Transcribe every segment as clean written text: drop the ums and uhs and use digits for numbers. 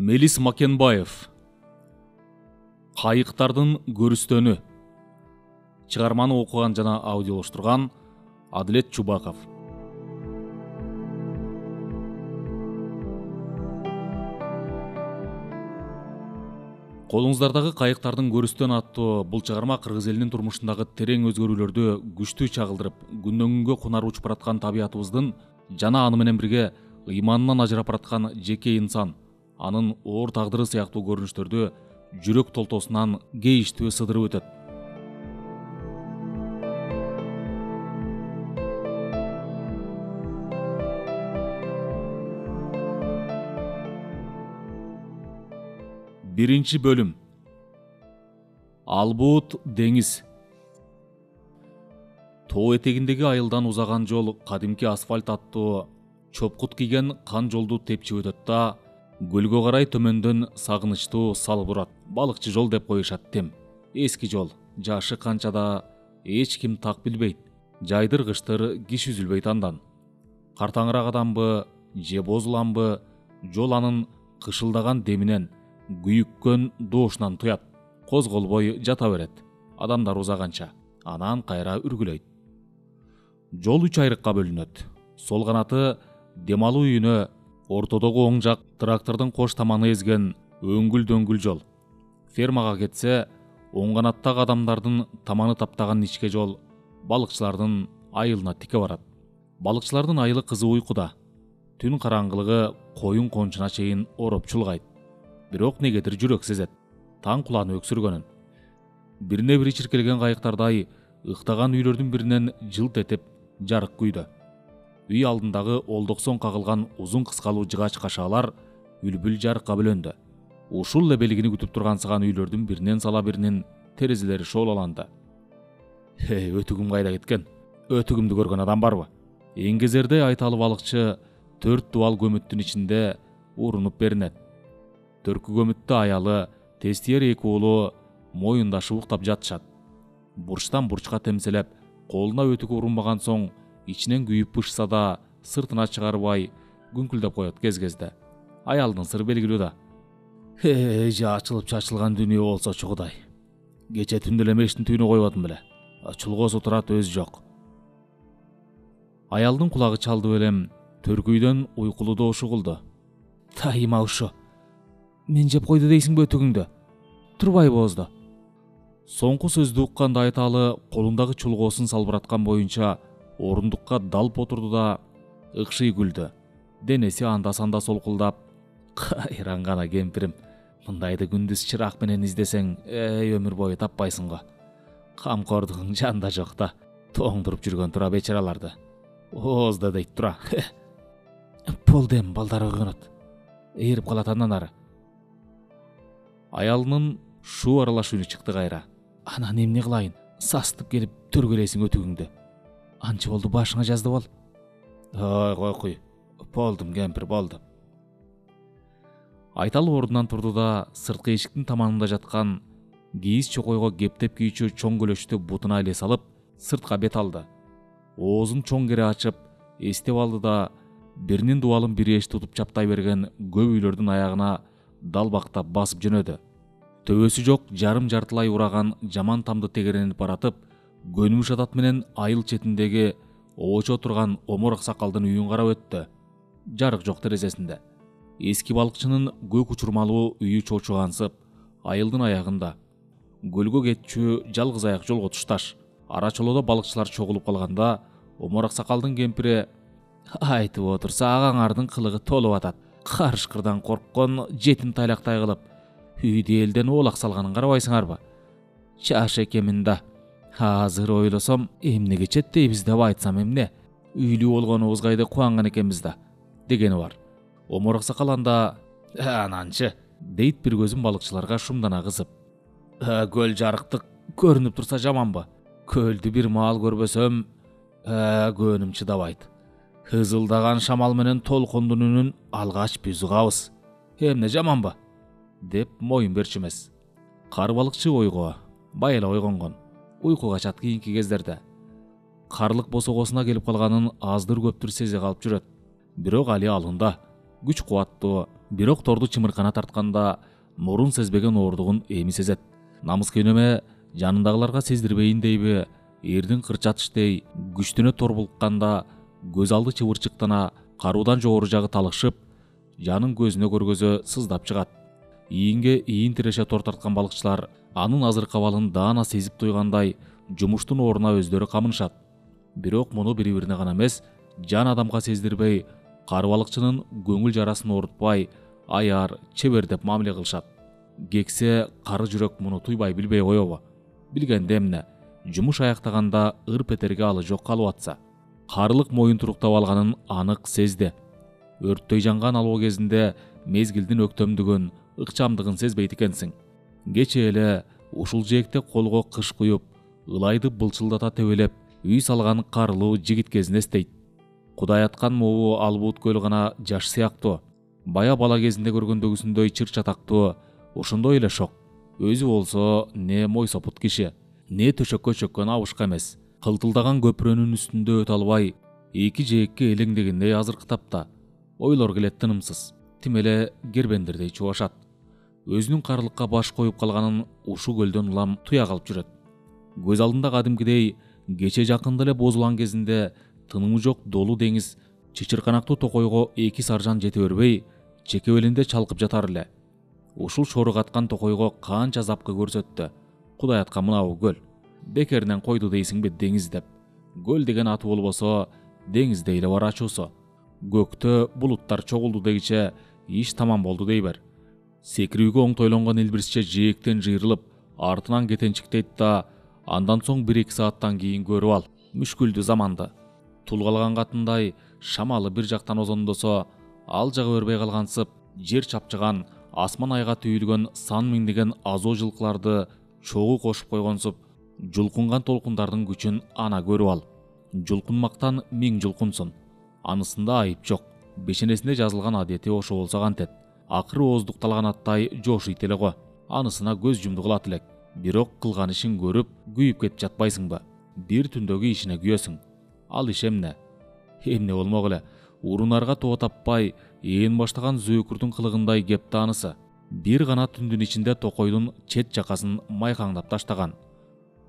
Мелис Макенбаев. Кайыктардын көрүстөнү. Чыгарманы окуган жана аудиолоштурган Адилет Чубаков. Колуңуздардагы Кайыктардын көрүстөнү аттуу бул чыгарма кыргыз элинин турмушундагы терең өзгөрүүлөрдү күчтүү чагылдырып, күндөн күнгө кунар учуп бараткан табиятыбыздын жана аны менен бирге ыйманынан ажырап бараткан жеке инсан, анын оор тагдыры сыяктуу көрүнүштөрдү жүрөк толтосунан кейиштүү сыдырып өтөт. Биринчи бөлүм. Албут деңиз. Тоо этегиндеги айылдан узаган жол кадимки асфальт аттуу чопкут кийген кан жолду тепчип өтөт да, көлгө карай төмөндөн сагынычтуу салып урат. Балыкчы жол деп коюшат тем. Эски жол, жашы канчада эч ким так билбейт. Жайдыр-кыштыр киши үзүлбөйт андан. Картаңыраак адамбы же бозуламбы, жол анын кышылдаган деминен, күйүккөн доошунан туят. Козголбой жата берет, адамдар узаганча. Анан кайра үргүлөйт. Жол 3 айрыкка бөлүнөт. Сол канаты дем алуу үйүнө, ортодогу оң жак трактордун кош таманы эзген өңгүл-дөңгүл жол. Фермага кетсе, оң канаттагы адамдардын таманы таптаган ичке жол балыкчылардын айылына тике барат. Балыкчылардын айылы кызы уйкуда. Түн караңгылыгы коюн кончуна чейин ороп чулгайт. Бирок негедир жүрөк сезет таң куланы өксүргөнүн. Бирине бири чиркелген кайыктардай ыктаган үйлөрдүн биринен жылт этип жарык күйдө. Үй алдындагы олдоксон кагылган узун кыскалуу жыгач кашаалар үлбүл жарыкка бөлөндү. Ушул эле белгини күтүп тургансыган үйлөрдүн биринен сала биринин терезелери шоолаланды. Өтүгүм кайда кеткен? Өтүгүмдү көргөн адам барбы? Эңгезердей айталы балыкчы 4 дубал көмүттүн ичинде урунуп беринет. Төркү көмүттө аялы, тестиер 2 уулу моюндашып уктап жатышат. Бурчтан бурчка темселеп, колуна өтүк урунбаган соң ичинен күйүп бышса да сыртына чыгарбай күңкүлдөп коет кез-кезде. Аялдын сыры белгилүү да. Ачылып чачылган дүйнө болсочу Кудай. Кече түндө эле мештин түбүнө койбодум беле. Чулгоосу турат өзү жок. Аялдын кулагы чалды белем, төркүйдөн уйкулуу доошу угулду. Тайыма ушу. Мен жеп койду дейсиңби өтүгүңдү? Турбай боозду. Соңку сөздү укканда айталы колундагы чулгоосун салбыраткан боюнча орундукка далп отурду да ыкшый күлдү. Денеси анда-санда солкулдап, кайран гана кемпирим. Мындайды күндүз чырак менен издесең, өмүр бою таппайсың го. Камкордугуң жанда жок да, тоңдуруп жүргөн тура бечараларды. Оозда дейт тура. Болду эми балдар ойгонот. Ээрип калат андан ары. Аялынын шу аралаш үнү чыкты кайра. Анан эмне кылайын? Састып келип төргөлейсиң өтүгүңдү. Анча болду башыңа жазды бол. Кой куй. Болдум кемпир, болду. Айталы ордунан турду да сырткы эшиктин таманында жаткан кийиз чокойго кептеп кийүүчү чоң көлөчтү бутуна эле салып, сыртка бет алды. Оозун чоң кере ачып, эстеп алды да биринин дубалын бири эш тутуп чаптай берген көп үйлөрдүн аягына далбактап басып жөнөдү. Төбөсү жок жарым жартылай ураган жаман тамды тегеренип баратып, көнүмүш атат менен айыл четиндеги обочо турган омор аксакалдын үйүн карап өттү. Жарык жок терезесинде. Эски балыкчынын көк учурмалуу үйү чочугансып, айылдын аягында. Көлгө кетчү жалгыз аяк жолго тушташ. Ара чолодо балыкчылар чогулуп калганда, омор аксакалдын кемпири: айтып отурса агаңардын кылыгы толуп атат. Карышкырдан корккон жетим тайлактай кылып, үйдү элден оолак салганын карабайсыңарбы? Чаш экемин да. Азыр ойлосом, эмне кечет дейбиз деп айтсам эмне? Үйлүү болгонубузга кубанган экенбиз да, дегени бар. Омор аксакал анда: ананчы, дейт бир көзүн балыкчыларга шумдана кызып. Көл жарыктык көрүнүп турса жаманбы? Көлдү бир маал көрбөсөм, көнүм чыдабайт. Кызылдаган шамал менен толкондун үнүн алгач биз угабыз. Эмне жаманбы? Деп моюн берчү эмес. Кар балыкчы ойго, байла ойгонгон. Уйкуга чат кийинки кездерде. Карлык босогосуна келип калганын аздыр көптүр сезе калып жүрөт. Бирок али алында. Күч кубаттуу, Бирок торду чымыркана тартканда мурун сезбеген оордугун эми сезет. Намыскы неме жанындагыларга сездирбейин дейби, эрдин кырчатыштей күчтөнө тор булкканда көз алды чыбырчыктана, каруудан жогору жагы талышып, жанын көзүнө көргөзө сыздап чыгат. Ийинге ийин тиреше тор тарткан балыкчылар анын азыркы абалын даана сезип туйгандай жумуштун ордуна өздөрү камынышат. Бирок муну бири-бирине гана эмес, жан адамга сездирбей, кар балыкчынын көңүл жарасын оорутпай, аяр, чебер деп мамиле кылышат. Кексе кары жүрөк муну туйбай билбей коебу? Билгенде эмне? Жумуш аяктаганда ыр петерге алы жок калып атса. Карылык моюн туруктап алганын анык сезди. Өрттөй жанган алоо кезинде мезгилдин өктөмдүгүн, ыкчамдыгын сезбейт экенсиң. Кече эле ушул жээкте колго кыш куюп, ылайды былчылдата тебелеп, үй салган карылуу жигит кезин эстейт. Кудай аткан могу Албут көлү гана жаш сыяктуу. Бая бала кезинде көргөндөгүсүндөй чыр чатактуу, ошондой эле шок. Өзү болсо не мойсопут киши, не төшөккө чөккөн абышка эмес. Кылтылдаган көпүрөнүн үстүндө өтө албай, эки жээкке элеңдегендей азыркы тапта. Ойлор келет тынымсыз. Тим эле гербендирдей чубашат. Өзүнүн карылыкка баш коюп калганын ушу көлдөн улам туя калып жүрөт. Көз алдында кадимкидей кече жакында эле бозулган кезинде тынымы жок долуу деңиз чычырканактуу токойго эки саржан жете бербей, чекебелинде чалкып жатар эле. Ушул шору каткан токойго канча запкы көрсөттү. Кудай аткан мынабу көл. Бекеринен койду дейсиңби деңиз деп. Көл деген аты болбосо, деңиздей эле бар ачуусу. Көктө булуттар чогулду дегиче иш тамам болду дей бер. Секирүүгө оңтойлонгон илбирсче жээктен жыйрылып, артынан кетенчиктейт да, андан соң 1-2 сааттан кийин көрүп ал. Мүшкүлдүү заманды. Тулгалган катындай шамалы бир жактан озондосо, ал жагы өрбөй калгансып, жер чапчыган, асман айга түйүлгөн сан миңдеген азоо жылкыларды чогуу кошуп койгонсуп, жулкунган толкундардын күчүн ана көрүп ал. Жулкунмактан 1000 жулкунсун. Анысында айып жок. Бешенесинде жазылган адети ошо болсо кантет. Акыры ооздукталган аттай жошуйт эле го. Анысына көз жумду кылат элек. Бирок кылган ишин көрүп, күйүп кетип жатпайсыңбы? Бир түндөгү ишине күйөсүң. Ал иш эмне? Эмне болмок эле? Урунарга тоо таппай, ээн баштаган зөөкүрдүн кылыгындай кепти анысы. Бир гана түндүн ичинде токойдун чет жакасын майкаңдап таштаган.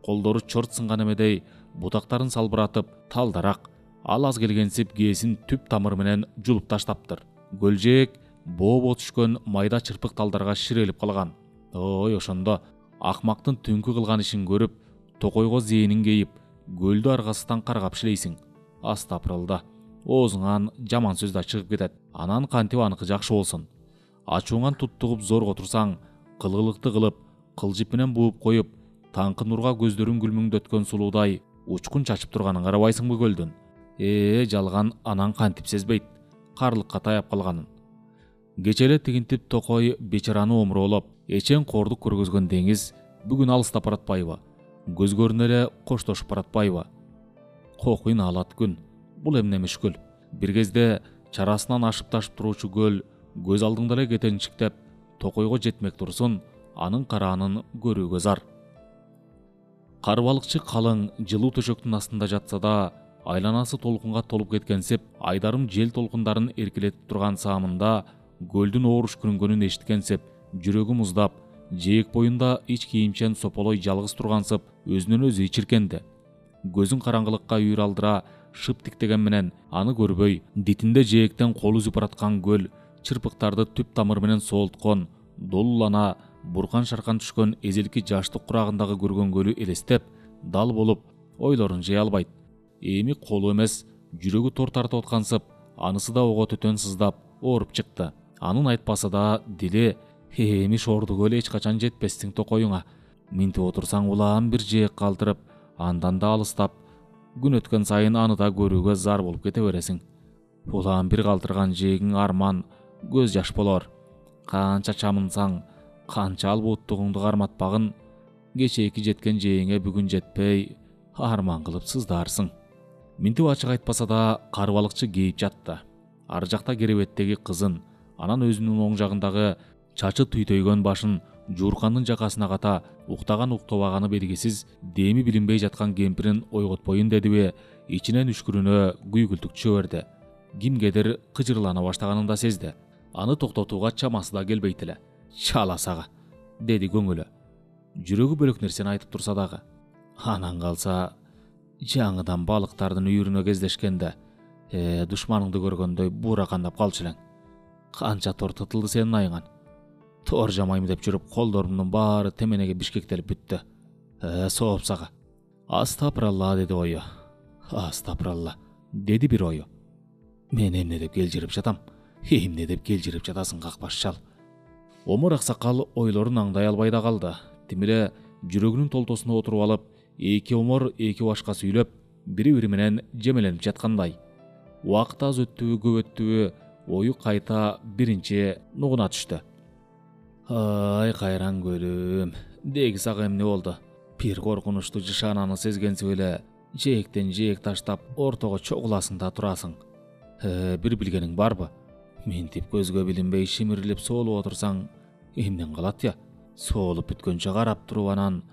Колдору чорт сынган эмедей бутактарын салбыратып, талдарак, ал аз келгенсип кээсин түп тамыры менен жулуп таштаптыр. Көлжээк бообо түшкөн майда чырпык талдарга ширелип калган. Ой, ошондо акмактын түнкү кылган ишин көрүп, токойго зээнин кейип, көлдү аргасыздан каргап шилейсиң. Астапырылда. Оозуңан жаман сөз да чыгып кетет. Анан кантип аныкы жакшы болсун. Ачууңан туттугуп зорго турсаң, кылгылыкты кылып, кылжып менен бууп коюп, таңкы нурга көздөрүн күлмүңдөткөн сулуудай учкун чачып турганын карабайсыңбы көлдүн? Жалган анан кантип сезбейт карлыкка таяп калганын. Кечеле тигинтип токой бечараны омуроолоп, эчен кордук көргөзгөн деңиз бүгүн алыстап баратпайбы? Көз көрүнө эле коштошуп баратпайбы? Кокуйн алат күн. Бул эмне мүшкүл? Бир кезде чарасынан ашып ташып туруучу көл көз алдыңда эле кетенчиктеп, токойго жетмек турсун, анын караанын көрүүгө зар. Кар балыкчы калың, жылуу төшөктүн астында жатса да, айланасы толкунга толуп кеткенсип, айдарым жел толкундарын эркелетип турган саамында көлдүн ооруш күрүнгөнүн эшиткенсип, жүрөгү муздап, жээк боюнда ич кийимчен сополой жалгыз тургансып, өзүнөн өзү ичиркенди. Көзүн караңгылыкка үйүр алдыра, шып тиктеген менен аны көрбөй, дитинде жээктен кол үзүп бараткан көл, чырпыктарды түп тамыры менен соолткон, долулана, буркан шаркан түшкөн эзелки жаштык курагындагы көргөн көлү элестеп, дал болуп, ойлорун жыя албайт. Эми колу эмес, жүрөгү тор тартып аткансып, анысы да ого төтөн сыздап, ооруп чыкты. Анын айтпасы да дили, эми шорду көл эч качан жетпестиң токоюңа. Минтип отурсаң улаан бир жээк калтырып, андан да алыстап, күн өткөн сайын аны да көрүүгө зар болуп кете бересиң. Улаан бир калтырган жээгиң арман, көз жаш болор. Канча чамынсаң, канча албууттугуңду карматпагын, кечээки жеткен жээңе бүгүн жетпей, арман кылып сыздарсың. Минтип ачык айтпаса да, кар балыкчы кейип жатты. Ар жакта керебеттеги кызын, анан өзүнүн оң жагындагы чачы түйтөйгөн башын жууркандын жакасына ката уктаган уктабаганы белгисиз деми билинбей жаткан кемпирин ойготпоюн дедиби, ичинен үшкүрүнө күйгүлтүк түшө берди. Кимгедир кыжырлана баштаганын да сезди. Аны токтотууга чамасы да келбейт эле. Чала сага, деди көңүлү. Жүрөгү бөлөк нерсени айтып турса дагы. Анан калса жаңыдан балыктардын үйүрүнө кездешкенде душманыңды көргөндөй буура кандап калчу элең. Канча тор тытылды сенин айыңан. Тор жамайм деп жүрүп колдорумдун баары теменеге бишкектелип бүттү. Сооп сага. Астапыралла, деди ою. Астапыралла, деди бир ою. Мен эмне деп келжирип жатам? Эмне деп келжирип жатасың, какпаш чал? Омор аксакал ойлорун аңдай албай да калды. Тимире жүрөгүнүн толтосуна отуруп алып, эки омор эки башка сүйлөп, бири-бири менен жемеленип жаткандай. Убакыт аз өттүбү, көп өттүбү, ою кайта биринчи нугуна түштү. Ай кайран көлүм, деги сага эмне болду? Бир коркунучтуу жышаананы сезгенсип эле жээктен жээк таштап ортого чогуласың да турасың. Бир билгениң барбы? Ментип көзгө билинбей шимирилип соолуп отурсаң эмнен калат я? Соолуп бүткөнчө карап туруп анан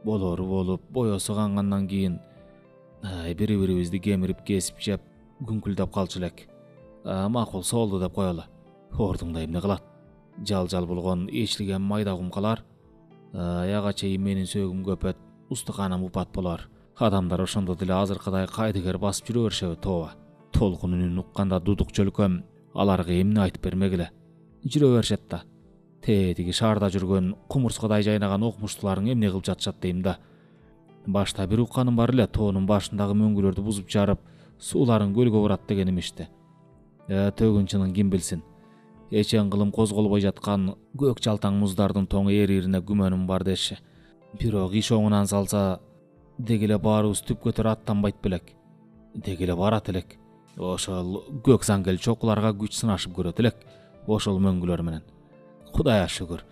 болору болуп, боесу кангандан кийин бири-бирибизди кемирип кесип жеп күңкүлдөп калчу элек. Макул соолду деп коелу. Ордуңда эмне кылат? Жал болгон ээчлиген майда кумкалар. Аяга чейин менин сөөгүм көпөт, устуканам упат болор. Адамдар ошондо деле азыркыдай кайдыгер басып жүрө беришеби тооба. Толкун үнүн укканда дудук чөлкөм аларга эмне айтып бермек эле. Жүрө беришет да. Тетиги шаарда жүргөн кумурскадай жайнаган окумуштууларың эмне кылып жатышат дейм да. Башта бир укканым бар эле, тоонун башындагы мөңгүлөрдү бузуп жарып, сууларын көлгө бурат деген имишти. Төгүнчүнүн ким билсин. Эчен кылым козголбой жаткан көк жалтаң муздардын тоң эририне күмөнүм бар деши. Бирок иш оңунан салса, деги эле баарыбыз түпкө төрө аттанбайт белек. Деги эле барат элек. Ошол көк саңгел чокуларга күч сынашып көрөт элек. Ошол мөңгүлөр менен. Кудайга шүгүр.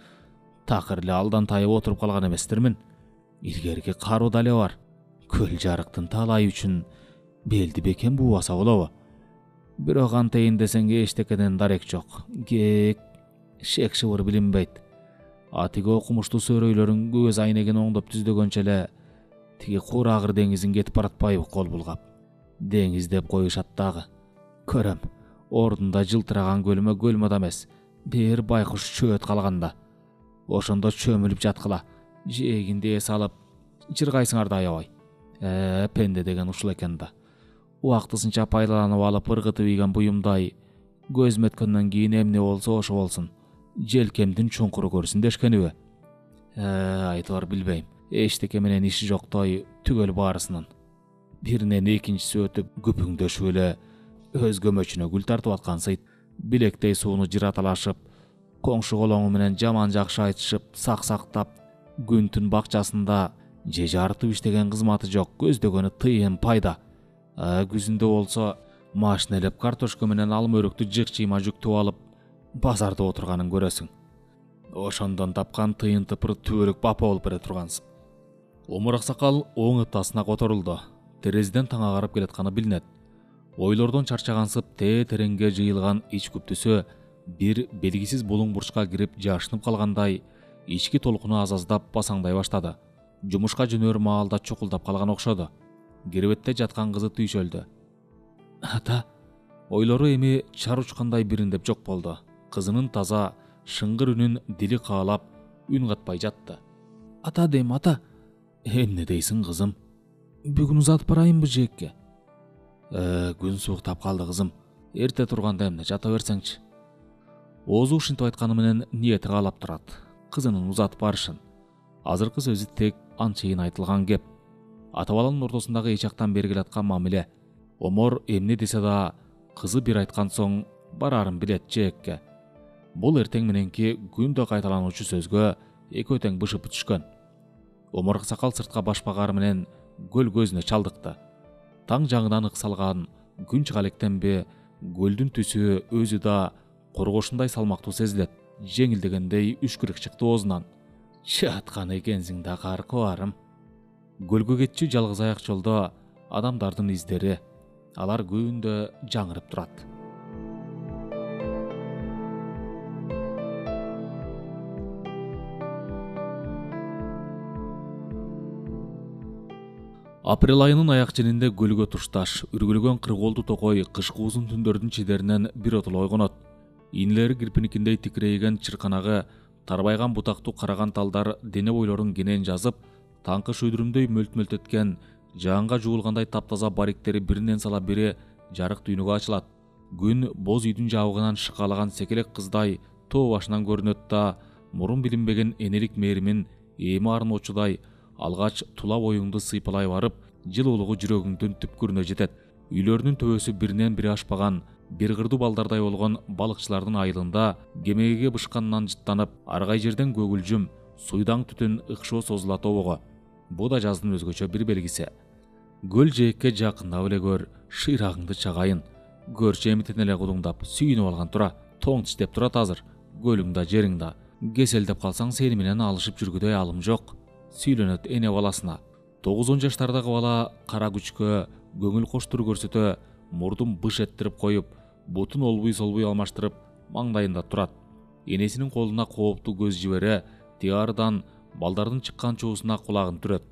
Такыр эле алдан тайып отуруп калган эместирмин. Илгерки каруу дале бар. Көл жарыктын талайы үчүн белди бекем буубаса болобу? Бирок антейин десең эчтекеден дарек жок. Кек, шек шыбыр билинбейт. Атиги окумуштуу сөрөйлөрүн көз айнегин оңдоп түздөгөнчө эле тиги Курагыр деңизин кетип баратпайбы кол булгап. Деңиз деп коюшат дагы. Көрөм, ордунда жылтыраган көлмө көлмөд эмес, бир байкуш чөөт калганда. Ошондо чөмүлүп жаткыла, жээгинде эс алып, жыргайсыңар да аябай. Пенде деген ушул экен да. Убактысынча пайдаланып алып ыргытып ийген буюмдай, көзүм өткөндөн кийин эмне болсо ошо болсун. Желкемдин чуңкуру көрсүн дешкениби? Айтор билбейм. Эчтеке менен иши жоктой түгөл баарысынын. Биринен экинчиси өтүп күпүңдөшүп эле өз көмөчүнө гүл тартып аткансыйт. Билектей сууну жыраталашып, коңшу колоңу менен жаман жакшы айтышып, сак-сактап, күн-түн бакчасында же жарытып иштеген кызматы жок, көздөгөнү тыйын пайда. Күзүндө болсо машинелеп картошка менен алма өрүктү жык-чыйма жүктүп алып, базарда отурганын көрөсүң. Ошондон тапкан тыйын тыпыр түбөлүк бапа болуп бере тургансың. Омур аксакал оң ытасына которулду. Терезеден таң агарып келатканы билинет. Ойлордон чарчагансып тереңге жыйылган ич күптүсү бир белгисиз булуң бурчка кирип жашынып калгандай, ички толкуну аз-аздап басаңдай баштады. Жумушка жөнөр маалда чукулдап калган окшоду. Кирбетте жаткан кызы түйшөлдү. Ата, ойлору эми чар учкандай бириндеп жок болду. Кызынын таза, шыңгыр үнүн дили каалап, үн катпай жатты. Ата дейм, ата. Эмне дейсиң, кызым? Бүгүн узатып барайынбы жээкке? Күн сууктап калды, кызым. Эрте турганда эмне, жата берсеңчи. Оозу ушинтип айтканы менен ниети каалап турат. Кызынын узатып барышын. Азыркы сөзү тек анчейин айтылган кеп. Ата баланын ортосундагы эч жактан бери келаткан мамиле. Омор эмне десе да, кызы бир айткан соң барарын билет жээкке. Бул эртең мененки күндө кайталануучу сөзгө экөө тең бышып түшкөн. Омор аксакал сыртка башпагары менен көл көзүнө чалдыкты. Таң жаңынан ыксалган күн чыга электенби, көлдүн түсү өзү да коргошундай салмактуу сезилет. Жеңилдегендей үшкүрүк чыкты оозунан. Чаткан экенсиң да каркыбарым. Көлгө кетчү жалгыз аяк жолдо адамдардын издери, алар күндө жаңырып турат. Апрель айынын аяк ченинде көлгө тушташ, үргүлгөн кыргоолду токой кышкы узун түндөрдүн чидеринен бир отул ойгонот. Инилери кирпиникиндей тикирейген чырканагы, тарбайган бутактуу караган талдар дене бойлорун кенен жазып, таңкы шүйдүрүмдөй мөлт-мөлт жаанга жуулгандай таптаза бариктери биринен сала бири жарык дүйнөгө ачылат. Күн боз үйдүн жабыгынан шыкалаган секелек кыздай тоо башынан көрүнөт да, мурун билинбеген энелик мээримин эми арноочудай алгач тула боюңду сыйпалай барып, жылуулугу жүрөгүңдүн түпкүрүнө жетет. Үйлөрүнүн төбөсү биринен бири ашпаган, бир кырдуу балдардай болгон балыкчылардын айылында кемеге бышканынан жыттанып, аргай жерден көгүлжүм, суйдаң түтүн ыкшоо созула тобого. Бу да жаздын өзгөчө бир белгиси. Көл жээкке жакындап эле көр, шыйрагыңды чагайын. Көрчү эмитен эле кудуңдап, сүйүнүп алган тура, тоң тиштеп турат азыр. Көлүңда, жериңда. Кеселдеп калсаң сени менен алышып жүргүдөй алым жок. Сүйлөнөт эне баласына. 9-10 жаштардагы бала кара күчкө, көңүл коштур көрсөтө, мурдун быш эттирип коюп, бутун олбуй-солбуй алмаштырып, маңдайында турат. Энесинин колуна кооптуу көз жибере, тиярдан балдардын чыккан чуусуна кулагын түрөт.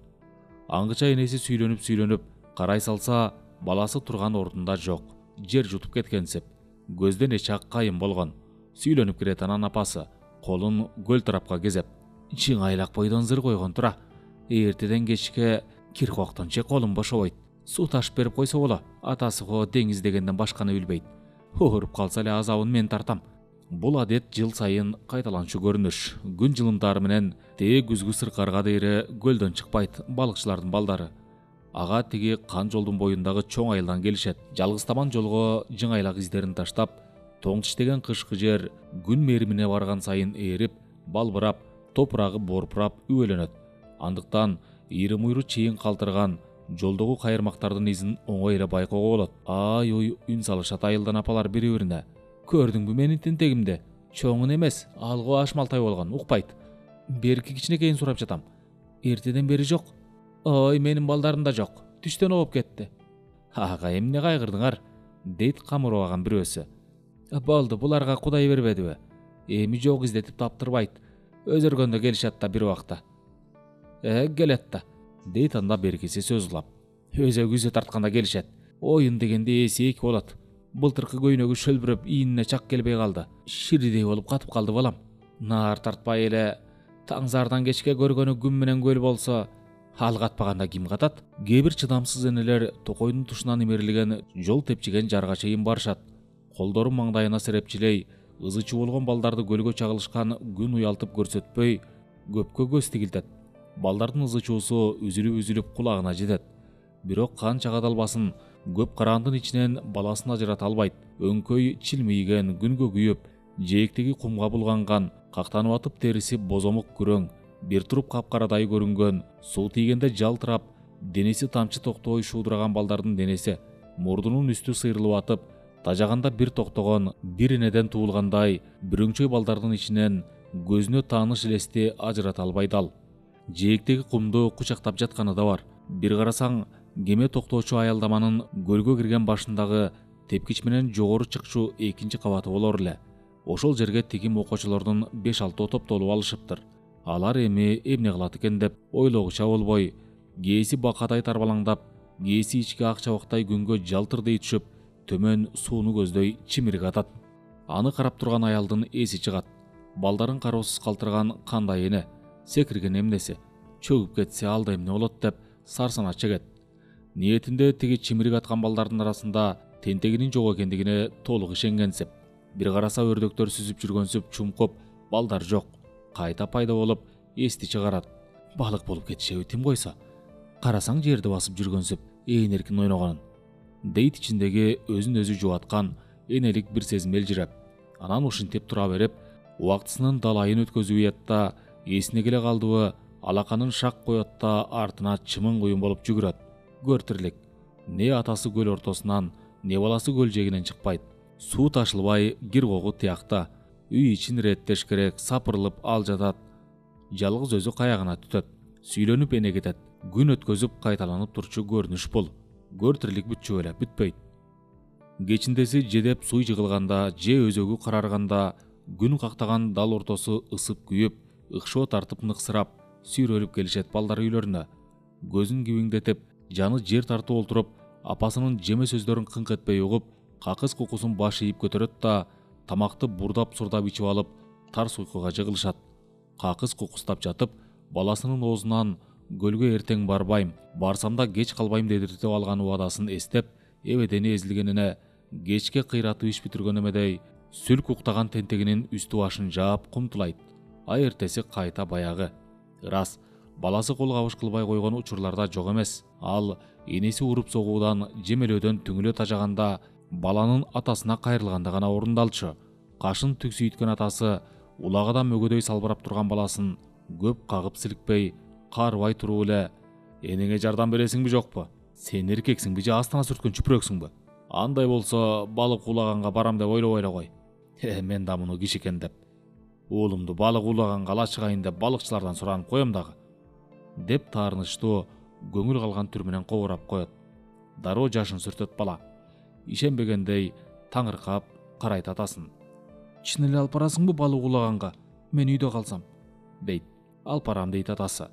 Аңгыча энеси сүйлөнүп, карай салса, баласы турган ордунда жок. Жер жутуп кеткенсип, көздөн эч ак кайын болгон. Сүйлөнүп кирет анан апасы, колун көл тарапка кезеп. Чыңайлак бойдон зыр койгон тура. Эртеден кечке киркоктонче колум бошобойт. Суу ташып берип койсо боло. Атасы го деңиз дегенден башканы билбейт. Ооруп калса эле азабын мен тартам. Бул адет жыл сайын кайталанчу көрүнүш. Күн жылымдары менен тээ күзгү сыркарга дейре көлдөн чыкпайт балыкчылардын балдары. Ага тиги кан жолдун боюндагы чоң айылдан келишет. Жалгыз табан жолго жыңайлак издерин таштап, тоң тиштеген кышкы жер күн меримине барган сайын ээрип, балбырап, топурагы борпурап үбөлөнөт. Андыктан ийри-муйру чейин калтырган жолдогу кайырмактардын изин оңой эле байкоого болот. Ой, үн салышат айылдан апалар бири-бирине. Көрдүңбү менин тентегимди? Чоңун эмес, алгы ашмалтай болгон, укпайт. Берки кичинекейин сурап жатам. Эртеден бери жок. Ой, менин балдарым да жок. Түштөн олуп кетти. Ага, эмне кайгырдыңар? Дейт камырабаган бирөөсү. Болду, буларга Кудай бербедиби? Эми жок издетип таптырбайт. Өзөргөндө келишет да бир убакта. Келет да. Дейт анда беркиси сөз улап. Өзө тартканда келишет. Оюн дегенде эси эки болот. Былтыркы көйнөгү шөлбүрөп, ийинине чак келбей калды. Ширидей болуп катып калды балам. Наар тартпай эле таңзардан кечке көргөнү күн менен көл болсо, ал катпаганда ким катат? Кээ бир чыдамсыз энелер токойдун тушунан имерилген жол тепчиген жарга чейин барышат. Колдору маңдайына серепчилей, ызы чуу балдарды көлгө чагылышкан күн уялтып көрсөтпөй, көпкө көз тигилтет. Балдардын ызы чуусу үзүлүп кулагына жетет. Бирок канча кадалбасын, көп караандын ичинен баласын ажырата албайт. Өңкөй чилмийген, күнгө күйүп, жээктеги кумга булганган, кактанып атып териси бозомук күрөң, бир туруп капкарадай көрүнгөн, суу тийгенде жалтырап, денеси тамчы токтобой шуудураган балдардын денеси, мурдунун үстү сыйрылып атып, тажаганда бир токтогон, бир энеден туулгандай, бүрөңчөй балдардын ичинен көзүнө тааныш элести ажырата албай дал. Жээктеги кумду кучактап жатканы да бар. Бир карасаң, кеме токтоочу аялдаманын көлгө кирген башындагы тепкич менен жогору чыкчу экинчи кабаты болор эле. Ошол жерге тигим окуучулардын 5-6 топтолуп алышыптыр. Алар эми эмне кылат экен деп ойлогуча болбой, кээси бакадай тарбалаңдап, кээси ички ак чабактай күнгө жалтырдей түшүп, төмөн сууну көздөй чимирик атат. Аны карап турган аялдын эси чыгат. Балдарын кароосуз калтырган кандай эне, секирген эмнеси, чөгүп кетсе алда эмне болот деп сарсана чегет. Ниетинде тиги чимирик аткан балдардын арасында тентегинин жок экендигине толук ишенгенсип. Бир караса өрдөктөр сүзүп жүргөнсүп чумкуп, балдар жок. Кайта пайда болуп, эсти чыгарат. Балык болуп кетишеби тим койсо. Карасаң жерди басып жүргөнсүп, эркин ойногонун. Дейт ичиндеги өзүн өзү жубаткан энелик бир сезим элжиреп. Анан ушинтип тура берип, убактысынын далайын өткөзүп уят да, эсине келе калдыбы, алаканын шак коет да артына чымын куюн болуп жүгүрөт. Көр тирлик. Не атасы көл ортосунан, не баласы көл жээгинен чыкпайт. Суу ташылбай, киргогу тиякта. Үй ичин реттеш керек, сапырылып ал жатат. Жалгыз өзү каягына түтөт. Сүйлөнүп эне кетет. Күн өткөзүп кайталанып турчу көрүнүш бул. Көр тирлик бүтчү эле, бүтпөйт. Кечиндеси жедеп суй жыгылганда, же өзөгү карарганда, күн кактаган дал ортосу ысып күйүп, ыкшоо тартып ныксырап, сүйрөлүп келишет балдар үйлөрүнө. Көзүн кибиңдетип, жаны жер тартып олтуруп, апасынын жеме сөздөрүн кыңк этпей угуп, какыс кукусун баш ийип көтөрөт да, тамакты бурдап сурдап ичип алып тарс уйкуга жыгылышат. Какыс кукустап жатып, баласынын оозунан көлгө эртең барбайм, барсам да кеч калбайм дедиртип алган убадасын эстеп, эбедени эзилгенине кечке кыйратып иш бүтүргөн эмедей сүлк уктаган тентегинин үстү башын жаап кумтулайт. А эртеси кайта баягы. Ырас, баласы кол кабыш кылбай койгон учурларда жок эмес. Ал энеси уруп согуудан, жемелөөдөн түңүлө тажаганда баланын атасына кайрылганда гана орундалчу. Кашын түксүйткөн атасы улагадан мөгөдөй салбырап турган баласын көп кагып силикпей, каарбай туруп эле: "Энеңе жардам бересиңби жокпу? Сен эркексиңби же астына сүрткөн чүпүрөксүңбү? Андай болсо балык улаганга барам деп ойлобой эле кой. Мен да муну кишикен деп уулумду балык улаганга ала чыгайын деп балыкчылардан суранып коем дагы" деп таарынычтуу көңүл калган түр менен кобурап коет. Дароо жашын сүртөт бала. Ишенбегендей таңыркап карайт атасын. "Чын эле алып барасыңбы балык улаганга? Мен үйдө калсам?" дейт. "Алып барам" дейт атасы.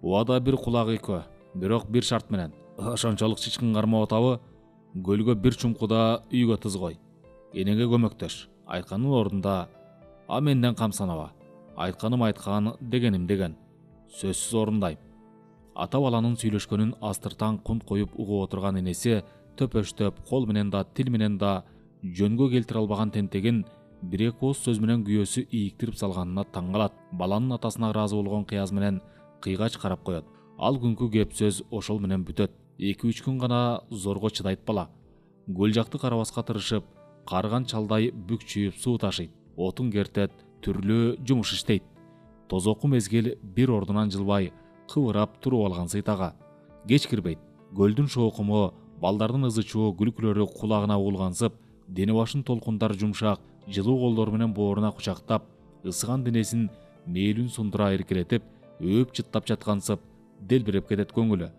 "Убада бир кулак экөө, бирок бир шарт менен. Ошончолук чычкын кармап атабы? Көлгө бир чумкуда үйгө тыз кой. Энеңе көмөктөш. Айтканын ордунда, а менден кам санаба. Айтканым айткан, дегеним деген. Сөзсүз орундайм." Ата баланын сүйлөшкөнүн астыртан кунт коюп угуп отурган энеси төпөштөп, кол менен да, тил менен да жөнгө келтире албаган тентегин бир-эки ооз сөз менен күйөөсү ийиктирип салганына таң калат. Баланын атасына ыраазы болгон кыяз менен кыйгач карап коет. Ал күнкү кеп сөз ошол менен бүтөт. 2-3 күн гана зорго чыдайт бала. Көл жакты карабаска тырышып, карыган чалдай бүкчүйүп суу ташыйт, отун кертет, түрлүү жумуш иштейт. Тозоку мезгил бир ордунан жылбай, кыбырап туруп алган сыйтага. Кеч кирбейт. Көлдүн шоокуму, балдардын ызычуу күлкүлөрү кулагына угулгансып, дене башын толкундар жумшак, жылуу колдору менен бооруна кучактап, ысыган денесин мээлүн сундура эркелетип, өөп чыттап жаткансып, делбиреп кетет көңүлү.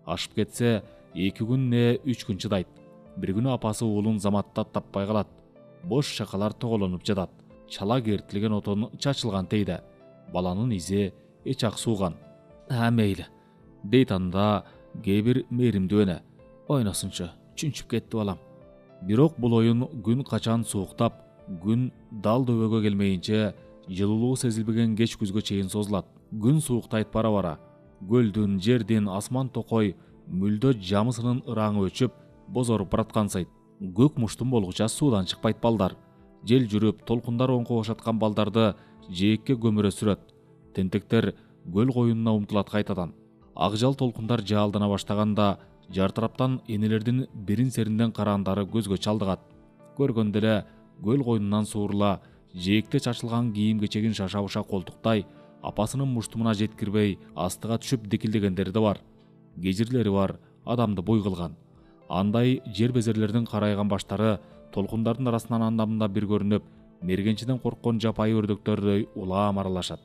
Ашып кетсе, 2 күн не 3 күн чыдайт. Бир күнү апасы уулун заматтап таппай калат. Бош шакалар тоголонуп жатат. Чала кертилген отон чачылган тейде. Баланын изи эч ак сууган. Мейли, дейт анда кээ бир мээримдүү эне. Ойносунчу, чүнчүп кетти балам. Бирок бул оюн күн качан сууктап, күн дал дөбөгө келмейинче жылуулугу сезилбеген кеч күзгө чейин созулат. Күн сууктайт бара-бара. Көлдүн, жердин, асман токой мүлдө жамысынын ыраңы өчүп, бозоруп бараткансайт. Көк муштун болгуча суудан чыкпайт балдар. Жел жүрүп, толкундар оңко бошаткан балдарды жээкке көмүрө сүрөт. Тентектер көл коюнуна умтулат кайтадан. Акжал толкундар жаалдана баштаганда, жартыраптан энелердин берин-серинден караандары көзгө чалдыгат. Көргөндө эле көл коюнунан суурула, жээкте чачылган кийим-кечегин шаша-буша колтуктай, апасынын муштумуна жеткирбей астыга түшүп дикилдегендери да бар. Кежирлери бар, адамды буй кылган. Андай жер безерлердин карайган баштары толкундардын арасынан анда-мында бир көрүнүп, мергенчиден корккон жапайы өрдөктөрдөй улаам аралашат.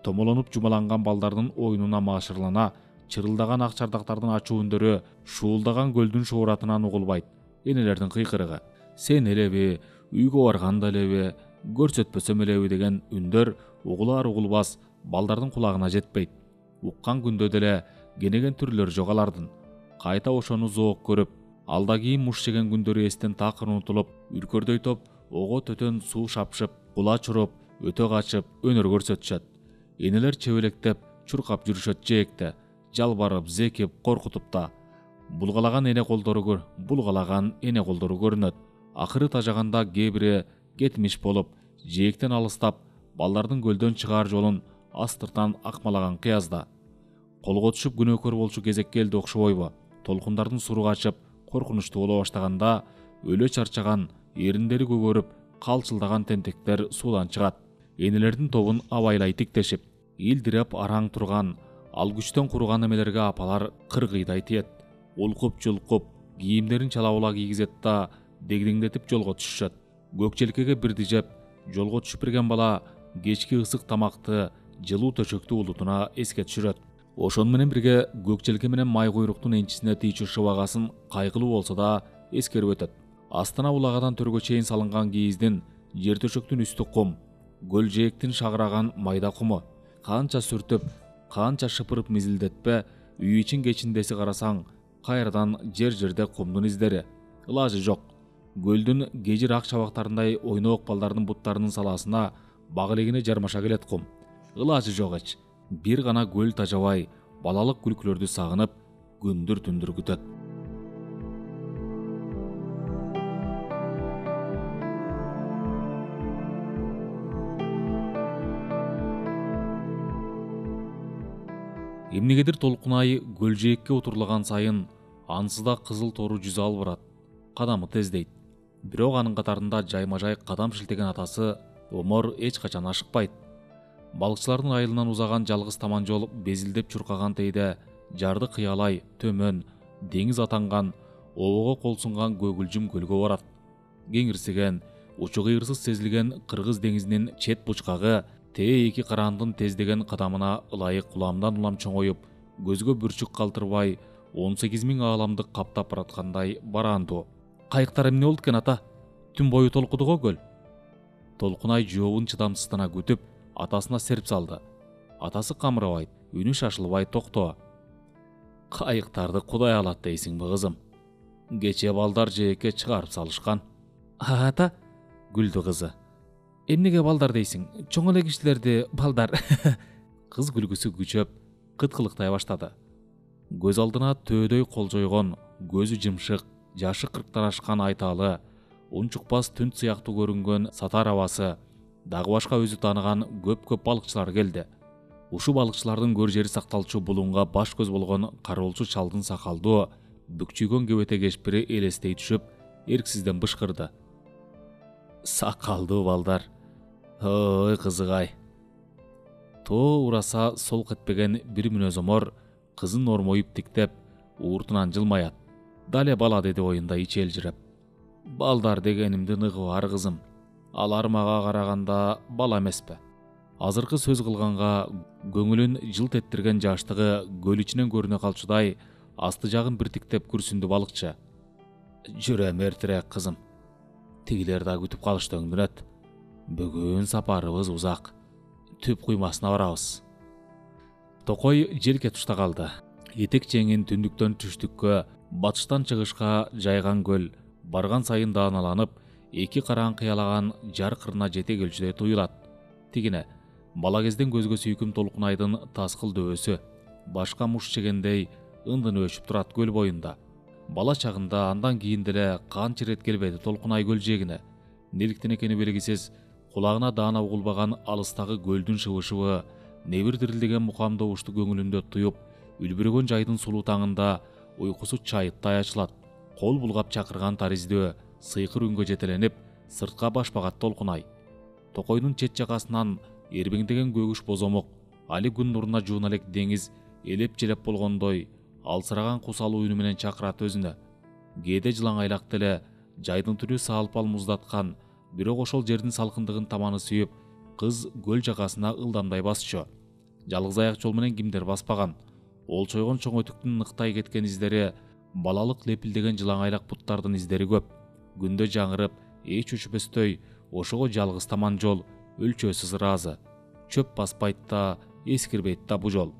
Томолонуп жумаланган балдардын оюнуна маашырлана, чырылдаган ак чардактардын ачуу үндөрү шуулдаган көлдүн шууратынан угулбайт. Энелердин кыйкырыгы: "Сен элеби, үйгө барганда элеби, көрсөтпөсөм элеби" деген үндөр угулар-угулбас балдардын кулагына жетпейт. Уккан күндө деле кенеген түрлөр жок алардын. Кайта ошону зоок көрүп, алда кийин муш жеген күндөрү эстен такыр унутулуп, үркөрдөйтөп, ого төтөн суу шапшып, кула чуруп, өтө качып, өнөр көрсөтүшөт. Энелер чебелектеп, чуркап жүрүшөт жээкте, жалбарып, зекип, коркутуп да. Булгалаган эне колдору көрүнөт. Акыры тажаганда кээ бири кетмиш болуп, жээктен алыстап, балдардын көлдөн чыгаар жолун астыртан акмалаган кыязда. Колго түшүп күнөөкөр болчу кезек келди окшобойбу? Толкундардын суру качып, коркунучтуу боло баштаганда, өлө чарчаган, эриндери көгөрүп, калчылдаган тентектер суудан чыгат. Энелердин тобун абайлай тиктешип, илдиреп араң турган, ал күчтөн куруган эмелерге апалар кыргыйдай тиет. Улкуп-жулкуп, кийимдерин чала-була кийгизет да дегдеңдетип жолго түшүшөт. Көк желкеге бирди жеп, жолго түшүп берген бала кечки ысык тамакты, жылуу төшөктү улутуна эске түшүрөт. Ошону менен бирге көк желке менен май куйруктун энчисине тийчү шыбагасын кайгылуу болсо да эскерип өтөт. Астына улагадан төргө чейин салынган кийиздин, жер төшөктүн үстү кум, көл жээктин шагыраган майда куму. Канча сүртүп, канча шыпырып мизилдетпе, үй ичин кечиндеси карасаң, кайрадан жер-жерде кумдун издери. Ылажы жок. Көлдүн кежир ак чабактарындай ойноок балдардын буттарынын салаасына бак элегине жармаша келет кум. Ылажы жок эч. Бир гана көл тажабай, балалык күлкүлөрдү сагынып, күндүр түндүр күтөт. Эмнегедир Толкунай көл жээкке утурлаган сайын ансызда кызыл тору жүзү албырат, кадамы тездейт. Бирок анын катарында жайма-жай кадам шилтеген атасы Омор эч качан ашыкпайт. Балыкчылардын айылынан узаган жалгыз таман жол безилдеп чуркаган тейде жарды кыялай төмөн деңиз атанган, обого кол сунган көгүлжүм көлгө барат. Кеңирсиген, учу кыйырсыз сезилген Кыргыз деңизинин чет бучкагы тээ эки караандын тездеген кадамына ылайык уламдан улам чоңоюп, көзгө бүрчүк калтырбай 18 000 ааламды каптап бараткандай бараандуу. Кайыктар эмне болду экен ата? Түн бою толкуду го көл. Толкунай жообун чыдамсыздана күтүп, атасына серп салды. Атасы камырабайт, үнү шашылбай токтоо. Кайыктарды Кудай алат дейсиңби кызым? Кече балдар жээкке чыгарып салышкан. Ата, күлдү кызы. Эмнеге балдар дейсиң? Чоң эле кишилерди балдар. Кыз күлгүсү күчөп, кыткылыктай баштады. Көз алдына төөдөй кол жойгон, көзү жымшык, жашы кырктан ашкан айталы, унчукпас түн сыяктуу көрүнгөн сатар абасы, дагы башка өзү тааныган көп балыкчылар келди. Ушу балыкчылардын көр жери сакталчу булунга баш көз болгон кароолчу чалдын сакалдуу, бүкчүйгөн кебете кешпири элестей түшүп, эрксизден бышкырды. Сакалдуу балдар. Ой кызыгай. Тоо ураса солк этпеген бир мүнөз Омор кызын ормоюп тиктеп, ууртунан жылмаят. Дале бала деди оюнда ичелжиреп. Балдар дегенимди ныгы бар кызым. Алар мага караганда бала эмеспи. Азыркы сөз кылганга көңүлүн жылт эттирген жаштыгы көл ичинен көрүнө калчудай асты жагын бир тиктеп күрсүндү балыкчы. Жүрөм эртерээк кызым. Тигилер да күтүп калышты өңдүнөт. Бүгүн сапарыбыз узак. Түп куймасына барабыз. Токой желке тушта калды. Этек чеңин түндүктөн түштүккө, батыштан чыгышка жайган көл барган сайын дааналанып, эки караан кыялаган жар кырына жете келчүдөй туюлат. Тигине бала кезден көзгө сүйкүм Толкунайдын таскыл дөбөсү, башка муш чегендей ындын өчүп турат көл боюнда. Бала чагында андан кийин деле канча ирет келбеди Толкунай көл жээгине. Неликтен экени белгисиз, кулагына даана угулбаган алыстагы көлдүн шыбышыбы, небир дирилдеген мукам добушту көңүлүндө туюп, үлбүрөгөн жайдын сулуу таңында уйкусу чайыттай ачылат. Кол булгап чакырган тариздөө сыйкыр үнгө жетеленип, сыртка баш багат Толкунай. Токойдун чет жакасынан эрбеңдеген көгүш бозомок, али күн нуруна жуун элек деңиз элеп желеп болгондой алсыраган кусалуу үнү менен чакырат өзүнө. Кээде жылаңайлак деле жайдын түрү салпал муздаткан, бирок ошол жердин салкындыгын таманы сүйүп, кыз көл жакасына ылдамдай басчу. Жалгыз аяк жол менен кимдер баспаган. Олчойгон чоң өтүктүн ныктай кеткен издери, балалык лепилдеген жылаңайлак буттардын издери көп. Күндө жаңырып, эч өчпөстөй, ошого жалгыз таман жол, өлчөөсүз ыраазы. Чөп баспайт да, эскирбейт да бу жол.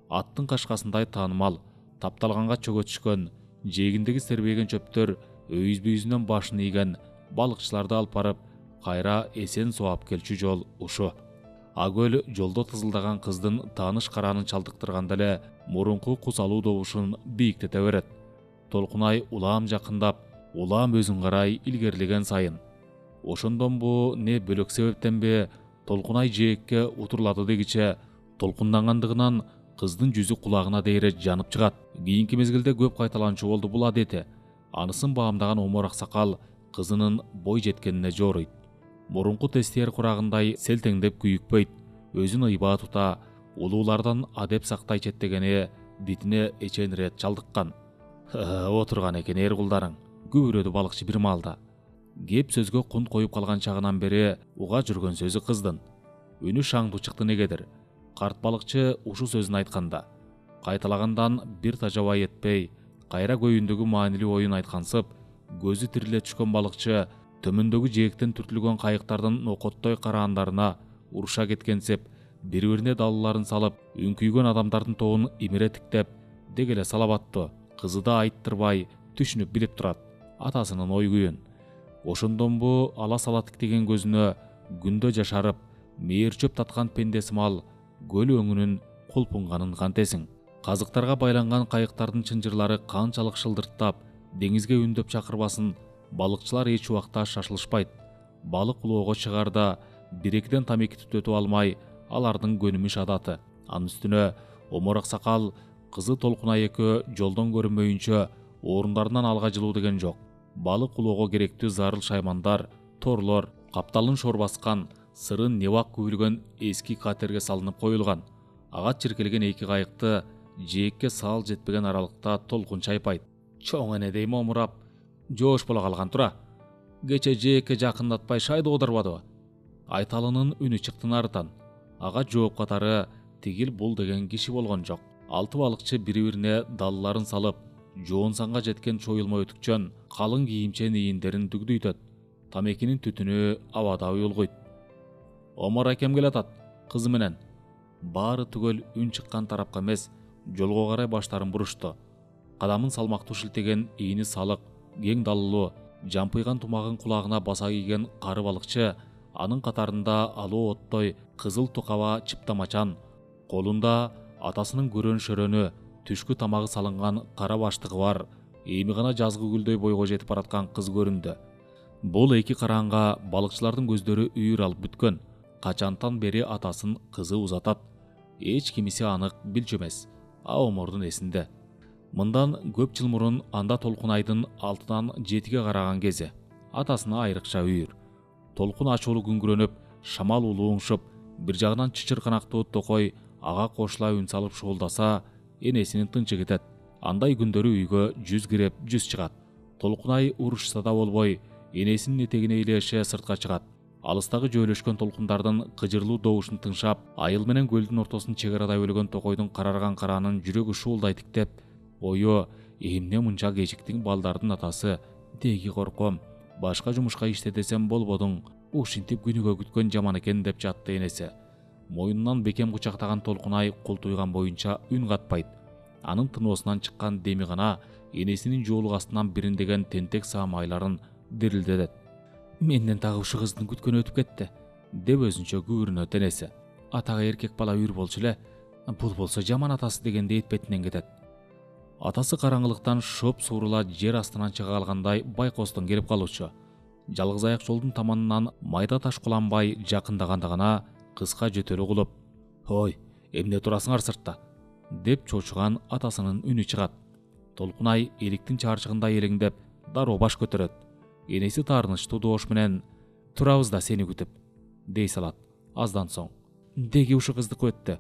Аттын кашкасындай таанымал, тапталганга чөгө түшкөн, жээгиндеги сербейген чөптөр өйүзбүйүзүнөн башын ийген балыкчыларды алып барып, кайра эсен соап келчү жол ушу. Көл жолдо тызылдаган кыздын тааныш караанын чалдыктырганда эле мурунку кусалуу добушун бийиктете берет. Толкунай улам жакындап, улам өзүн карай илгерилеген сайын. Ошондон бу не бөлөк себептенби Толкунай жээкке утурлады дегиче толкундангандыгынан кыздын жүзү кулагына дейре жанып чыгат. Кийинки мезгилде көп кайталанчу болду бул адети. Анысын баамдаган Омор аксакал кызынын бой жеткенине жооруйт. Мурунку тестиер курагындай селтеңдеп күйүкпөйт, өзүн ыйбаа тута, улуулардан адеп сактай четтегени битине эченирээт чалдыккан. Отурган экен эр кулдарың, күбүрөдү балыкчы бир маалда. Кеп сөзгө кунт коюп калган чагынан бери уга жүргөн сөзү кыздын. Үнү шаңдуу чыкты негедир. Карт балыкчы ушу сөзүн айтканда, кайталагандан бир тажабай этпей, кайра көйүндөгү маанилүү оюн айткансып, көзү тириле түшкөн балыкчы төмөндөгү жээктен түртүлгөн кайыктардын нокоттой караандарына уруша кеткенсип, бири-бирине далыларын салып, үңкүйгөн адамдардын тобун имире тиктеп, дег эле салабаттуу. Кызы да айттырбай, түшүнүп билип турат атасынын ой күйүн. Ошондонбу ала сала тиктеген көзүнө күндө жашарып, мээр чөп таткан пендесимал көл өңүнүн кулпунганын кантесиң. Казыктарга байланган кайыктардын чынжырлары канчалык шылдырттап, деңизге үндөп чакырбасын, балыкчылар эч убакта шашылышпайт. Балык улоого чыгарда 1-2 тамеки түтөтүп алмай, алардын көнүмүш адаты. Анын үстүнө Омор Аксакал кызы Толкунай экөө жолдон көрүнмөйүнчө орундарынан алга жылуу деген жок. Балык улоого керектүү зарыл шаймандар, торлор, капталын шор баскан, сырын небак күбүлгөн эски катерге салынып коюлган. Ага чиркелеген 2 кайыкты жээкке саал жетпеген аралыкта толкун чайпайт. Чоң энедей момурап, жоош боло калган тура. Кече жээкке жакындатпай шайды одурбадыбы? Айталынын үнү чыкты нарытан. Ага жооп катары тигил бул деген киши болгон жок. 6 балыкчы бири-бирине далларын салып, жоон санга жеткен чоюлма өтүкчөн, калың кийимчен ийиндерин дүгдүйтөт. Тамекинин түтүнү абада уюлгуйт. Омор акем келатат, кызы менен. Баары түгөл үн чыккан тарапка эмес, жолго карай баштарын бурушту. Кадамын салмактуу шилтеген ийини салык, кең даллуу, жампыйган тумагын кулагына баса кийген кары балыкчы, анын катарында алуу оттой кызыл токаба чыптамачан, колунда атасынын көрөн-шөрөнү, түшкү тамагы салынган кара баштыгы бар, эми гана жазгы гүлдөй бойго жетип бараткан кыз көрүндү. Бул 2 караанга балыкчылардын көздөрү үйүр алып бүткөн. Качантан бери атасын кызы узатат. Эч кимиси анык билчү эмес. Омордун эсинде. Мындан көп жыл мурун анда Толкунайдын 6-дан 7-ге караган кези. Атасына айрыкча үйүр. Толкун ачуулуу күңгүрөнүп, шамал улуңшуп, бир жагынан чычырканактуу токой ага кошула үн салып шуулдаса, энесинин тынчы кетет. Андай күндөрү үйгө 100 кирип, 100 чыгат. Толкунай урушса да болбой, энесинин этегине илеше сыртка чыгат. Алыстагы жөөлөшкөн толкундардын кыжырлуу добушун тыңшап, айыл менен көлдүн ортосун чек арадай өлгөн токойдун карарган караанын жүрөгү шуулдай тиктеп, ою эмне мынча кечиктиң балдардын атасы, деги корком, башка жумушка иште десем болбодуң, ушинтип күнүгө күткөн жаман экен деп жатты энеси. Моюнунан бекем кучактаган Толкунай култуйган боюнча үн катпайт. Анын тыноосунан чыккан деми гана энесинин жоолук астынан бириндеген тентек саам айларын дирилдетет. Менден тагы ушу кыздын күткөнү өтүп кетти, деп өзүнчө күбүрүнөт энеси. Атага эркек бала үйүр болчу эле, бул болсо жаман атасы дегенде этпетинен кетет. Атасы караңгылыктан шоп suurула жер астынан чыга калгандай байкостон келип калуучу. Жалгыз аяк жолдун таманынан майда таш куланбай жакындаганда гана кыска жөтөлү кулуп, "Ой, эмне турасыңар сыртта?" деп чочуган атасынын үнү чыгат. Толкунай эликтин чарчыгында элеңдеп, дароо баш көтөрөт. Энеси таарынычтуу добуш менен "Турабыз да сени күтүп" дей салат. Аздан соң: "Деги ушу кыздыкы өттү.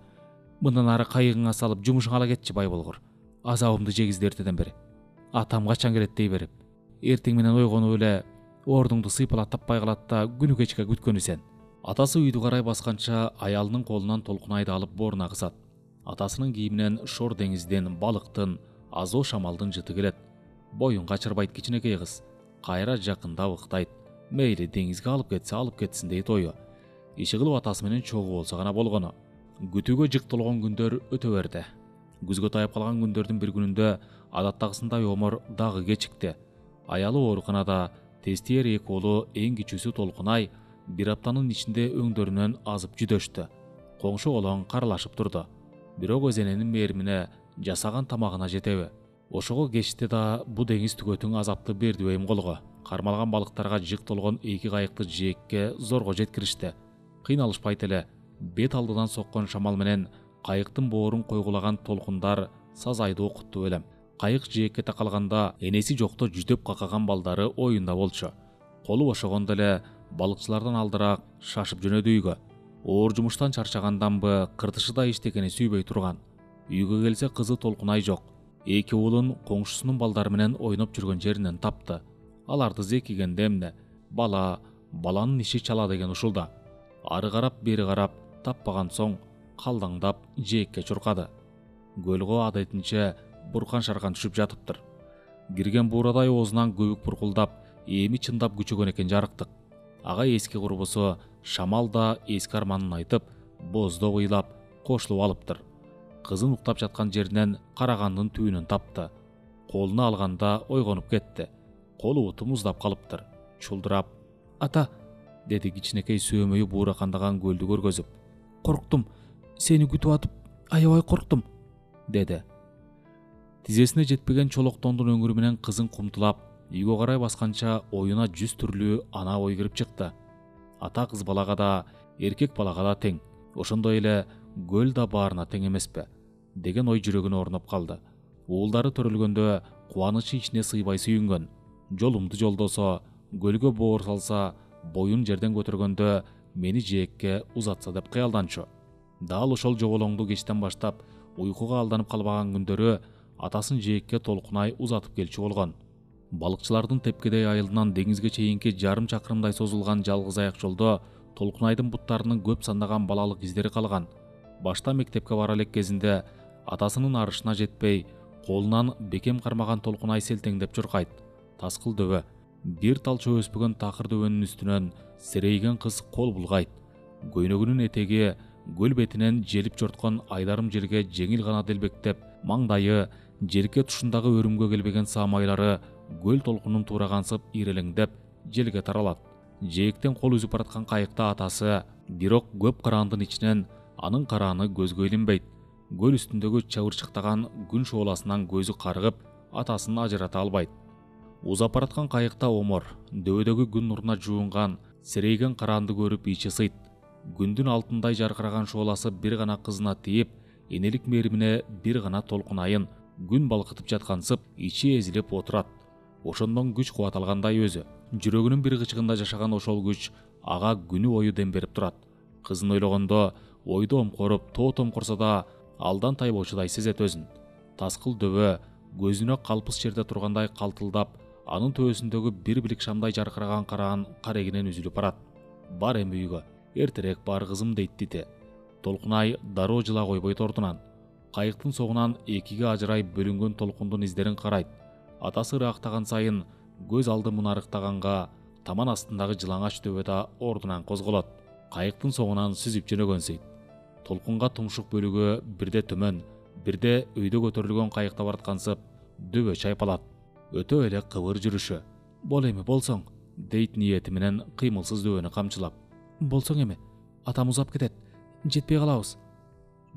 Мындан ары кайыгыңа салып жумушуңа ала кетчи бай болгур. Азабымды жегизди эртеден бери. Атам качан келет дей берип. Эртең менен ойгонуп эле ордуңду сыйпалап таппай калат да күнү кечке күткөнү сен." Атасы үйдү карай басканча аялынын колунан Толкунайды алып бооруна кысат. Атасынын кийиминен шор деңизден, балыктын, азоо шамалдын жыты келет. Боюн качырбайт кичинекей кыз. Кайра жакындап ыктайт. Мейли деңизге алып кетсин дейт ою. Иши кылып атасы менен чогуу болсо гана болгону. Күтүүгө жык толгон күндөр өтө берди. Күзгө таяп калган күндөрдүн бир күнүндө адаттагысындай Омор дагы кечикти. Аялы ооруканада, тестиер 2 уулу эң кичүүсү Толкунай бир аптанын ичинде өңдөрүнөн азып жүдөштү. Коңшу колоң каралашып турду. Бирок өзененин мээримине, жасаган тамагына жетеби? Ошого кечти да бу деңиз түгөтүң азапты бердиби эм колго. Кармалган балыктарга жык толгон 2 кайыкты жээкке зорго жеткиришти. Кыйналышпайт эле. Бет алдыдан соккон шамал менен кайыктын боорун койгулаган толкундар сазайды окутту элем. Кайык жээкке такалганда энеси жокто жүдөп какаган балдары оюнда болчу. Колу бошогондо эле балыкчылардан алдыраак шашып жөнөдү үйгө. Оор жумуштан чарчаганданбы, кыртышы да иштегени сүйбөй турган. Үйгө келсе кызы Толкунай жок. 2 уулун коңшусунун балдары менен ойноп жүргөн жеринен тапты. Аларды зекигенде эмне? Баланын иши чала деген ушулда. Ары карап, бери карап, таппаган соң калдаңдап жээкке чуркады. Көлгө адетинче буркан шаркан түшүп жатыптыр. Кирген буурадай оозунан көбүк буркулдап, эми чындап күчөгөн экен жарыктык. Ага эски курбусу Шамал да эски арманын айтып, боздоп ыйлап, кошулуп алыптыр. Кызын уктап жаткан жеринен карагандын түбүнөн тапты. Колуна алганда ойгонуп кетти. Колу буту муздап калыптыр. чулдурап: «Ата!» деди кичинекей сөөмөйү бууракандаган көлдү көргөзүп. «Корктум, сени күтүп атып, аябай корктум», деди. Тизесине жетпеген чолоктондун өңүрү менен кызын кумтулап, үйгө карай басканча оюна 100 түрлүү ана ой кирип чыкты. Ата кыз балага да, эркек балага да тең, ошондой эле көл да баарына тең эмеспи деген ой жүрөгүнө орноп калды. Уулдары төрөлгөндө кубанычы ичине сыйбай сүйүнгөн. Жолумду жолдосо, көлгө боор салса, боюн жерден көтөргөндө мени жээкке узатса деп кыялданчу. Дал ошол жоболоңду кечтен баштап уйкуга алданып калбаган күндөрү атасын жээкке толкунай узатып келчү болгон. Балыкчылардын тепкедей айылынан деңизге чейинки жарым чакырымдай созулган жалгыз аяк жолдо Толкунайдын буттарынын көп сандаган балалык издери калган. Башта мектепке бара элек кезинде атасынын арышына жетпей, колунан бекем кармаган Толкунай селтеңдеп чуркайт. Таскыл дөбө, бир талча өспөгөн такыр дөбөнүн үстүнөн серейген кыз кол булгайт. Көйнөгүнүн этеги көл бетинен желип жорткон айдарым жерге жеңил гана делбектеп, маңдайы, жерке тушундагы өрүмгө келбеген саамайлары көл толкунун туурагансып ирелеңдеп желге таралат. Жээктен кол үзүп бараткан кайыкта атасы, бирок көп караандын ичинен анын карааны көзгө илинбейт. Көл үстүндөгү чабырчыктаган күн шооласынан көзү карыгып, атасын ажырата албайт. Узап бараткан кайыкта омор, дөбөдөгү күн нуруна жуунган, серейген караанды көрүп ичи сыйт. Күндүн алтындай жаркыраган шооласы бир гана кызына тийип, энелик мээримине бир гана Толкунайын күн балкытып жаткансып, ичи эзилип отурат. Ошондон күч кубат алгандай өзү. Жүрөгүнүн бир кычыгында жашаган ошол күч ага күнү бою дем берип турат. Кызын ойлогондо ойду омкоруп, тоотомкорсо да алдан тайбоочудай сезет өзүн. Таскыл дөбө көзүнө калпыс жерде тургандай калтылдап, анын төбөсүндөгү бир билик шамдай жаркыраган караан карегинен үзүлүп барат. Бар эми үйгө, эртерээк бар кызым дейт Тите. Толкунай дароо жыла койбойт ордунан. Кайыктын соңунан экиге ажырай бөлүнгөн толкундун издерин карайт. Атасы ырактаган сайын көз алды мунарыктаганга таман астындагы жылаңач дөбө да ордунан козголот. Кайыктын соңунан сүзүп жөнөгөнсөйт. Толкунга тумшук бөлүгү бирде төмөн, бирде өйдө көтөрүлгөн кайыкта бараткансып, дөбө чайпалат. Өтө эле кыбыр жүрүшү. Бол эми болсоң, дейт ниети менен кыймылсыз дөбөнү камчылап. Болсоң эми, атам узап кетет, жетпей калабыз.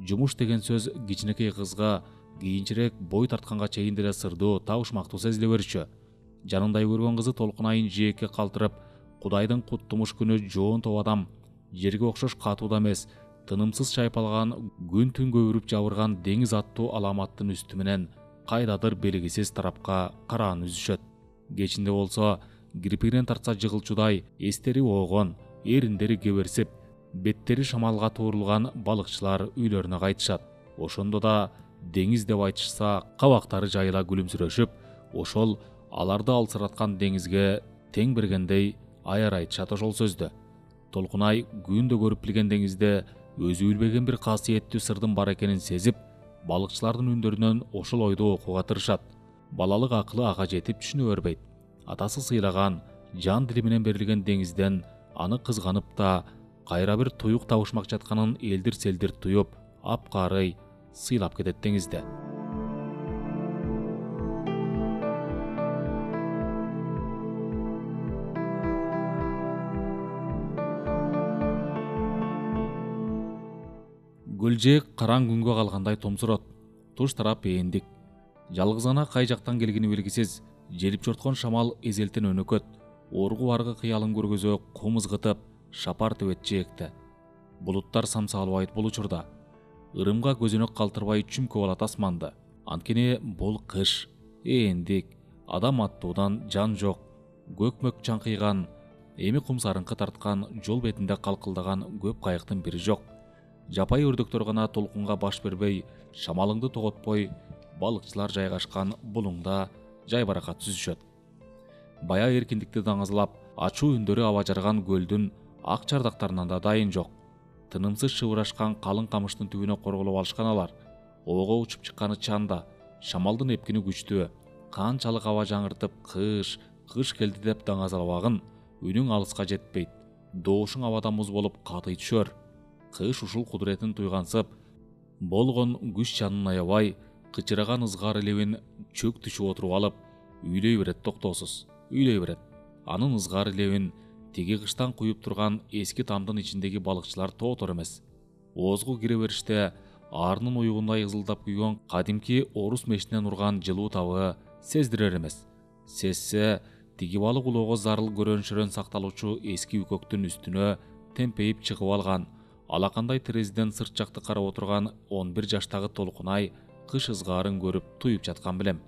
Жумуш деген сөз кичинекей кызга кийинчерээк бой тартканга чейин деле сырдуу, табышмактуу сезиле берчү. Жанындай көргөн кызы Толкунайын жээкке калтырып, Кудайдын куттумуш күнү жоон адам, жерге окшош катуу да эмес, тынымсыз чайпалган, күн түн көбүрүп жабырган деңиз аттуу аламаттын үстү менен кайдадыр белгисиз тарапка караан үзүшөт. Кечинде болсо кирпигинен тартса жыгылчудай эстери оогон, эриндери кеберсип, беттери шамалга туурулган балыкчылар үйлөрүнө кайтышат. Ошондо да деңиз деп айтышса, кабактары жайыла күлүмсүрөшүп, ошол аларды алсыраткан деңизге тең бергендей аяр айтышат ошол сөздө. Толкунай күндө көрүп билген деңизде өзү билбеген бир касиеттүү сырдын бар экенин сезип, балыкчылардын үндөрүнөн ошол ойду окууга тырышат. Балалык акылы ага жетип түшүнө бербейт. Атасы сыйлаган, жан дили менен берилген деңизден аны кызганып да, кайра бир туюк табышмак жатканын элдир-селдир туюп, апкарый сыйлап кетет деңизде. Көлжээк караң күнгө калгандай томсурот. Туш тарап ээндик. Жалгыз гана кай жактан келгени белгисиз, желип жорткон шамал эзелтен өнөкөт, оргу баргы кыялын көргөзө кум ызгытып, шапар төбөт жээкте. Булуттар самсалбайт бул учурда. Ырымга көзөнөк калтырбай чүмкөп алат асманды. Анткени бул кыш, ээндик, адам аттуудан жан жок, көкмөк чаңкыйган, эми кум сарыңкы тарткан, жол бетинде калкылдаган көп кайыктын бири жок. Жапай өрдөктөр гана толкунга баш бербей, шамалыңды тоготпой, балыкчылар жайгашкан булуңда жайбаракат сүзүшөт. Бая эркиндикти даңазалап, ачуу үндөрү аба жарган көлдүн ак чардактарынан да дайын жок. Тынымсыз шыбырашкан калың камыштын түбүнө корголоп алышкан алар. Оого учуп чыкканы чанда, шамалдын эпкини күчтүү, канчалык аба жаңыртып кыш келди деп даңазалабагын, үнүң алыска жетпейт. Доошуң абадан муз болуп катый түшөр. Кыш ушул кудуретин туйгансып, болгон күч жанын аябай, кычыраган ызгар лебин чөк түшүп отуруп алып, үйлөй берет токтоосуз, үйлөй берет. анын ызгары лебин тиги кыштан куюп турган эски тамдын ичиндеги балыкчылар тоотор эмес. Оозго кире бериште аарынын уюгундай ызылдап күйгөн кадимки орус мешинен урган жылуу табы сездирер эмес. Сезсе, тиги балык улоого зарыл көрөншөрөн сакталуучу эски үкөктүн үстүнө темпейип чыгып алган, алакандай терезеден сырт жакты карап отурган 11 жаштагы Толкунай кыш ызгаарын көрүп туюп жаткан билем.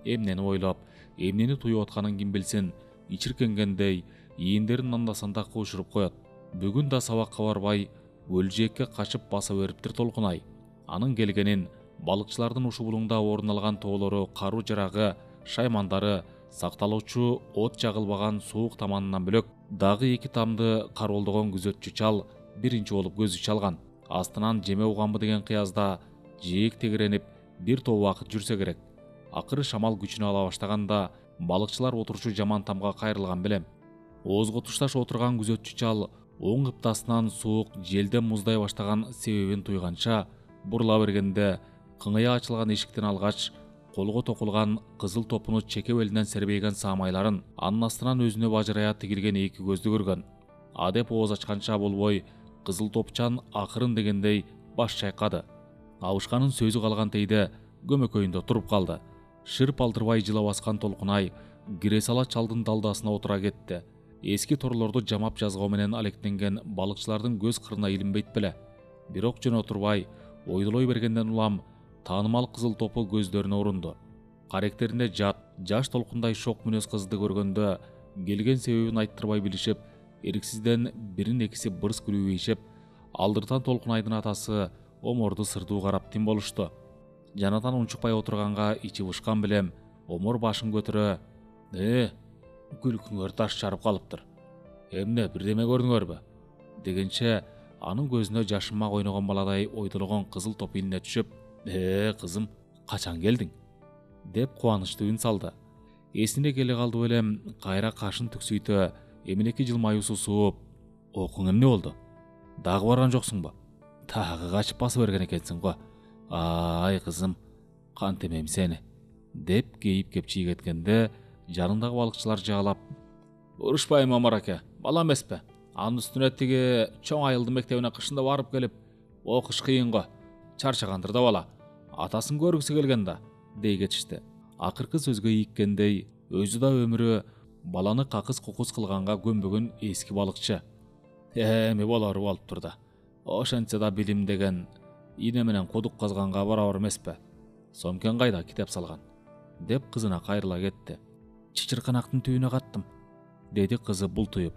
Эмнени ойлоп, эмнени туюп атканын ким билсин, ичиркенгендей ийиндерин анда-санда куушуруп коет. Бүгүн да сабакка барбай, өлжекке качып баса бериптир Толкунай. Анын келгенин балыкчылардын ушу булуңда орун алган тоолору, кару жарагы, шаймандары, сакталуучу от жагылбаган суук таманынан бөлөк дагы эки тамды кароолдогон күзөтчү чал биринчи болуп көзү чалган. Астынан жеме уганбы деген кыязда жээк тегеренип бир топ убакыт жүрсө керек. Акыры шамал күчүнө ала баштаганда балыкчылар отурчу жаман тамга кайрылган белем. Оозго тушташ отурган күзөтчү чал оң кыптасынан суук желден муздай баштаган себебин туйганча бурула бергенде кыңыя ачылган эшиктен алгач колго токулган кызыл топуну чеке белинен сербейген саамайларын, анын астынан өзүнө бажырая тигилген эки көздү көргөн. Адеп ооз ачканча болбой, кызыл топчан акырын дегендей баш чайкады. Абышканын сөзү калган тейде көмөкөйүндө туруп калды. Шырп алдырбай жыла баскан Толкунай кире сала чалдын далдасына отура кетти. Эски торлорду жамап жазгоо менен алектенген балыкчылардын көз кырына илинбейт беле. Бирок жөн отурбай, ойдолой бергенден улам таанымал кызыл топу көздөрүнө урунду. Каректеринде жаш Толкундай шок мүнөз кызды көргөндө келген себебин айттырбай билишип, эриксизден бирин экиси бырс күлүп ийишип, алдыртан Толкунайдын атасы Оморду сырдуу карап тим болушту. Жанатан унчукпай отурганга ичи бышкан билем, Омор башын көтөрө, күлкүңөр таш жарып калыптыр. Эмне, бирдеме көрдүңөрбү? Дегенче, анын көзүнө жашынмак ойногон баладай ойдологон кызыл топ илине түшүп, кызым, качан келдиң? Деп кубанычтуу үн салды. Эсине келе калды белем, кайра кашын түксүйтө, эмнеки жылмаюусу сууп, окуң эмне болду? Дагы барган жоксуңбу? Дагы качып басып берген экенсиң го. Ай кызым, кантемем сени, деп кейип кеп чийгеткенде жанындагы балыкчылар жаалап, урушпайм Омар аке, бала эмеспи? Анын үстүнө тиги чоң айылдын мектебине кышында барып келип, окуш кыйын го. Чарчагандыр да бала. Атасын көргүсү келген да, дей кетишти. Акыркы сөзгө ийиккендей, өзү да өмүрү баланы какыс-кукус кылганга көнбөгөн эски балыкчы. Эми болору болуптур да. Ошентсе да билим деген ийне менен кудук казганга барабар эмеспи? Сомкен кайда китеп салган? Деп кызына кайрыла кетти. Чычырканактын түбүнө каттым, деди кызы бултуюп.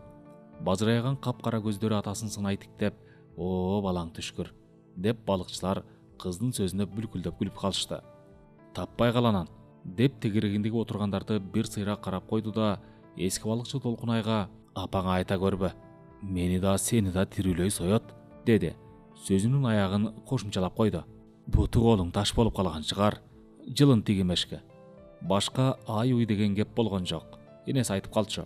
Бажырайган капкара көздөрү атасын сынай тиктеп, "О, балаң түшкүр", деп балыкчылар кыздын сөзүнө бүлкүлдөп күлүп калышты. "Таппай каланан", деп тегерегиндеги отургандарды бир сыйра карап койду да, эски балыкчы Толкунайга, "Апаңа айта көрбө, мени да сени да тирүүлөй соет", деди. Сөзүнүн аягын кошумчалап койду. "Буту колуң таш болуп калган чыгар, жылын тигимешке". Башка ай-уй деген кеп болгон жок. Энеси айтып калчу.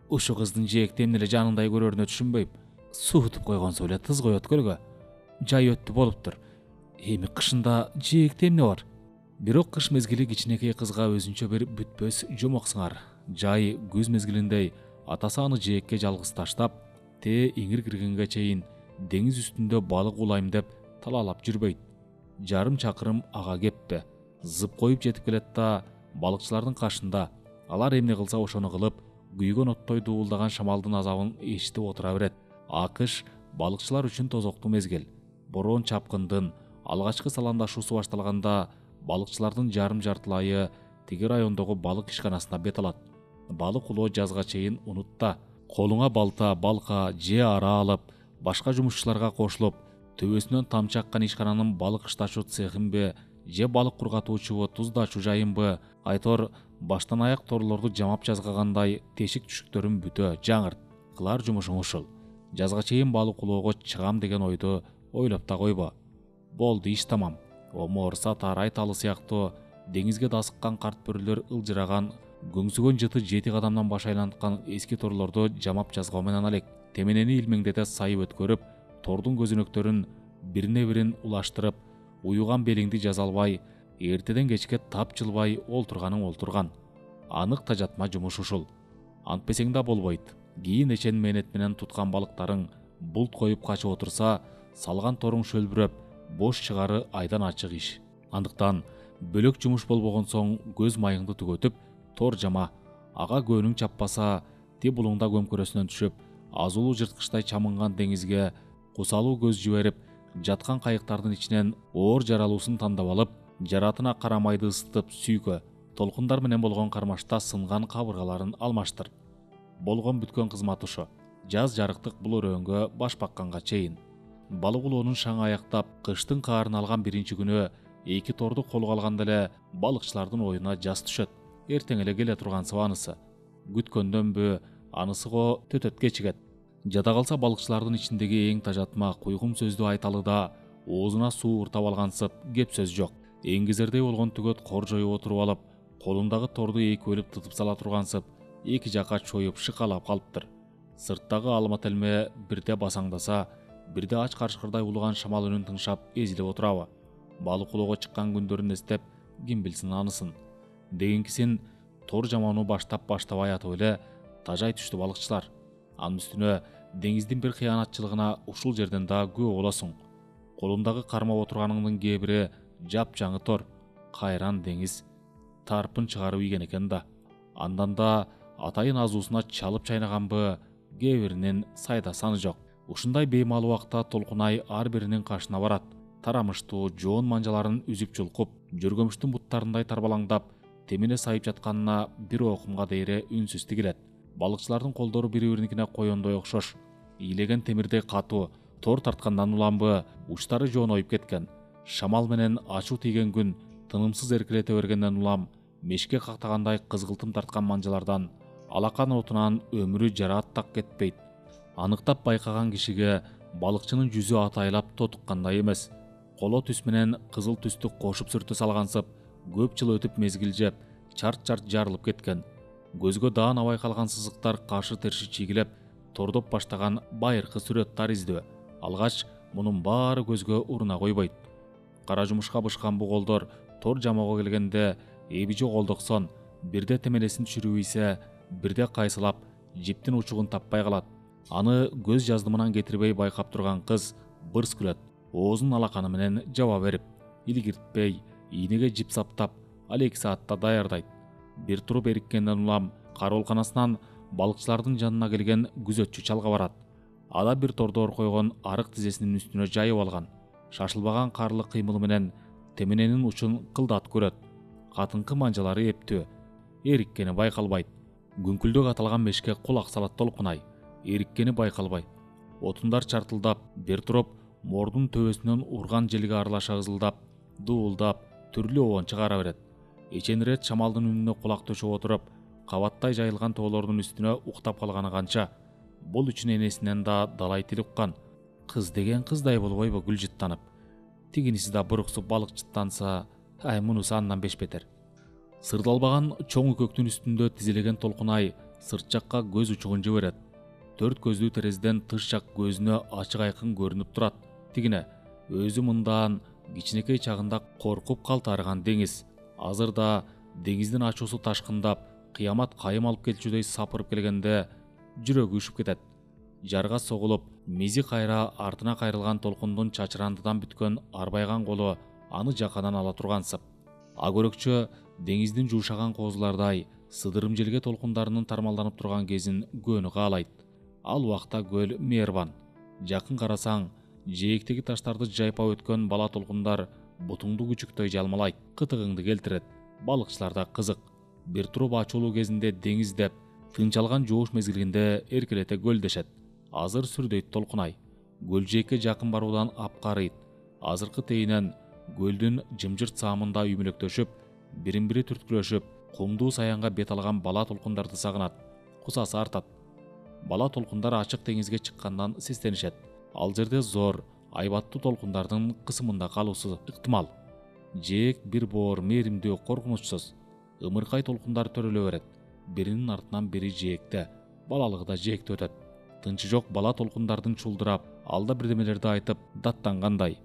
"Ушу кыздын жээкти эмне эле жанындай көрөрүнө түшүнбөйм. Суутуп койгонсу эле тыз коет көлгө. Жай өттү болуптур. Эми кышында жээкти эмне бар?" Бирок кыш мезгили кичинекей кызга өзүнчө бир бүтпөс жомок сыңар. Жай күз мезгилиндей атасы аны жээкке жалгыз таштап, иңир киргенге чейин деңиз үстүндө балык улайм деп талаалап жүрбөйт. Жарым чакырым ага кеппи. Зып коюп жетип келет да, балыкчылардын кашында алар эмне кылса ошону кылып, күйгөн оттой дуулдаган шамалдын азабын эшитип отура берет. Акыш балыкчылар үчүн тозоктуу мезгил. Бороон чапкындын алгачкы саламдашуусу башталганда балыкчылардын жарым жартылайы тиги райондогу балык ишканасына бет алат. Балык улоо жазга чейин унутта. Колуңа балта, балка же ара алып, башка жумушчуларга кошулуп, төбөсүнөн тамчы аккан ишкананын балык ыштачуу цехинби, же балык кургатуучу туздачуу жайынбы, айтор баштан аяк торлорду жамап жазгагандай тешик-түшүктөрүн бүтө, жаңырт. Кылар жумушуң ушул. Жазга чейин балык улоого чыгам деген ойду ойлоп да койбо. Болду, иш тамам. Омор, Сатар, Айталы сыяктуу деңизге дасыккан карт бөрүлөр ылжыраган, көңсүгөн жыты 7 кадамдан баш айланткан эски торлорду жамап жазгоо менен алек. Теменени илмеңдете сайып өткөрүп, тордун көзөнөктөрүн бирине бирин улаштырып, уюган белиңди жаза албай, эртеден кечке тап жылбай олтурганың олтурган. Анык тажатма жумуш ушул. антпесең да болбойт. Кийин эчен мээнет менен туткан балыктарың булт коюп качып отурса, салган торуң шөлбүрөп, бош чыгары айдан ачык иш. Андыктан бөлөк жумуш болбогон соң көз майыңды түгөтүп, тор жама. Ага көөнүң чаппаса, ти булуңда көмкөрөсүнөн түшүп, азулуу жырткычтай чамынган деңизге кусалуу көз жиберип, жаткан кайыктардын ичинен оор жаралуусун тандап алып, жаратына карамайды ысытып сүйкө. Толкундар менен болгон кармашта сынган кабыргаларын алмаштыр. Болгон бүткөн кызмат ушу. Жаз жарыктык бул өрөөнгө баш бакканга чейин. Балык улоонун шаңы аяктап, кыштын каарын алган биринчи күнү эки торду колго алганда эле балыкчылардын оюна жаз түшөт. Эртең эле келе турган сыбанысы. Күткөндөнбү, анысы го төтөткө чигет. Жада калса балыкчылардын ичиндеги эң тажатма куйгум сөздү айталы да, оозуна суу уртап алгансып кеп сөз жок. Эңгезердей болгон түгөт кор жоюп отуруп алып, колундагы торду эки бөлүп тытып сала тургансып, эки жака чоюп шыкалап калыптыр. Сырттагы алма телме бирде басаңдаса, бирде ач карышкырдай улуган шамал үнүн тыңшап эзилип отурабы. Балык улоого чыккан күндөрүн эстеп, ким билсин анысын. Дегенкисин тор жамоону баштабай атып эле тажай түштү балыкчылар. Анын үстүнө деңиздин бир кыянатчылыгына ушул жерден да күбө болосуң. Колундагы кармап отурганыңдын кээ бири жапжаңы тор, кайран деңиз, тарпын чыгарып ийген экен да. Андан да атайын азуусуна чалып чайнаганбы, кээ биринин сайда саны жок. Ушундай беймал убакта Толкунай ар биринин кашына барат. Тарамыштуу жоон манжаларын үзүп чулкуп, жөргөмүштүн буттарындай тарбалаңдап, темине сайып жатканына бир окумга дейре үнсүз тигилет. Балыкчылардын колдору бири-бириникине коёндой окшош. Ийлеген темирдей катуу, тор тарткандан уламбы, учтары жооноюп кеткен. Шамал менен ачуу тийген күн тынымсыз эркелете бергенден улам, мешке кактагандай кызгылтым тарткан манжалардан, алакан отунан өмүрү жараат так кетпейт. Аныктап байкаган кишиге балыкчынын жүзү атайлап тотуккандай эмес. Коло түс менен кызыл түстү кошуп сүртө салгансып, көп жыл өтүп мезгил чарт-чарт жарылып кеткен. Көзгө даанабай калган сызыктар каршы-терши чийгилеп, тордоп баштаган байыркы сүрөт таризди. Алгач мунун баары көзгө уруна койбойт. Кара жумушка бышкан бу колдор тор жамоого келгенде эби жок олдоксон, бирде темелесин түшүрүп ийсе, бирде кайсылап жиптин учугун таппай калат. Аны көз жаздымынан кетирбей байкап турган кыз бырс күлөт, оозун алаканы менен жаба берип, илигиртпей, ийнеге жип саптап, ал 2 саатта даярдайт. Бир туруп эриккенден улам кароолканасынан балыкчылардын жанына келген күзөтчү чалга барат. Ада бир тордор койгон арык тизесинин үстүнө жайып алган. Шашылбаган карлы кыймыл менен теминенин учун кылдат көрөт. Катынкы манжалары эптүү, эриккени байкалбайт. Күңкүлдөк аталган мешке кулак салат Толкунай. Эриккени байкалбайт. Отундар чартылдап, бир туруп мордун төбөсүнөн урган желге аралаша ызылдап, дуулдап, түрлүү оон чыгара берет. Эченирет шамалдын үнүнө кулак төшөп отуруп, кабаттай жайылган тоолордун үстүнө уктап калганы канча. Бул үчүн энесинен да далай тил уккан. Кыз деген кыздай болбойбу гүл жыттанып. Тигиниси да буруксуп балык жыттанса, мунусу андан бешбетер. Сырдалбаган чоң үкөктүн үстүндө тизилеген Толкунай сырт жакка көз учугун жиберет. 4 көздүү терезеден тыш жак көзүнө ачык айкын көрүнүп турат. Тигине өзү мындан кичинекей чагында коркуп калтарган деңиз. Азыр да деңиздин ачуусу ташкындап, кыямат кайым алып келчүдөй сапырып келгенде жүрөгү үшүп кетет. Жарга согулуп, мизи кайра артына кайрылган толкундун чачырандыдан бүткөн арбайган колу аны жакадан ала тургансып. Агөрөкчө деңиздин жуушаган коозулардай сыдырым желге толкундарынын тармалданып турган кезин көөнү каалайт. Ал убакта көл мээрбан. Жакын карасаң, жээктеги таштарды жайпап өткөн бала толкундар бутуңду күчүктөй жалмалайт, кытыгыңды келтирет. Балыкчыларда кызык. Бир туруп ачуулуу кезинде деңиз деп, тынчалган жууш мезгилинде эркелете көлдешет. Азыр сүрдөйт Толкунай. Көлжээкке жакын баруудан апкарыйт. Азыркы тейинен көлдүн жымжырт саамында үймөлөктөшүп, бирин-бири түрткүлөшүп, кумдуу саянга бет алган бала толкундарды сагынат. Кусасы артат. Бала толкундар ачык деңизге чыккандан сестенишет. Ал жерде зор, айбаттуу толкундардын кысымында калуусу ыктымал. Жээк бир боор мээримдүү, коркунучсуз. Ымыркай толкундар төрөлө берет. Биринин артынан бири жээкте, балалыгы да жээкте өтөт. Тынчы жок бала толкундардын чулдурап, алда бирдемелерди айтып даттангандай.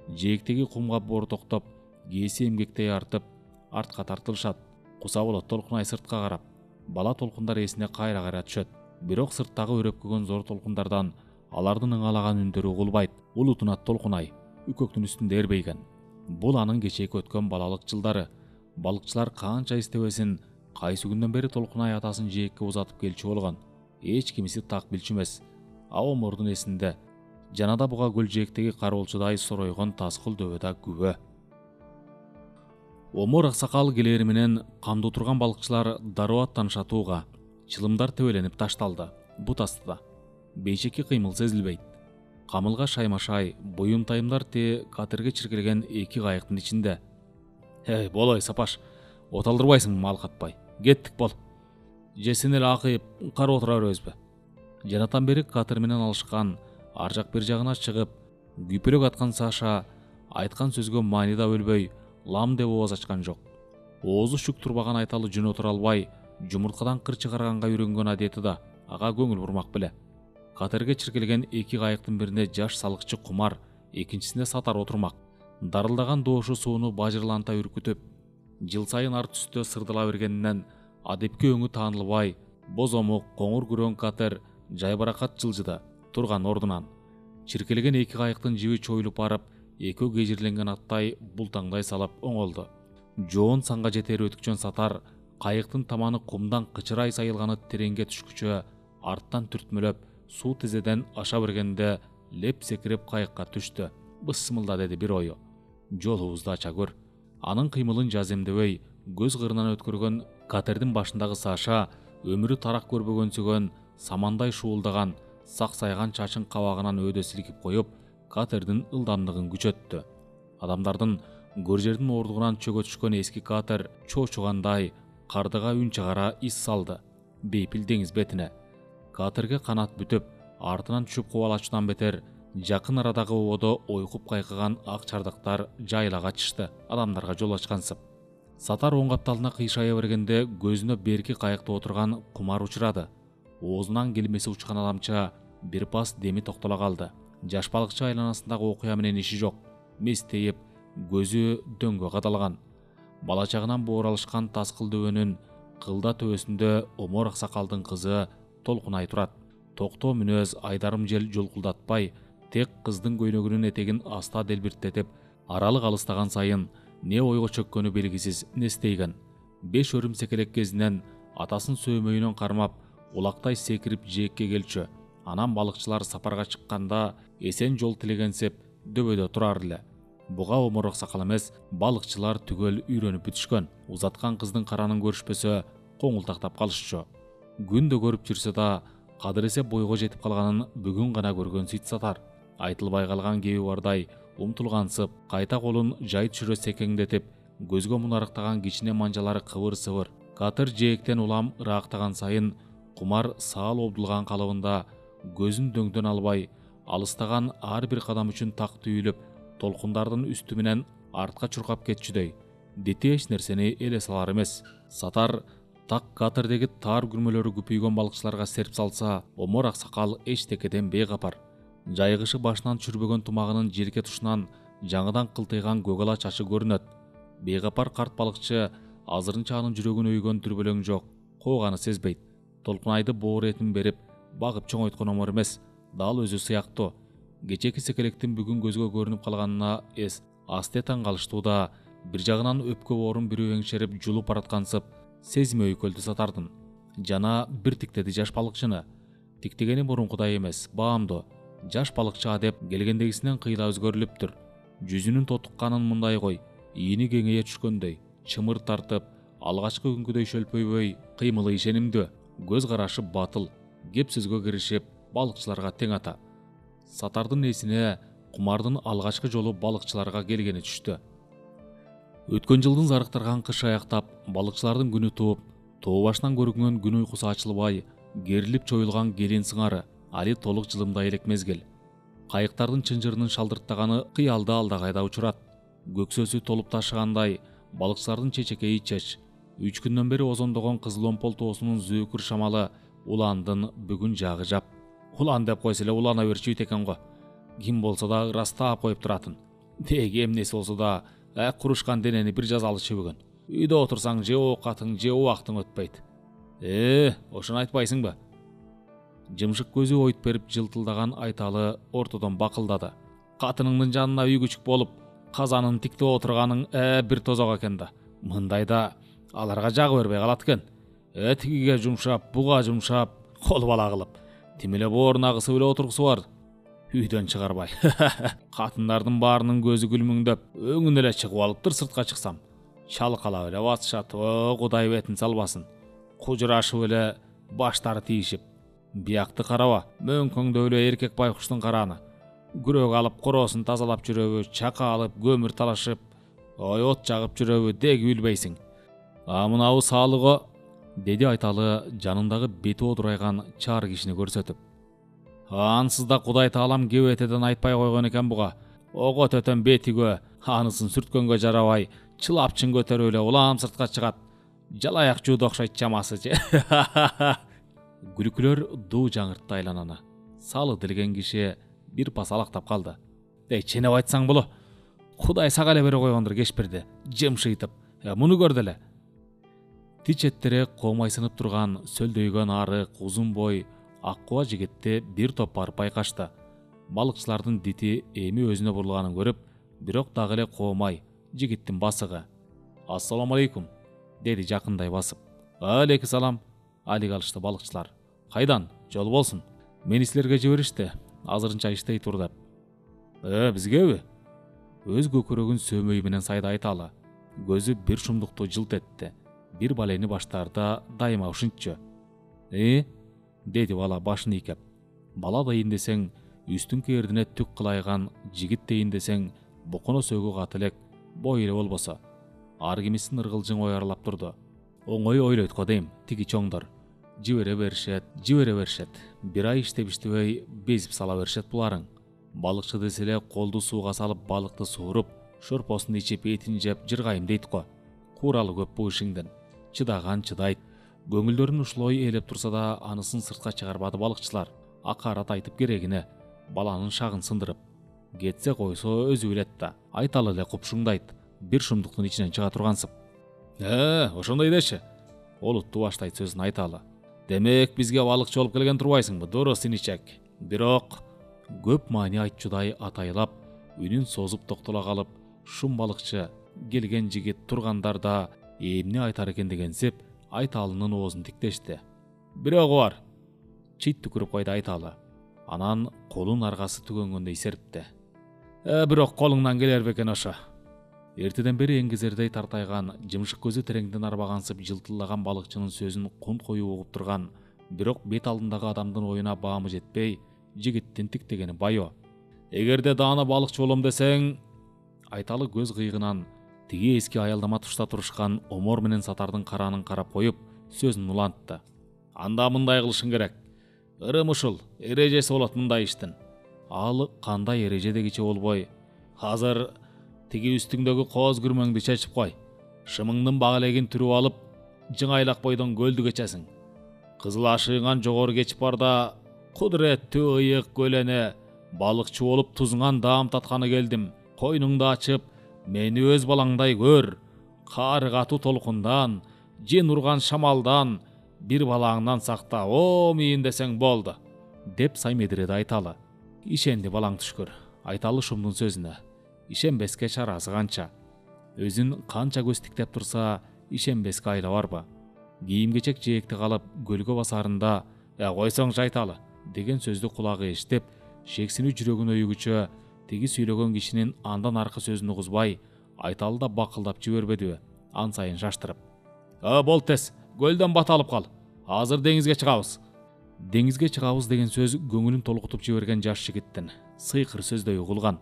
Жээктеги кумга боор токтоп, кээси эмгектей артып, артка тартылышат. Куса болот Толкунай сыртка карап. Бала толкундар эсине кайра түшөт. Бирок сырттагы өрөпкөгөн зор толкундардан алардын ыңалаган үндөрү угулбайт. Улутунат толкунай, үкөктүн үстүндө эрбейген. Бул анын кечээки өткөн балалык жылдары. Балыкчылар канча истебесин, кайсы күндөн бери толкунай атасын жээкке узатып келчү болгон. Эч кимиси так билчү эмес. Омордун эсинде жанада буга көл жээктеги кароолчудай соройгон таскыл дөбөдө күбө. Омор аксакал келери менен камдуу турган балыкчылар дароо аттанышатууга, чылымдар тебеленип ташталды. Бут астыда бейшеки кыймыл сезилбейт. Камылга шаймашай, буюм-тайымдар катерге чиркелген эки кайыктын ичинде. Болой Сапаш, оталдырбайсыңбы малкатпай? Кеттик бол. Жесин эле акыйып карап отура беребизби? Жанатан бери катер менен алышкан, ар жак бир жагына чыгып, күпөлөк аткан Саша айткан сөзгө маанида өлбөй, лам деп ооз ачкан жок. Оозу шүк турбаган айталы жөн отура албай, жумурткадан кыр чыгарганга үйрөнгөн адети да ага көңүл бурмак беле. Катерге чиркелген эки кайыктын бирине жаш салыкчы Кумар, экинчисине Сатар отурмак. Дарылдаган доошу сууну бажырланта үркүтүп, жыл сайын ар түстө сырдыла бергенинен адепке өңү таанылбай, бозомук, коңур күрөң катер жайбаракат жылжыды турган ордунан. Чиркелген эки кайыктын жиби чоюлуп барып, экөө кежирленген аттай бултаңдай салып оңолду. Жоон санга жетер өтүкчөн Сатар кайыктын таманы кумдан кычырай сайылганы тереңге түшкүчө арттан түртмөлөп суу тизеден аша бергенде леп секирип кайыкка түштү. Бысмылда деди бир ою. Жолубузду ача көр. Анын кыймылын жаземдебей көз кырынан өткөргөн катердин башындагы Саша өмүрү тарак көрбөгөнсүгөн, самандай шуулдаган, саксайган чачын кабагынан өдө силкип коюп, катердин ылдамдыгын күчөттү. Адамдардын көр жердин ордугунан чөгө түшкөн эски катер чоочугандай кардыга үн чыгара ис салды бейпил деңиз бетине. Катерге канат бүтүп, артынан түшүп кубалачудан бетер жакын арадагы оодо ойкуп кайкыган ак чардактар жайыла качышты, адамдарга жол ачкансып. Сатар оң капталына кыйшая бергенде көзүнө берки кайыкта отурган Кумар учурады. Оозунан келмеси учкан адамча бир пас деми токтоло калды. Жаш балыкчы айланасындагы окуя менен иши жок, местейип, көзү дөңгө кадалган. Бала чагынан бооралышкан таскыл дөбөнүн кылда төбөсүндө Омор аксакалдын кызы толкунай турат. Токтоо мүнөз, айдарым жел жолкулдатпай, тек кыздын көйнөгүнүн этегин аста делбиртетип, аралык алыстаган сайын не ойго чөккөнү белгисиз нестейген. 5 өрүмсекелек кезинен атасын сөөмөйүнөн кармап, улактай секирип жээкке келчү. Анан балыкчылар сапарга чыкканда эсен жол тилегенсеп дөбөдө турар эле. Буга Омор аксакал эмес, балыкчылар түгөл үйрөнүп бүтүшкөн. Узаткан кыздын каранын көрүшпөсө коңултактап калышчу. Күндө көрүп жүрсө да, кадыресе бойго жетип калганын бүгүн гана көргөн Сит Сатар. Айтылбай калган кеби бардай умтулгансып, кайта колун жай түшүрө секеңдетип, көзгө мунарыктаган кичине манжалары кыбыр-сыбыр. Катыр жээктен улам ыраактаган сайын Кумар саал обдулган калыбында көзүн дөңдөн албай, алыстаган ар бир кадам үчүн так түйүлүп, толкундардын үстү менен артка чуркап кетчүдөй. Дити эч нерсени эле салар эмес. Сатар так катердеги таар күрмөлөрү күпүйгөн балыкчыларга серп салса, Омор аксакал эчтекеден бейкапар. Жайгышы башынан чүрбөгөн тумагынын желке тушунан жаңыдан кылтыйган көгала чачы көрүнөт. Бейкапар карт балыкчы азырынча анын жүрөгүн өйгөн дүрбөлөң жок, кооганы сезбейт. Толкунайды боор этин берип, багып чоңойткон Омор эмес, дал өзү сыяктуу. Кечеки секелектин бүгүн көзгө көрүнүп калганына эс асте таң калыштууда, бир жагынан өпкө боорун бирөө эңшерип жулуп бараткансып, сезими өйкөлдү Сатардын. Жана бир тиктеди жаш балыкчыны. Тиктегени мурункудай эмес, баамдуу. Жаш балыкчы адеп келгендегисинен кыйла өзгөрүлүптүр. Жүзүнүн тотукканын мындай кой, ийини кеңейе түшкөндөй, чымыр тартып, алгачкы күнгүдөй шөлпөйбөй, кыймылы ишенимдүү, көз карашы батыл, кеп сөзгө киришип, балыкчыларга тең ата. Сатардын эсине Кумардын алгачкы жолу балыкчыларга келгени түштү. Өткөн жылдын зарыктырган кышы аяктап, балыкчылардын күнү тууп, тоо башынан көрүнгөн күн уйкусу ачылбай, керилип чоюлган келин сыңары али толук жылымдай элек мезгил. Кайыктардын чынжырынын шалдырттаганы кыялды алдагайда учурат. Көксөсү толуп ташыгандай, балыкчылардын чечекейи чеч. 3 күндөн бери озондогон Кызыл Омпол тоосунун зөөкүр шамалы уландын бүгүн жагы жап. Улан деп койсо эле улана берчүйт экен го. Ким болсо да ырастап коюп туратын. Деги эмнеси болсо да курушкан денени бир жазалычы бүгүн. Үйдө отурсаң же оокатың же убактың өтпөйт. Ошону айтпайсыңбы? Жымшык көзү ойт берип жылтылдаган Айталы ортодон бакылдады. Катыныңдын жанына үй күчүк болуп, казанын тиктеп отурганың бир тозок экен да. Мындайда аларга жагы бербей калат экен. Тигиге жумшап, буга жумшап, кол бала кылып. Тим эле бооруна кысып эле отургусу бар. Үйдөн чыгарбай. Катындардын баарынын көзү күлмүңдөп, өңүн эле чыгып алыптыр сыртка чыксам. Чалкалап эле батышат. Кудай бетин салбасын. Кужурашып эле баштары тийишип. Биякты караба, мөңкөңдөп эле эркек байкуштун караны. Күрөк алып короосун тазалап жүрөбү, чака алып көмүр талашып, от жагып жүрөбү деги билбейсиң. Мынабы саалыго, деди Айталы жанындагы бети одурайган чаар кишини көрсөтүп. Ансыз да Кудай таалам кебетеден айтпай койгон экен буга. Ого төтөн бетигө, анысын сүрткөнгө жарабай, чылапчын көтөрүп эле улам сыртка чыгат. Жалаяк жууду окшойт чамасы. Күлкүлөр дуу жаңыртты айлананы. Салы делген киши бир пас алактап калды. Ченеп айтсаң боло. Кудай сага эле бере койгондур кешпирди, жымшыйтып. Муну көр деле. Тичеттере комайсынып турган сөлдөйгөн арык, узун бой, ак куба жигитти бир топ барып байкашты. Балыкчылардын дити эми өзүнө бурулганын көрүп, бирок дагы эле комай, жигиттин басыгы. Ассаламу алейкум, деди жакындай басып. Алейкум салам, алик алышты балыкчылар. Кайдан? Жол болсун. Мени силерге жиберишти, азырынча иштей тур деп. Бизгеби? Өз көкөрөгүн сөмөй менен сайда Айталы. Көзү бир шумдукту жылт этти. Бир балени баштаарда дайыма ушунчу. Деди бала башын ийкеп. Бала дейин десең, үстүн кердине түк кылайган, жигит дейин десең, боконо сөгү кат элек, бой эле болбосо. Ар кимисин ыргылжың ояралап турду. Оңой ойлойт го дейм, тиги чоңдор. Жибере беришет. Бир ай иштеп иштебей безип сала беришет буларың. Балыкчы десе эле колду сууга салып балыкты сууруп, шорпосун ичип, этин жеп жыргайым дейт го. Куралы көп бу ишиңден. Чыдаган чыдайт. Көңүлдөрүн ушулой ээлеп турса да, анысын сыртка чыгарбады балыкчылар. Акарат айтып керегине, баланын шагын сындырып. Кетсе койсо өзү билет да. Айталы эле купшуңдайт. Бир шумдуктун ичинен чыга тургансып. Ошондой деши. Олутту баштайт сөзүн Айталы. Демек бизге балыкчы болуп келген турбайсыңбы, дурус иничек. Бирок көп маани айтчудай атайлап, үнүн созуп токтоло калып, шум балыкчы, келген жигит тургандарда эмне айтар экен дегенсип, Айталынын оозун тиктешти. Бирогу бар. Чит түкүрүп койду Айталы. Анан колун аргасы түгөнгөндөй серипти. Бирок колуңдан келер бекен ошо. Эртеден бери эңгезердей тартайган, жымшык көзү тереңден арбагансып жылтылдаган балыкчынын сөзүн кунт коюу угуп турган, бирок бет алдындагы адамдын оюна баамы жетпей, жигиттин тиктегени байо. Эгерде даана балыкчы болом десең, Айталы көз кыйыгынан тиги эски аялдама тушта турушкан Омор менен Сатардын каранын карап коюп, сөзүн улантты. Анда мындай кылышың керек. Ырым ушул, эрежеси болот мындай иштин. Ал кандай эреже дегиче болбой, азыр тиги үстүңдөгү кооз күрмөңдү чечип кой. Шымыңдын багелегин түрүп алып, жыңайлак бойдон көлдү кечесиң. Кызыл ашыгыңан жогору кечип барда, кудуреттүү ыйык көлөне, балыкчы болуп тузуңан даам татканы келдим. Койнуңду ачып, мени өз балаңдай көр. Кары катуу толкундан, жин урган шамалдан, бир балаңдан сакта, мийин десең болду, деп саймедиреди Айталы. Ишенди балаң түшкүр. Айталы шумдун сөзүнө. Ишенбеске чарасы канча. Өзүн канча көз тиктеп турса, ишенбеске айла барбы. Кийим-кечек жээкти калып, көлгө басарында, койсоңчу Айталы, деген сөздү кулагы эштеп, шексинүү жүрөгүн өйгүчө, тиги сүйлөгөн кишинин андан аркы сөзүн угузбай, Айталы да бакылдап жибербедиби, ан сайын шаштырып. Бол тез, көлдөн бата алып кал. Азыр деңизге чыгабыз. Деңизге чыгабыз деген сөз көңүлүн толкутуп жиберген жаш жигиттин сыйкыр сөздөй угулган.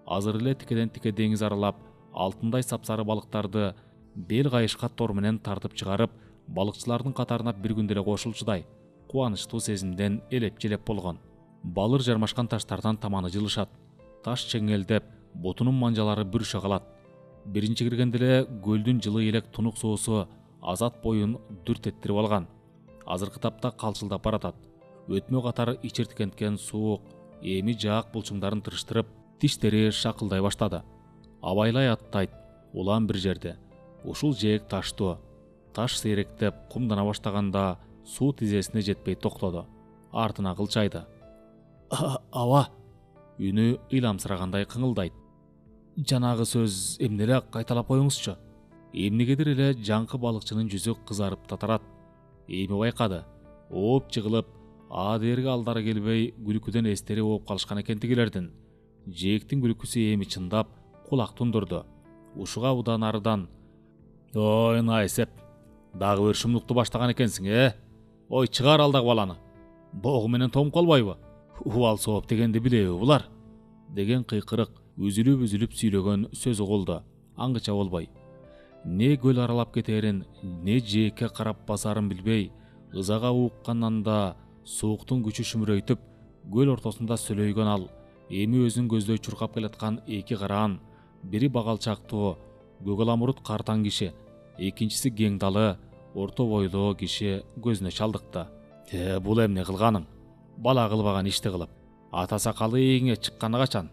Азыр эле тикеден тике деңиз аралап, алтындай сапсары балыктарды бел кайышка тор менен тартып чыгарып, балыкчылардын катарына бир күндө эле кошулчудай кубанычтуу сезимден элеп-желеп болгон. Балыр жармашкан таштардан таманы жылышат. Таш чеңелдеп, ботунун манжалары бүрүшө калат. Биринчи киргенде эле көлдүн жылы элек тунук суусу азат боюн дүрт эттирип алган. Азыркы тапта калчылдап баратат. Өтмө катары ичирткенткен суук эми жаак булчуңдарын тырыштырып, тиштери шакылдай баштады. Абайлай аттайт, улам бир жерде. Ушул жээк таштуу. Таш сейректеп кумдана баштаганда суу тизесине жетпей токтоду. Артына кылчайды. Аба! Үнү ыйламсырагандай кыңылдайт. Жанагы сөз эмне эле, кайталап коюңузчу. Эмнегедир эле жаңкы балыкчынын жүзү кызарып татарат. Эми байкады. Ооп жыгылып, дээрге алдары келбей күлкүдөн эстери болуп калышкан экен тигилердин. Жээктин күлкүсү эми чындап кулак тундурду. Ушуга удан арыдан: "Ой, Найсеп, дагы бир шумдукту баштаган экенсиң, Ой, чыгар алдагы баланы. Богу менен тоңуп калбайбы? Убал сооп дегенди билеби булар?" деген кыйкырык үзүлүп сүйлөгөн сөз угулду. Аңгыча болбой. Не көл аралап кетерин, не жээкке карап басарын билбей, ызага ууккандан да сууктун күчү шүмүрөйтүп, көл ортосунда сүлөйгөн ал эми өзүн көздөй чуркап келаткан эки караан, бири багалчактуу, көгаламурут картаң киши, экинчиси кең далы, орто бойлуу киши көзүнө чалдыкты. Бул эмне кылганың? Бала кылбаган ишти кылып. Ата сакалы эңе чыкканы качан?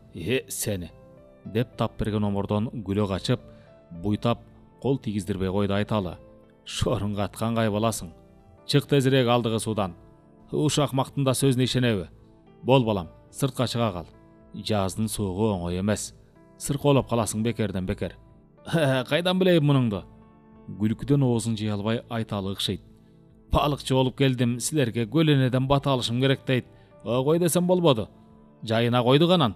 Сени, деп тап берген омордон күлө качып, буйтап кол тийгиздирбей койду Айталы. Шорун каткан кай баласың? Чык тезирээк алдыгы суудан. Ушак мактында сөзүнө ишенеби? Бол балам, сыртка чыга кал. Жаздын суугу оңой эмес. Сыркоолоп каласың бекерден бекер. Кайдан билейм мунуңду? Күлкүдөн оозун жыя албай Айталы ыкшыйт. Балыкчы болуп келдим, силерге көлөнөдөн бата алышым керек дейт. Кой десем болбоду. Жайына койду канан.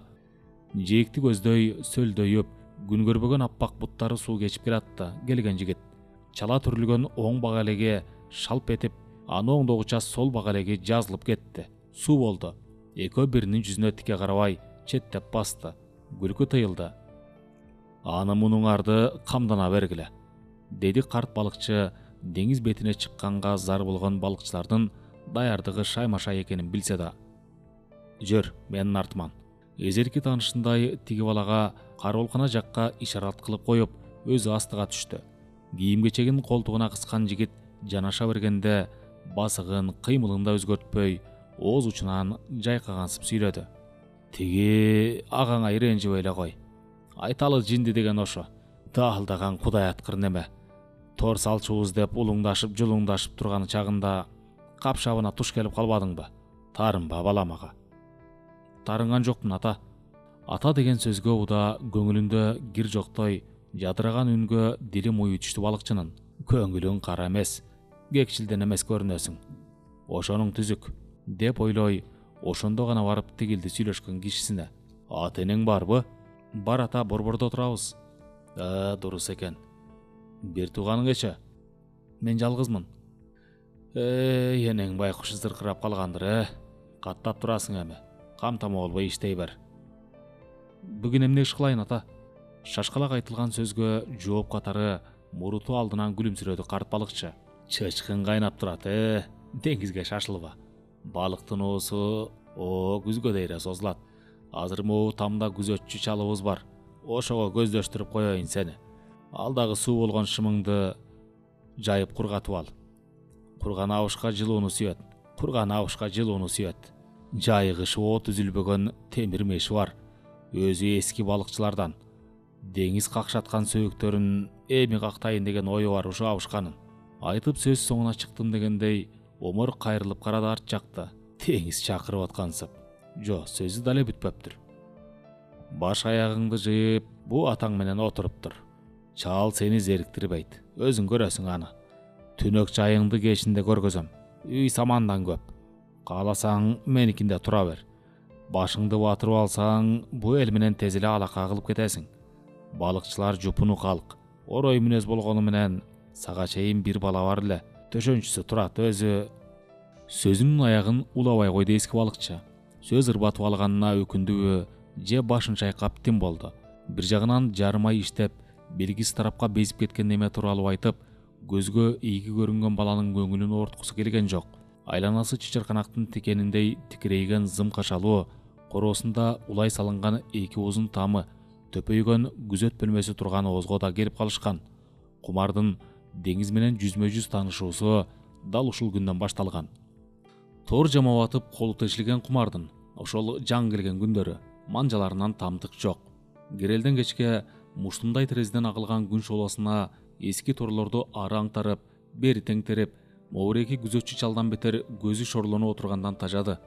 Жээкти көздөй сөлдөйүп, күн көрбөгөн аппак буттары суу кечип келатты. Келген жигит чала түрүлгөн оң багалеге шалп этип, аны оңдогуча сол багалеге жазылып кетти. Суу болду. Экөө биринин жүзүнө тике карабай четтеп басты. Күлкү тыйылды. Аны мунуңарды камдана бергиле, деди карт балыкчы. Деңиз бетине чыкканга зар болгон балыкчылардын даярдыгы шайма-шай экенин билсе да. Жөр, менин артыман. Эзерки таанышындай тиги балага кароолкана жакка ишарат кылып коюп, өзү астыга түштү. Кийим кечегин колтугуна кыскан жигит жанаша бергенде басыгын, кыймылын да өзгөртпөй, ооз учунан жайкагансып сүйлөдү. Тиги агаңа иренжибей эле кой. Айталы жинди деген ошо. Даалдаган кудай аткыр неме. Тор салчубуз деп улуңдашып, жулуңдашып турган чагында капшабына туш келип калбадыңбы? Тарынба балам ага. Тарынган жокмун ата. Ата деген сөзгө уда көңүлүндө кир жоктой жадыраган үнгө дили муй түштү балыкчынын. Көңүлүң кара эмес, кекчилден эмес көрүнөсүң. Ошонуң түзүк, деп ойлой, ошондо гана барып тигилди сүйлөшкөн кишисине. Ата энең барбы? Бар ата, борбордо турабыз. Дурус экен. Бир тууганыңече? Мен жалгызмын. Энең байкуш зыркырап калгандыр, Каттап турасың эми. Камтама болбой иштей бер. Бүгүн эмне иш кылайын ата? Шашкалак айтылган сөзгө жооп катары муруту алдынан күлүмсүрөдү карт балыкчы. Чычкын кайнап турат, деңизге шашылба. Балыктын оосу күзгө дейре созулат. Азыр могу тамда күзөтчү чалыбыз бар. Ошого көздөштүрүп коеюн сени. Алдагы суу болгон шымыңды жайып кургатып ал. Курган абышка жылууну сүйөт. Жайгышы от үзүлбөгөн темир меши бар. Өзү эски балыкчылардан. Деңиз какшаткан сөөктөрүн эми кактайын деген ою бар ушу абышканын. Айтып сөз соңуна чыктым дегендей, омор кайрылып карады арт жакты. Деңиз чакырып аткансып. Жо, сөзү дале бүтпөптүр. Баш аягыңды жыйып, бу атаң менен отуруптур. Чал сени зериктирбейт. Өзүң көрөсүң аны. Түнөк жайыңды кечинде көргөзөм. Үй самандан көп. Кааласаң меникинде тура бер. Башыңды батырып алсаң, бу эл менен тез эле алака кылып кетесиң. Балыкчылар жупуну калк. Орой мүнөз болгону менен сага чейин бир бала бар эле. Төшөнчүсү турат, өзү. Сөзүнүн аягын улабай койду эски балыкчы. Сөз ырбатып алганына өкүндүбү, же башын чайкап тим болду. Бир жагынан жарым ай иштеп, белгисиз тарапка безип кеткен неме тууралуу айтып, көзгө ийги көрүнгөн баланын көңүлүн ооруткусу келген жок. Айланасы чычырканактын тикениндей тикирейген зым кашалуу, короосунда улай салынган эки узун тамы, төпөйгөн күзөт бөлмөсү турган оозго да келип калышкан. Кумардын деңиз менен жүзмө жүз таанышуусу дал ушул күндөн башталган. Тор жамап атып колу тешилген Кумардын ошол жаң келген күндөрү манжаларынан тамтык жок. Керелден кечке муштумдай терезеден агылган күн шоолосуна эски торлорду ары аңтарып, бери теңтереп, моуреки күзөтчү чалдан бетер көзү шорлонуп отургандан тажады.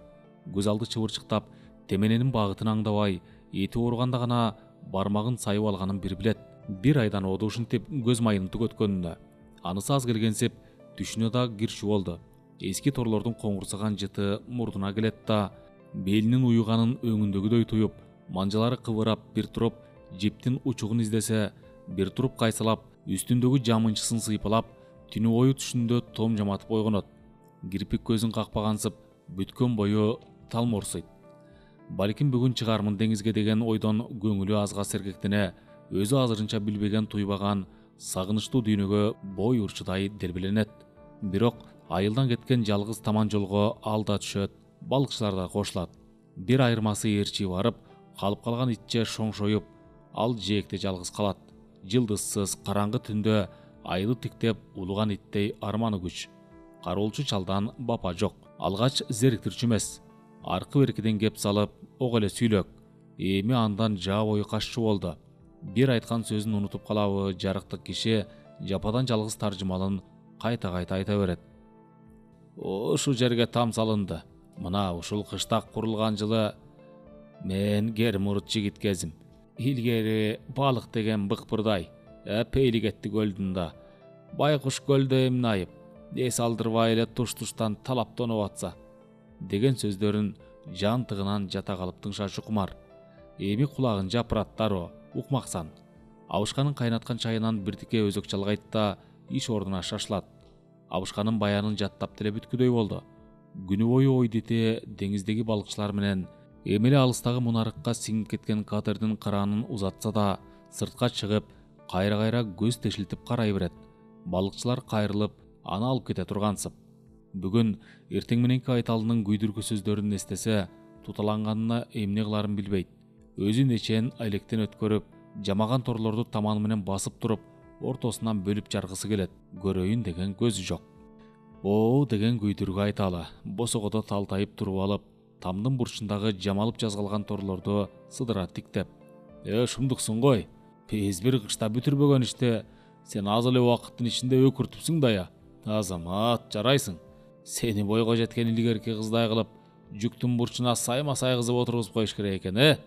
Көз алды чыбырчыктап, темененин багытын аңдабай, эти ооруганда гана бармагын сайып алганын бир билет. Бир айдан оду ушинтип көз майын түгөткөнүнө анысы аз келгенсип түшүнө да кирчү болду. Эски торлордун коңурсаган жыты мурдуна келет да, белинин уюганын өңүндөгүдөй туюп, манжалары кыбырап, бир туруп жиптин учугун издесе, бир туруп кайсалап, үстүндөгү жамынчысын сыйпалап, түнү бою түшүндө том жаматып ойгонот. Кирпик көзүн какпагансып, бүткөн бою талморсуйт. Балким бүгүн чыгармын деңизге деген ойдон көңүлү азга сергектене, өзү азырынча билбеген туйбаган сагынычтуу дүйнөгө бой урчудай делбеленет. Бирок айылдан кеткен жалгыз таман жолго алда түшөт, балыкчылар да кошулат. Бир айырмасы ээрчи барып, калып калган итче шоңшоюп, ал жээкте жалгыз калат. Жылдызсыз караңгы түндө айды тиктеп улуган иттей арманы күч. Кароолчу чалдан бапа жок. Алгач зериктирчү эмес. Аркы беркиден кеп салып, ок эле сүйлөк. Эми андан жаа бою кашчу болду. Бир айткан сөзүн унутуп калабы, жарыктык киши жападан жалгыз таржымалын кайта-кайта айта берет. Ушу жерге там салынды. Мына ушул кыштак курулган жылы мен кермурут жигит кезим. Илгери балык деген быкпырдай, пейли кетти көлдүн да. Байкуш көлдө эмне айып, эс алдырбай эле туш-туштан талап тоноп атса деген сөздөрүн жан тыгынан жата калып тыңшачу кумар. Эми кулагын жапырат дароо, укмаксан. Абышканын кайнаткан чайынан биртике өзөк жалгайт да иш ордуна шашылат. Абышканын баянын жаттап деле бүткүдөй болду. Күнү бою ойдите деңиздеги балыкчылар менен эмеле алыстагы мунарыкка сиңип кеткен катердин кыраанын узатса да, сыртка чыгып, кайра-кайра көз тешилтип карай берет. Балыкчылар кайрылып, аны алып кете тургансып. Бүгүн эртең мененки айталынын күйдүргү сөздөрүн эстесе, туталанганына эмне кыларын билбейт. Өзүн эчен айлектен өткөрүп, жамаган торлорду таманы менен басып туруп, ортосунан бөлүп жаргысы келет. Көрөйүн деген көзү жок. Оо деген күйдүргү айталы, босогодо талтайып туруп алып, тамдын бурчундагы жамалып жазгалган торлорду сыдыра тиктеп. Шумдуксуң гой. Биз бир кышта бүтүрбөгөн иште сен аз эле убакыттын ичинде өкүртүпсүң да я. Азамат, жарайсың. Сени бойго жеткен илгерки кыздай кылып, жүктүн бурчуна сайма-сай кызып отургузуп коюш керек экен,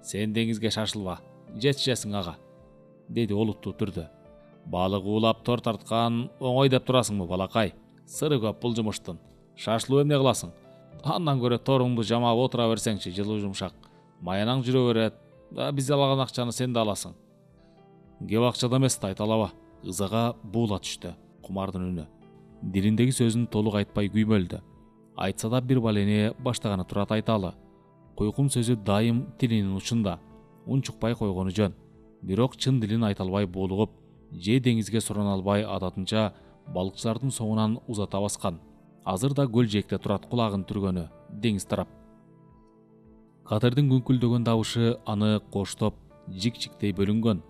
Сен деңизге шашылба, жетишесиң ага, деди олуттуу түрдө. Балык уулап тор тарткан оңой деп турасыңбы, балакай? Сыры көп бул жумуштун. Шашылып эмне кыласың? Андан көрө торуңду жамап отура берсеңчи, жылуу жумшак. Маянаң жүрө берет. Биз алган акчаны сен да аласың. Кеп акчада эмес да айталаба. Ызага буула түштү кумардын үнү. Дилиндеги сөзүн толук айтпай күймөлдү. Айтса да бир балени баштаганы турат айталы. Койкум сөзү дайым тилинин учунда. Унчукпай койгону жөн. Бирок чын дилин айта албай булугуп, же деңизге сурана албай адатынча балыкчылардын соңунан узата баскан. Азыр да көл жээкте турат кулагын түргөнү, деңиз тарап. Катердин күңкүлдөгөн дабышы аны коштоп, жик-жиктей бөлүнгөн.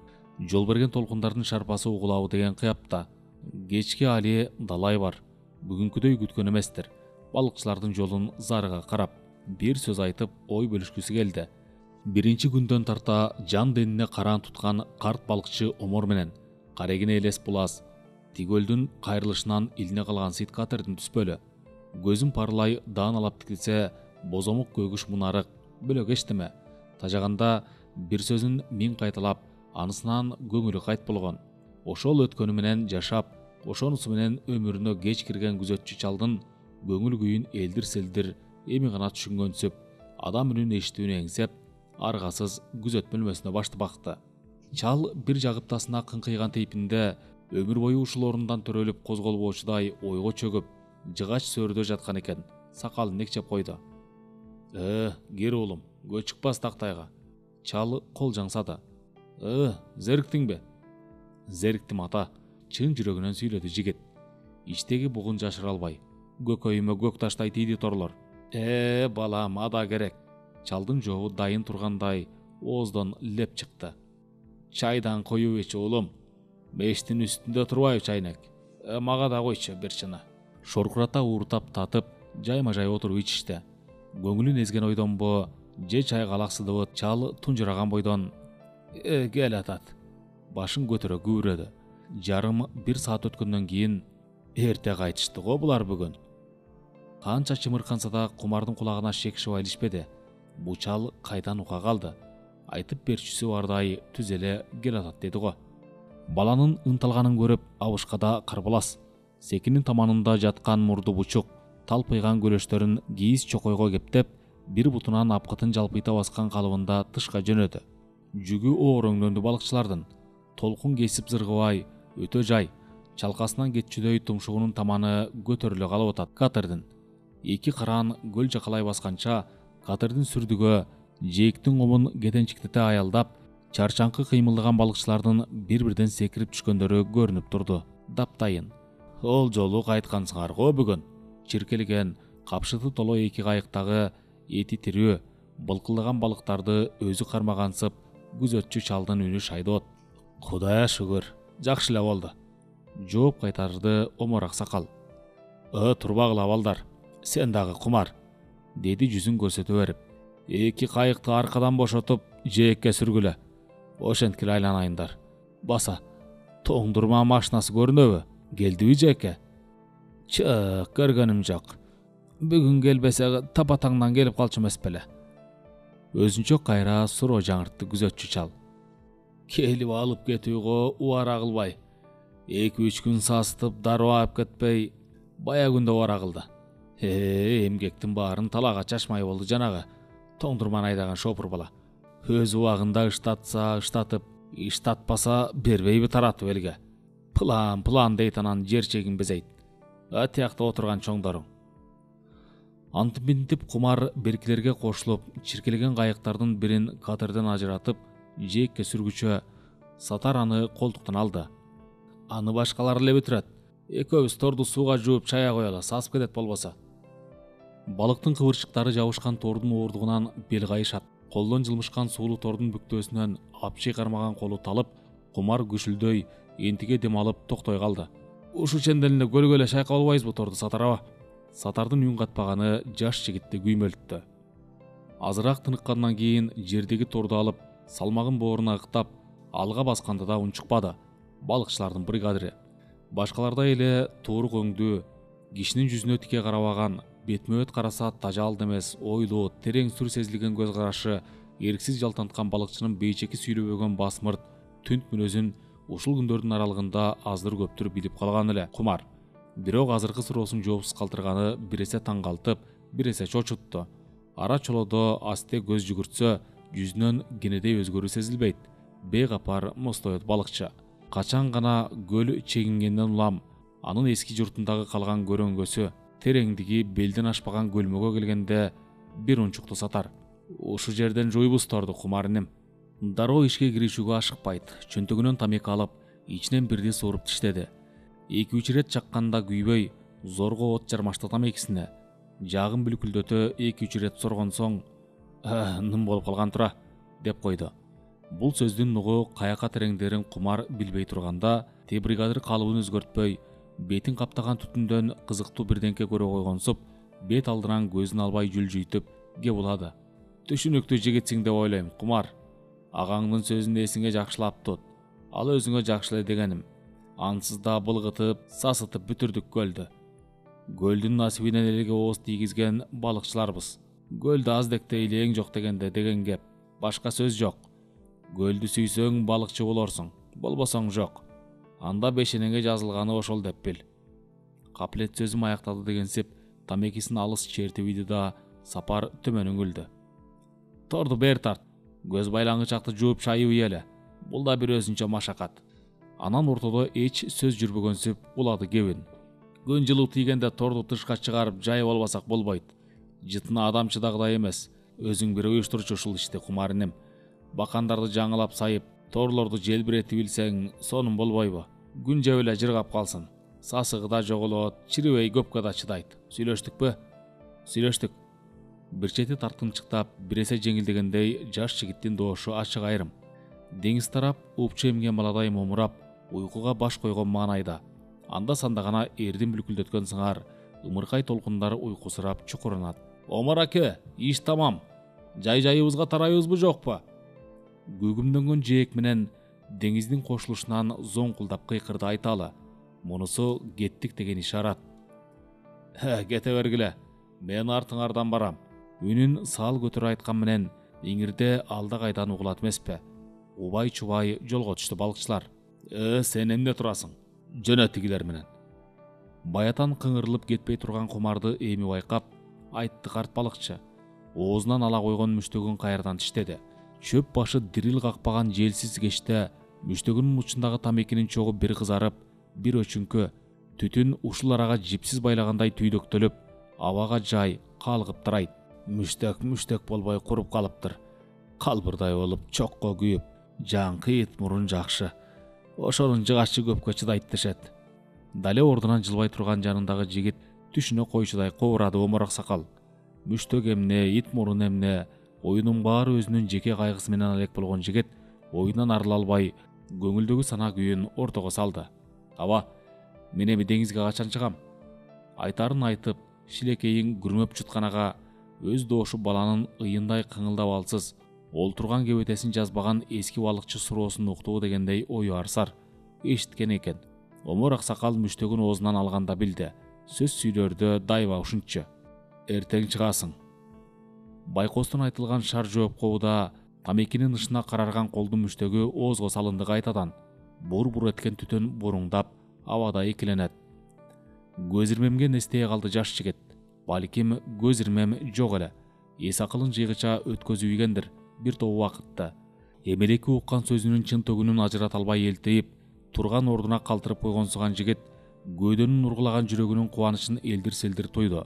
Жол берген толкундардын шарпасы угулабы деген кыяпта. Кечки али далай бар. Бүгүнкүдөй күткөн эместир. Балыкчылардын жолун зарыга карап, бир сөз айтып ой бөлүшкүсү келди. Биринчи күндөн тарта жан денине караан туткан карт балыкчы Омор менен карегине элес булас тигөлдүн кайрылышынан илине калган сыйт катердин түспөлү. Көзүн парлай дааналап тикилсе, бозомук көгүш мунарык, бөлөк эчтеме. Тажаганда бир сөзүн миң кайталап, анысынан көңүлү кайт болгон. Ошол өткөнү менен жашап, ошонусу менен өмүрүнө кеч кирген күзөтчү чалдын көңүл күйүн элдир-селдир эми гана түшүнгөнсүп, адам үнүн эшитүүнү эңсеп, аргасыз күзөт бөлмөсүнө башты бакты. Чал бир жагыптасына кыңкыйган тейпинде өмүр бою ушул орундан төрөлүп козголбоочудай ойго чөгүп, жыгач сөөрдө жаткан экен. Сакалын экчеп койду. Кир уулум, көө чыкпас тактайга. Чал кол жаңсады. Зериктиңби? Зериктим ата, чын жүрөгүнөн сүйлөдү жигит. Иштеги бугун жашыра албай. Көкөйүмө көк таштай тийди торлор. Балам, ада керек. Чалдын жообу дайын тургандай ооздон леп чыкты. Чайдан коюп ич уулум. Мештин үстүндө турбайбы чайнек? Мага да койчу бир чыны. Шоркурата ууртап татып, жайма-жай отуруп ичишти. Көңүлүн эзген ойдонбу, же чай калаксыдыбы, чал тунжураган бойдон кел атат. Башын көтөрө күбүрөдү. Жарым бир саат өткөндөн кийин Эрте кайтышты го булар бүгүн. Канча чымырканса да Кумардын кулагына шек шыба илишпеди. Бу чал кайдан ука калды? Айтып берчүсү бардай түз эле кел атат деди го. Баланын ынталганын көрүп абышкада карбалас. Секинин таманында жаткан мурду бучук, талпыйган көлөштөрүн кийиз чокойго кептеп, бир бутунан апкытын жалпыйта баскан калыбында тышка жөнөдү. Жүгү оораңдөндү балыкчылардын. Толкун кесип зыргыбай, өтө жай, чалкасынан кетчүдөй тумшугунун таманы көтөрүлө калып атат катердин. Эки караан көл жакалай басканча, катердин сүрдүгө жээктин комун кетенчиктете аялдап, чарчаңкы кыймылдаган балыкчылардын бир-бирден секирип түшкөндөрү көрүнүп турду. Таптайын. Ол жолу кайткансыңар го бүгүн. Чиркелеген, капшыты толо эки кайыктагы эти тирүү, былкылдаган балыктарды өзү кармагансып, күзөтчү чалдын үнү шайдоот. Кудайга шүгүр, жакшы эле болду. Жооп кайтарды Омар аксакал. Турбагыла балдар, сен дагы Кумар, деди жүзүн көрсөтө берип. Эки кайыкты аркадан бошотуп, жээкке сүргүлө. Ошенткиле айланайындар. Баса, тоңдурма машинасы көрүнөбү? Келдиби жээкке? Чык, көргөнүм жок. Бүгүн келбесе тапатаңдан келип калчу эмес беле. Өзүнчө кайра суроо жаңыртты күзөтчү чал. Келип алып кетүүгө убара кылбай. 2-3 күн сасытып дароо алып кетпей, бая күндө убара кылды. Эмгектин баарын талаага чачмай болду жанагы тоңдурманы айдаган шопур бала. Өз убагында ыштатса ыштатып, ыштатпаса бербейби таратып элге. План дейт, анан жер чегин безейт. Атиякта отурган чоңдору. Антып-минтип Кумар беркилерге кошулуп, чиркелеген кайыктардын бирин катерден ажыратып, жээкке сүргүчө Сатар аны колтуктан алды. Аны башкалар эле бүтүрөт. Экөөбүз торду сууга жууп чая коелу, сасып кетет болбосо. Балыктын кыбырчыктары жабышкан тордун оордугунан бел кайышат. Колдон жылмышкан суулуу тордун бүктөөсүнөн апчый кармаган колу талып, Кумар күшүлдөй энтиге дем алып токтой калды. Ушу ченделинде көлгө эле шайкап албайбызбы торду Сатар аба? Сатардын үн катпаганы жаш жигитти күймөлтүттү. Азыраак тыныккандан кийин жердеги торду алып, салмагын бооруна ыктап, алга басканда да унчукпады. Балыкчылардын бригадири. Башкалардай эле туурук өңдүү, кишинин жүзүнө тике карабаган, бетмөбөт караса тажалды эмес, ойлуу, терең сүр сезилген көз карашы, эрксиз жалтанткан балыкчынын бейчеки сүйлөбөгөн басмырт, түнт мүнөзүн ушул күндөрдүн аралыгында аздыр-көптүр билип калган эле Кумар. Бирок азыркы суроосун жоопсуз калтырганы бир эсе таң калтып, бир эсе чочутту. Ара чолодо асте көз жүгүртсө, жүзүнөн кенедей өзгөрүү сезилбейт. Бейкапар мостоет балыкчы. Качан гана көл чегингенден улам, анын эски журтундагы калган көрөңгөсү, тереңдиги белден ашпаган көлмөгө келгенде бир унчукту Сатар. Ушу жерден жуйбуз торду Кумар инем. Дароо ишке киришүүгө ашыкпайт. Чөнтөгүнөн тамеки алып, ичинен бирди сууруп тиштеди. 2-3 ирет чакканда күйбөй, зорго от жармашты тамекисине. Жагын бүлкүлдөтө 2-3 ирет соргон соң, ным болуп калган тура, деп койду. Бул сөздүн нугу каяка тереңдерин Кумар билбей турганда, те бригадир калыбын өзгөртпөй, бетин каптаган түтүндөн кызыктуу бирденке көрө койгонсуп, бет алдынан көзүн албай жүлжүйтүп кеп улады. Түшүнүктүү жигитсиң деп ойлойм, Кумар. Агаңдын сөзүн эсиңе жакшылап тут. Ал өзүңө жакшы эле дегеним. Ансыз да былгытып, сасытып бүтүрдүк көлдү. Көлдүн насибинен элге ооз тийгизген балыкчыларбыз. Көлдү аздекте илең жок дегенде деген кеп. Башка сөз жок. Көлдү сүйсөң балыкчы болорсуң, болбосоң жок. Анда бешенеңе жазылганы ошол деп бил. Каплет сөзүм аякталды дегенсип, тамекисин алыс чертип үйдү да Сапар төмөн үңүлдү. Торду бер тарт. Көз байлаңычакты жууп чайып ийеле. Бул да бир өзүнчө машакат. Анан ортодо эч сөз жүрбөгөнсүп улады кебин. Күн жылуу тийгенде торду тышка чыгарып жайып албасак болбойт. Жытына адам чыдагыдай эмес. Өзүң бир уюштурчу ушул ишти Кумар инем. Бакандарды жаңылап сайып, торлорду желбиретип билсең, сонун болбойбу? Күн жеп эле жыргап калсын. Сасыгы да жоголот, чирибей көпкө да чыдайт. Сүйлөштүкпү? Сүйлөштүк. Бир чети тарткынчыктап, бир эсе жеңилдегендей жаш жигиттин доошу ачык айрым. Деңиз тарап, упчу эмген баладай момурап, уйкуга баш койгон маанайда. Анда-санда гана эрдин бүлкүлдөткөн сыңар, ымыркай толкундар уйкусурап чукуранат. Омар аке, иш тамам. Жайыбызга тарайбызбы жокпу? Көгүмдөнгөн жээк менен деңиздин кошулушунан зоңкулдап кыйкырды Айталы. Мунусу кеттик деген ишарат. Кете бергиле, мен артыңардан барам. Үнүн сал көтөрө айткан менен иңирде алда кайдан угулат эмеспи. Убай чубай жолго түштү балыкчылар. Сен эмне турасың? Жөнөт тигилер менен. Баятан кыңырылып кетпей турган кумарды эми байкап, айтты карт балыкчы. Оозунан ала койгон мүштөгүн кайрадан тиштеди. Чөп башы дирил какпаган желсиз кечте мүштөгүнүн учундагы тамекинин чогу бир кызарып, бир өчүңкү, түтүн ушул арага жипсиз байлагандай түйдөктөлүп, абага жай калгып тарайт. Мүштөк болбой куруп калыптыр. Калбырдай болуп, чокко күйүп, жаңкы ит мурун жакшы. Ошонун жыгачы көпкө чыдайт дешет. Дале ордунан жылбай турган жанындагы жигит түшүнө койчудай кобурады оморок сакал. Мүштөк эмне, ит мурун эмне, оюнун баары өзүнүн жеке кайгысы менен алек болгон жигит оюндан арыла албай, көңүлдөгү сана күйүн ортого салды. Аба, мен эми деңизге качан чыгам? Айтарын айтып, шилекейин күрмөп чутканага өз доошу баланын ыйындай кыңылдап алсыз, олтурган кебетесин жазбаган эски балыкчы суроосун уктуу дегендей ою арсар эшиткен экен. Оморок сакал мүштөгүн оозунан алганда билди. Сөз сүйлөрдө дайыма ушунчу. Эртең чыгасың. Байкостун айтылган шар жооп коуда тамекинин ышына карарган колдун мүштөгү оозго салынды кайтадан. Бур-бур эткен түтүн буруңдап, абада экиленет. Көз ирмемге нестее калды жаш жигит. Балким көз ирмем жок эле. Эс акылын жыйгыча өткөзүп ийгендир бир топ убакытты. Эмелеки уккан сөзүнүн чын төгүнүн ажырата албай элтейип, турган ордуна калтырып койгонсуган жигит көөдөнүн ургулаган жүрөгүнүн кубанычын элдир-селдир тойду.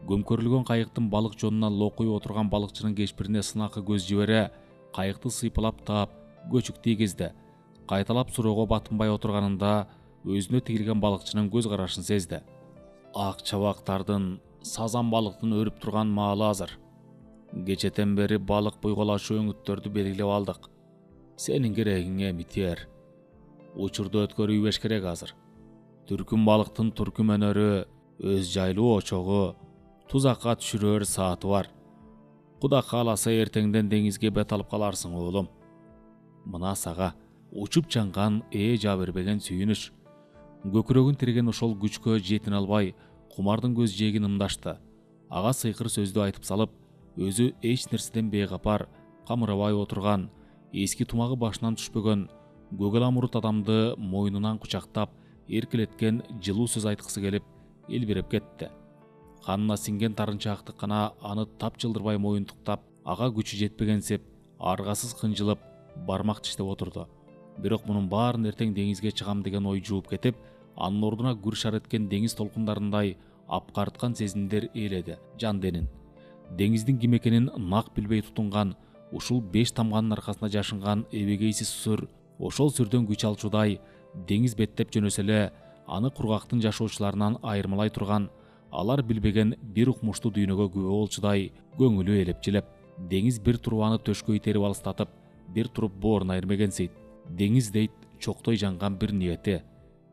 Көмкөрүлгөн кайыктын балык жонуна локуй отурган балыкчынын кешпирине сынакы көз жибере, кайыкты сыйпалап таап, көчүк тийгизди. Кайталап суроого батынбай отурганында өзүнө тигилген балыкчынын көз карашын сезди. Ак чабактардын, сазан балыктын өрүп турган маалы азыр. Кечетен бери балык буйголашуу өңүттөрдү белгилеп алдык. Сенин керегиңе митер. Учурду өткөрүйбеш керек азыр. Түркүм балыктын туркум өнөрү, өз жайлуу очогу, тузакка түшүрөр сааты бар. Куда кааласа эртеңден деңизге бет алып каларсың оолум. Мына сага учуп чанган жаа бербеген сүйүнүч. Көкүрөгүн тиреген ошол күчкө жетине албай, кумардын көз жээгин ымдашты. Ага сыйкыр сөздү айтып салып, өзү эч нерседен бейгапар, камырабай отурган, эски тумагы башынан түшпөгөн, көгөл амурут адамды мойнунан кучактап, эркелеткен жылуу сөз айткысы келип, элбиреп кетти. Канына синген тарынчаактык гана аны тап жылдырбай моюнтуктап, ага күчү жетпегенсип, аргасыз кынжылып, бармак тиштеп отурду. Бирок мунун баарын эртең деңизге чыгам деген ой жууп кетип, анын ордуна гүр шар эткен деңиз толкундарындай апкарткан сезимдер ээледи жан денин. Деңиздин ким экенин нак билбей тутунган, ушул 5 тамганын аркасында жашынган эбегейсиз сүр, ошол сүрдөн күч алчудай, деңиз беттеп жөнөсө эле, аны кургактын жашоочуларынан айырмалай турган, алар билбеген бир укмуштуу дүйнөгө күбө болчудай көңүлү элепчилеп, деңиз бир туруп аны төшкө итерип алыстатып, бир туруп бооруна ирмегенсейт. Деңиз дейт чоктой жанган бир ниети.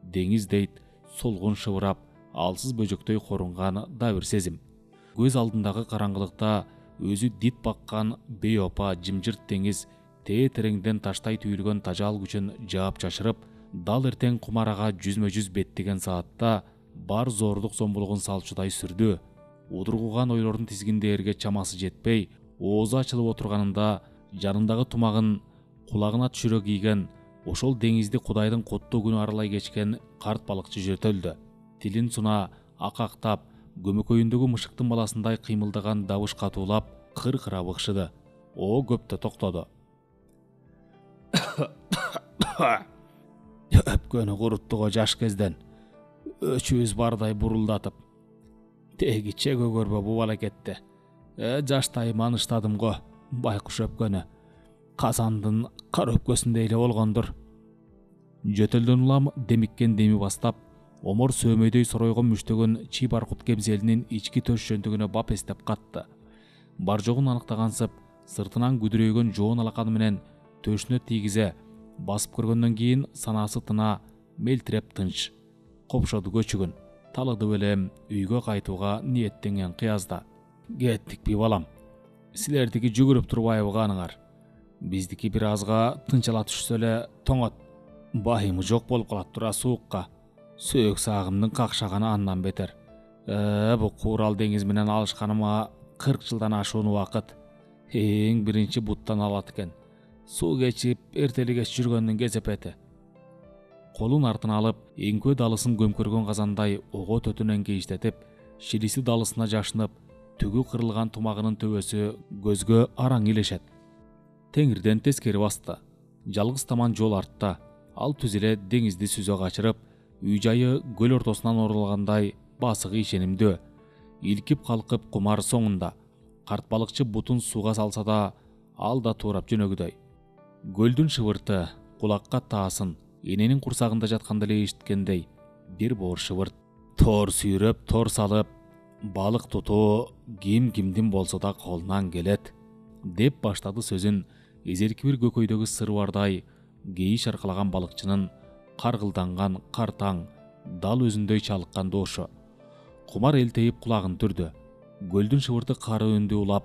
Деңиз дейт солгун шыбырап, алсыз бөжөктөй корунган да бир сезим. Көз алдындагы караңгылыкта өзү дит баккан бейопа жымжырт деңиз тереңден таштай түйүлгөн тажал күчүн жаап чашырып, дал эртең кумарага жүзмө-жүз беттеген саатта бар зордук зомбулугун салчудай сүрдү. Удургуган ойлордун тизгинде эрге чамасы жетпей, оозу ачылып отурганында жанындагы тумагын кулагына түшүрө кийген, ошол деңизди кудайдын коттуу күнү аралай кечкен карт балыкчы жөтөлдү. Тилин суна акактап, көмөкөйүндөгү мышыктын баласындай кыймылдаган добуш катуулап, кыр-кыра быкшыды. О көптө токтоду. Өпкөнү куруттуго жаш кезден, өчүбүз бардай бурулдатып. Тегиче көгөрбө бу балакетти. Жаштайым аныштадым го, байкуш өпкөнү. Казандын кар өпкөсүндөй эле болгондур. Жөтөлдөн улам демиккен деми бастап, омор сөөмөйдөй соройгон мүштөгөн чи баркут кемзелинин ички төш жөнтүгүнө бап эстеп катты. Бар жогун аныктагансып, сыртынан күдүрөйгөн жоон алаканы менен төшүнө тийгизе, басып көргөндөн кийин санаасы тына, мелтиреп тынч. Копшоду көчүгүн, талыды белем, үйгө кайтууга ниеттенген кыязда. Кеттикпи балам? Силердики жүгүрүп турбайбы каныңар? Биздики бир азга тынчала түшсө эле тоңот. Байымы жок болуп калат тура суукка. Сөөк сагымдын какшаганы андан бетер. Бу Курал деңиз менен алышканыма 40 жылдан ашуун убакыт. Эң биринчи буттан алат экен. Суу кечип, эртели кеч жүргөндүн кесепети. Колун артына алып, эңкөө далысын көмкөргөн казандай ого төтүнөн кейиштетип, шилиси далысына жашынып, түгү кырылган тумагынын төбөсү көзгө араң илешет. Теңирден тескери басты. Жалгыз таман жол артта. Ал түз эле деңизди сүзө качырып, үй жайы көл ортосунан орулгандай басыгы ишенимдүү. Илкип калкып кумар соңунда. Карт балыкчы бутун сууга салса да, ал да туурап жөнөгүдөй. Көлдүн шыбырты кулакка таасын, эненин курсагында жатканда эле эшиткендей бир боор шыбырт. Тор сүйрөп, тор салып, балык тутуу ким кимдин болсо да колунан келет, деп баштады сөзүн эзерки бир көкөйдөгү сырбардай кейиш аркалаган балыкчынын каргылданган картаң дал өзүндөй чалыккан доошу. Кумар элтейип кулагын түрдү. Көлдүн шыбырты кары үндүү улап,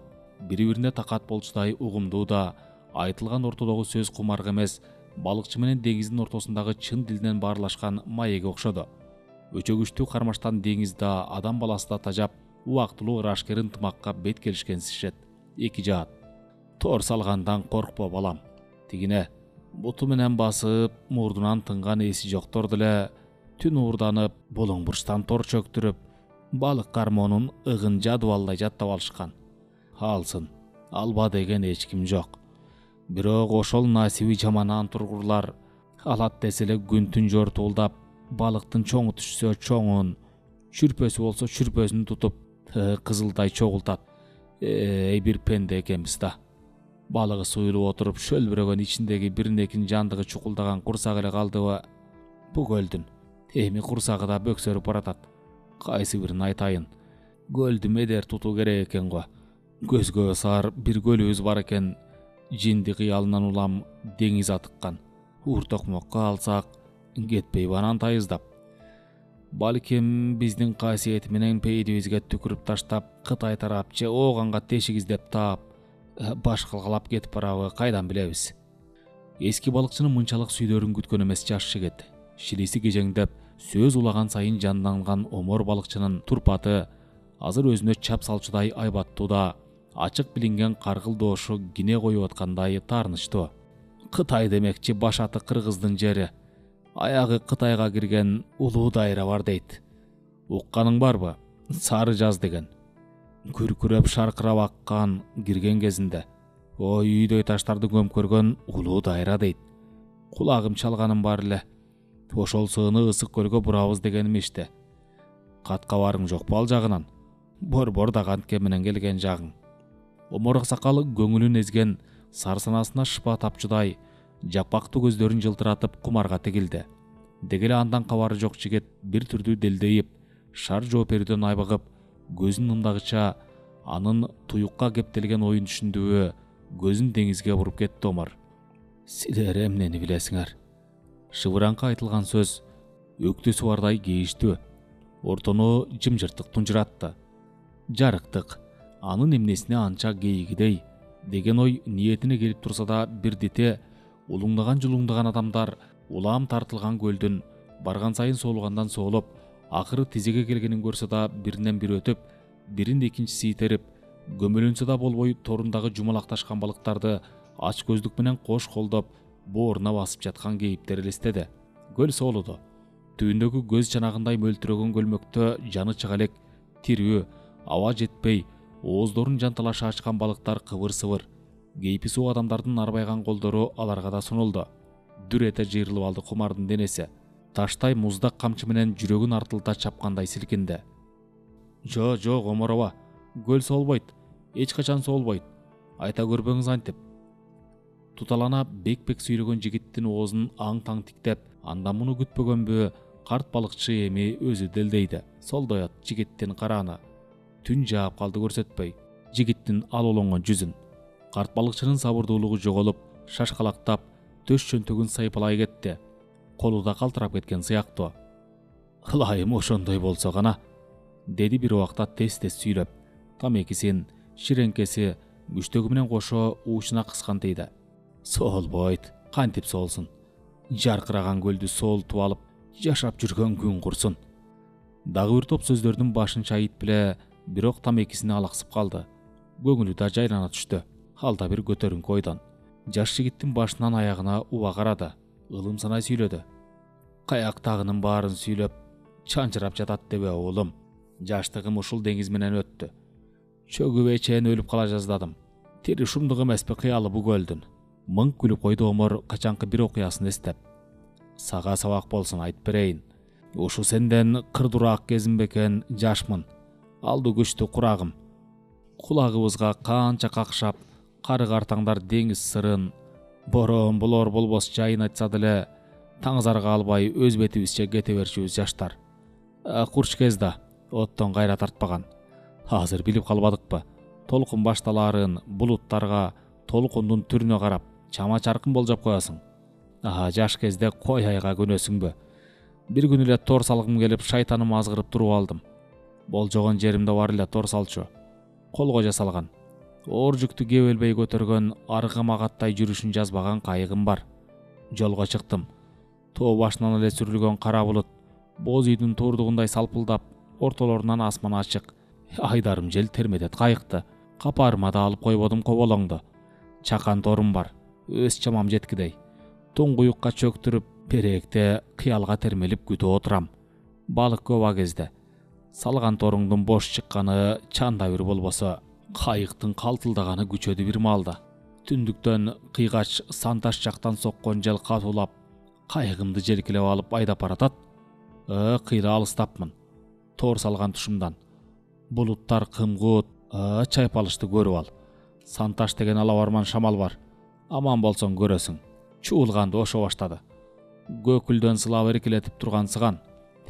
бири-бирине такат болчудай угумдуу да, айтылган ортодогу сөз кумарга эмес, балыкчы менен деңиздин ортосундагы чын дилинен баарлашкан маекке окшоду. Өчөгүчтүү кармаштан деңиз да, адам баласы да тажап, убактылуу ырашкер ынтымакка бет келишкенсишет. Эки жаат. Тор салгандан коркпо балам. Тигине буту менен басып, мурдунан тынган эси жоктор деле түн уурданып, болоң бурчтан тор чөктүрүп, балык кармоонун ыгын жадыбалдай жаттап алышкан. Алсын, алба деген эч ким жок. Бирок ошол насиби жаман антургурлар алат десе эле күн-түн жортуулдап, балыктын чоңу түшсө чоңун, чүрпөсү болсо чүрпөсүн тутуп, кызылдай чогултат. Бир пенде экенбиз да. Балыгы суюлуп отуруп, шөлбүрөгөн ичиндеги биринекин жандыгы чукулдаган курсак эле калдыбы бу көлдүн. Эми курсагы да бөксөрүп баратат. Кайсы бирин айтайын? Көлдү медер тутуу керек экен го. Көзгө саар бир көлүбүз бар экен. Жинди кыялынан улам деңиз атыккан. Уртокмокко алсак, кетпей банан тайыздап. Балким биздин касиети менен пейдибизге түкүрүп таштап, Кытай тарап же ооганга тешик издеп таап, баш калгалап кетип барабы, кайдан билебиз? Эски балыкчынын мынчалык сүйдөрүн күткөн эмес жаш жигит. Шилиси кежеңдеп, сөз улаган сайын жанданган омор балыкчынын турпаты азыр өзүнө чап салчудай айбаттуу да, ачык билинген каргыл доошу кине коюп аткандай таарынычтуу. Кытай демекчи башаты кыргыздын жери. Аягы Кытайга кирген улуу дайра бар дейт. Укканың барбы? Сары жаз деген. Күркүрөп шаркырап аккан кирген кезинде. Ой, үйдөй таштарды көмкөргөн улуу дайра дейт. Кулагым чалганым бар эле. Ошол сыыны ысык көлгө бурабыз дегеним иште. Катка барың жокпу ал жагынан? Борбор да кантке менен келген жагың. Омор аксакал көңүлүн эзген сарсанасына шыпа тапчудай жапактуу көздөрүн жылтыратып кумарга тигилди. Дегеле андан кабары жок жигит бир түрдүү делдейип, шар жооп берүүдөн айбыгып, көзүн ымдагыча анын туюкка кептелген оюн түшүндүбү, көзүн деңизге буруп кетти Омар. Силер эмнени билесиңер? Шыбыраңкы айтылган сөз өктүсү бардай кейиштүү. Ортону жымжырттык тунжуратты. Жарыктык, анын эмнесине анча кейигидей деген ой ниетине келип турса да, бирдите улуңдаган жулуңдаган адамдар улам тартылган көлдүн барган сайын соолугандан соолуп, акыры тизеге келгенин көрсө да биринен бири өтүп, бирин экинчиси итерип, көмөлөнсө да болбой торундагы жумалакташкан балыктарды ач көздүк менен кош колдоп бооруна басып жаткан кейиптер элестеди. Көл соолуду. Түбүндөгү көз чанагындай мөлтүрөгөн көлмөктө жаны чыга элек, тирүү, аба жетпей, ооздорун жанталаша ачкан балыктар кыбыр-сыбыр. Кейпи суу адамдардын арбайган колдору аларга да сунулду. Дүр эте жыйрылып алды Кумардын денеси. Таштай муздак камчы менен жүрөгүн артылта чапкандай силкинди. Жок, Омар аба. Көл соолбойт. Эч качан соолбойт. Айта көрбөңүз антип. Туталана бек-бек сүйлөгөн жигиттин оозун аң-таң тиктеп, андан муну күтпөгөнбү, карт балыкчы эми өзү делдейди. Солдоят жигиттин карааны. Түн жаап калды көрсөтпөй. Жигиттин алолоңгон жүзүн. Карт балыкчынын сабырдуулугу жоголуп, шашкалактап, төш чөнтөгүн сайпалай кетти. Колу да калтырап кеткен сыяктуу. Ылайым ошондой болсо гана, деди бир убакта тез-тез сүйлөп. Тамекисин, ширеңкеси, мүчтөгү менен кошо уучуна кыскантыйды. Соолбойт, кантип соолсун. Жаркыраган көлдү соолтуп алып, жашап жүргөн күн курсун. Дагы бир топ сөздөрдүн башын чайып беле, бирок тамекисине алаксып калды. Көңүлү да жайлана түштү. Ал да бир көтөрүңкү ойдон. Жаш жигиттин башынан аягына уба карады. Ылым санай сүйлөдү. Каяктагынын баарын сүйлөп, чанчырап жатат дебе уулум. Жаштыгым ушул деңиз менен өттү. Чөгүп чейин өлүп кала жаздадым. Тери шумдук эмеспи кыялы бу көлдүн. Мыңк күлүп койду Омор качанкы бир окуясын эстеп. Сага сабак болсун айтып берейин. Ушу сенден кырдураак кезим бекен, жашмын. Алды күчтүү курагым. Кулагыбызга канча какшап, кары картаңдар деңиз сырын, борон болор болбос жайын айтса деле, таңзарга албай өз бетибизче кете берчүбүз жаштар. Курч кез да оттон кайра тартпаган. Азыр билип калбадыкпы? Толкун башталаарын булуттарга, толкундун түрүнө карап, чама чаркын болжоп коесуң. Жаш кезде кой айга көнөсүңбү? Бир күн эле тор салгым келип, шайтаным азгырып туруп алдым. Болжогон жеримде бар эле тор салчу. Колго жасалган. Оор жүктү кебелбей көтөргөн, аргамагаттай жүрүшүн жазбаган кайыгым бар. Жолго чыктым. Тоо башынан эле сүрүлгөн кара булут, боз үйдүн турдугундай салпылдап, ортолорунан асман ачык. Айдарым жел термедет кайыкты. Капарыма да алып койбодум коболоңду. Чакан торум бар. Өз чамам жеткидей. Туңгуюкка чөктүрүп, перекте кыялга термелип күтүп отурам. Балык көп а кезде. Салган торуңдун бош чыкканы чанда бир болбосо, кайыктын калтылдаганы күчөдү бир маалда. Түндүктөн кыйгач Санташ жактан соккон жел катуулап, кайыгымды желкелеп алып айдап баратат. Кыйла алыстапмын. Тор салган тушумдан. Булуттар кымгут, чайпалышты көрүп ал. Санташ деген алабарман шамал бар. Аман болсоң көрөсүң. Чуулганды ошо баштады. Көкүлдөн сылап эркелетип тургансыган.